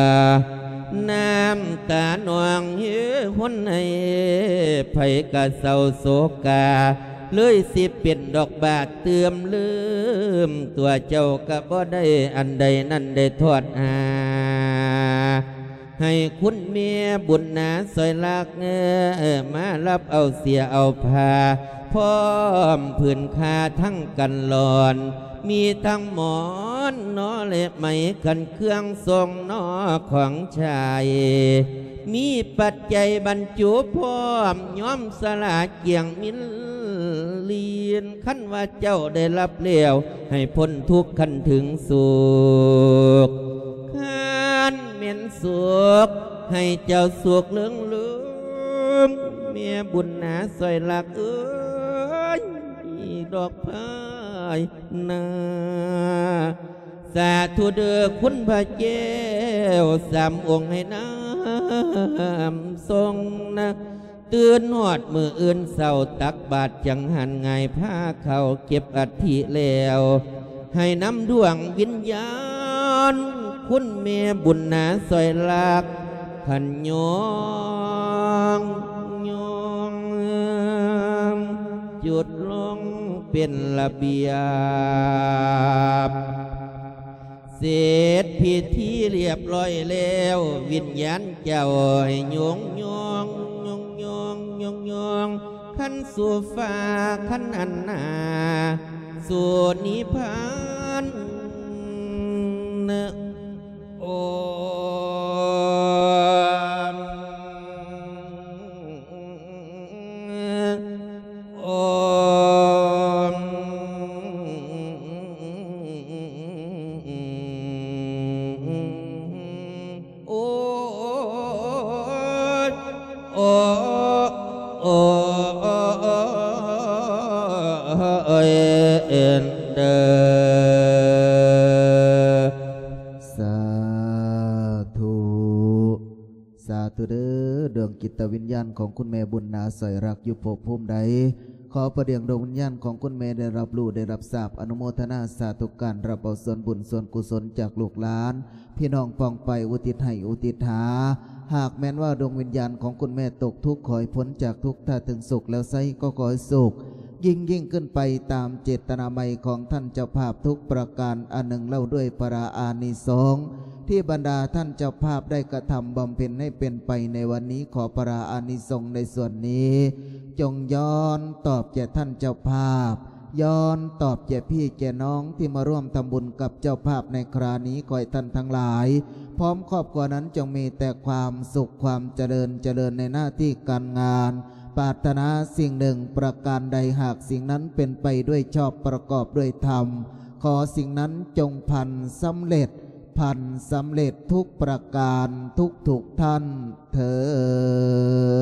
ນ້ຳຕານ້ອງເອີ ຫົນໃຫ້ໃຜກະເສົ້າໂສກາ ເລີຍຊິເປັນດອກບາດເຕີມເລີມ ຕົວເຈົ້າກະບໍ່ໄດ້ອັນໃດນັ້ນໄດ້ທອດຫາ ໃຫ້ຄຸນແມ່ບຸນໜາຊອຍລັກ ມາຮັບເອົາເສຍເອົາຜ້າ ພ້ອມຜືນຜ້າທັງກັນລອນ ມີທັງໝອນໜໍ ແລະໄໝ ຄັນເຄື່ອງຊົງໜໍ ຂອງໃຊ້ ມີປັດໄຈບັນຈຸພ້ອມ ຍອມສະຫຼາກຽງມິນລີນ ຄັນວ່າເຈົ້າໄດ້ຮັບແລ້ວ ໃຫ້ພົ້ນທຸກຄັນເຖິງສຸກ ຄັນແມ່ນສຸກ ໃຫ້ເຈົ້າສຸກເລິງເລີມ ແມ່ບຸນໜາຊອຍລັກເອີຍ ດອກພາຍນາ ສາທຸເດີຄຸນພະແກ້ວສາມອົງ ໃຫ້ນ້ຳຊົງນະ ຕື່ນຮອດມື້ອື່ນເຊົ້າ ຕັກບາດຈັງຫັນ ຫງາຍພາເຂົ້າເກັບອັດຖິແລ້ວ ໃຫ້ນຳດວງວິນຍານ ຄຸນແມ່ບຸນໜາຊອຍລັກ ຂັນຍອງ ຍອງ ຈຸດລົງເປັນລະບຽບ ເສັດພິທີລຽບລ້ອຍແລ້ວ ວິນຍານເຈົ້າໃຫ້ໂຍງໂຍງ ໂຍງໂຍງ ໂຍງໂຍງ ຄັນສູ່ຟ້າ ຄັນອັນໜາ ສູ່ນິບພານ. ໂອມ ໂອມ ໂອ ໂອ ໂອ ເອີ ເອີ ເດີ ສາທຸ ສາທຸເດີ ດວງຈິດຕະວິນຍານຂອງຄຸນແມ່ບຸນນາ ສອຍລັກ ຢູ່ພົບພູມໃດ ຂໍປະດຽງດວງວິນຍານຂອງຄຸນແມ່ໄດ້ຮັບຮູ້ ໄດ້ຮັບຊາບ ອະນຸໂມທະນາສາທຸການ ຮັບເອົາສ່ວນບຸນສ່ວນກຸສົນຈາກລູກຫຼານ ພີ່ນ້ອງປ້ອງປາຍ ອຸທິດໃຫ້ອຸທິດຫາ. ຫາກແມ່ນວ່າດວງວິນຍານຂອງຄຸນແມ່ຕົກທຸກ ຂໍໃຫ້ພົ້ນຈາກທຸກ ຖ້າເຖິງສຸກແລ້ວໄຊ ກໍຂໍໃຫ້ສຸກ ຍິ່ງໆຂຶ້ນໄປຕາມເຈດຕະນາໃໝ່ຂອງທ່ານເຈົ້າພາບທຸກປະການອັນໜຶ່ງເລົ່າ ດ້ວຍພະລາອານິສົງທີ່ບັນດາທ່ານເຈົ້າພາບໄດ້ກະທຳບຳເພັນໃຫ້ເປັນໄປໃນວັນນີ້ ຂໍພະລາອານິສົງໃນສ່ວນນີ້ ຈົ່ງຍ້ອນຕອບແກ່ທ່ານເຈົ້າພາບ ຍ້ອນຕອບແກ່ພີ່ແກ່ນ້ອງທີ່ມາຮ່ວມທຳບຸນກັບເຈົ້າພາບໃນຄຣານີ້ ຂໍໃຫ້ທ່ານທັງຫຼາຍ ພ້ອມຄອບຄົວນັ້ນຈົ່ງມີແຕ່ຄວາມສຸກຄວາມຈະເລີນ ຈະເລີນໃນໜ້າທີ່ການງານ ປາດຖະໜາສິ່ງໜຶ່ງປະການໃດ ຫາກສິ່ງນັ້ນເປັນໄປດ້ວຍຊອບປະກອບດ້ວຍທຳ ຂໍສິ່ງນັ້ນຈົ່ງພັນສຳເລັດ ພັນສຳເລັດທຸກປະການທຸກໆທ່ານເທີດ.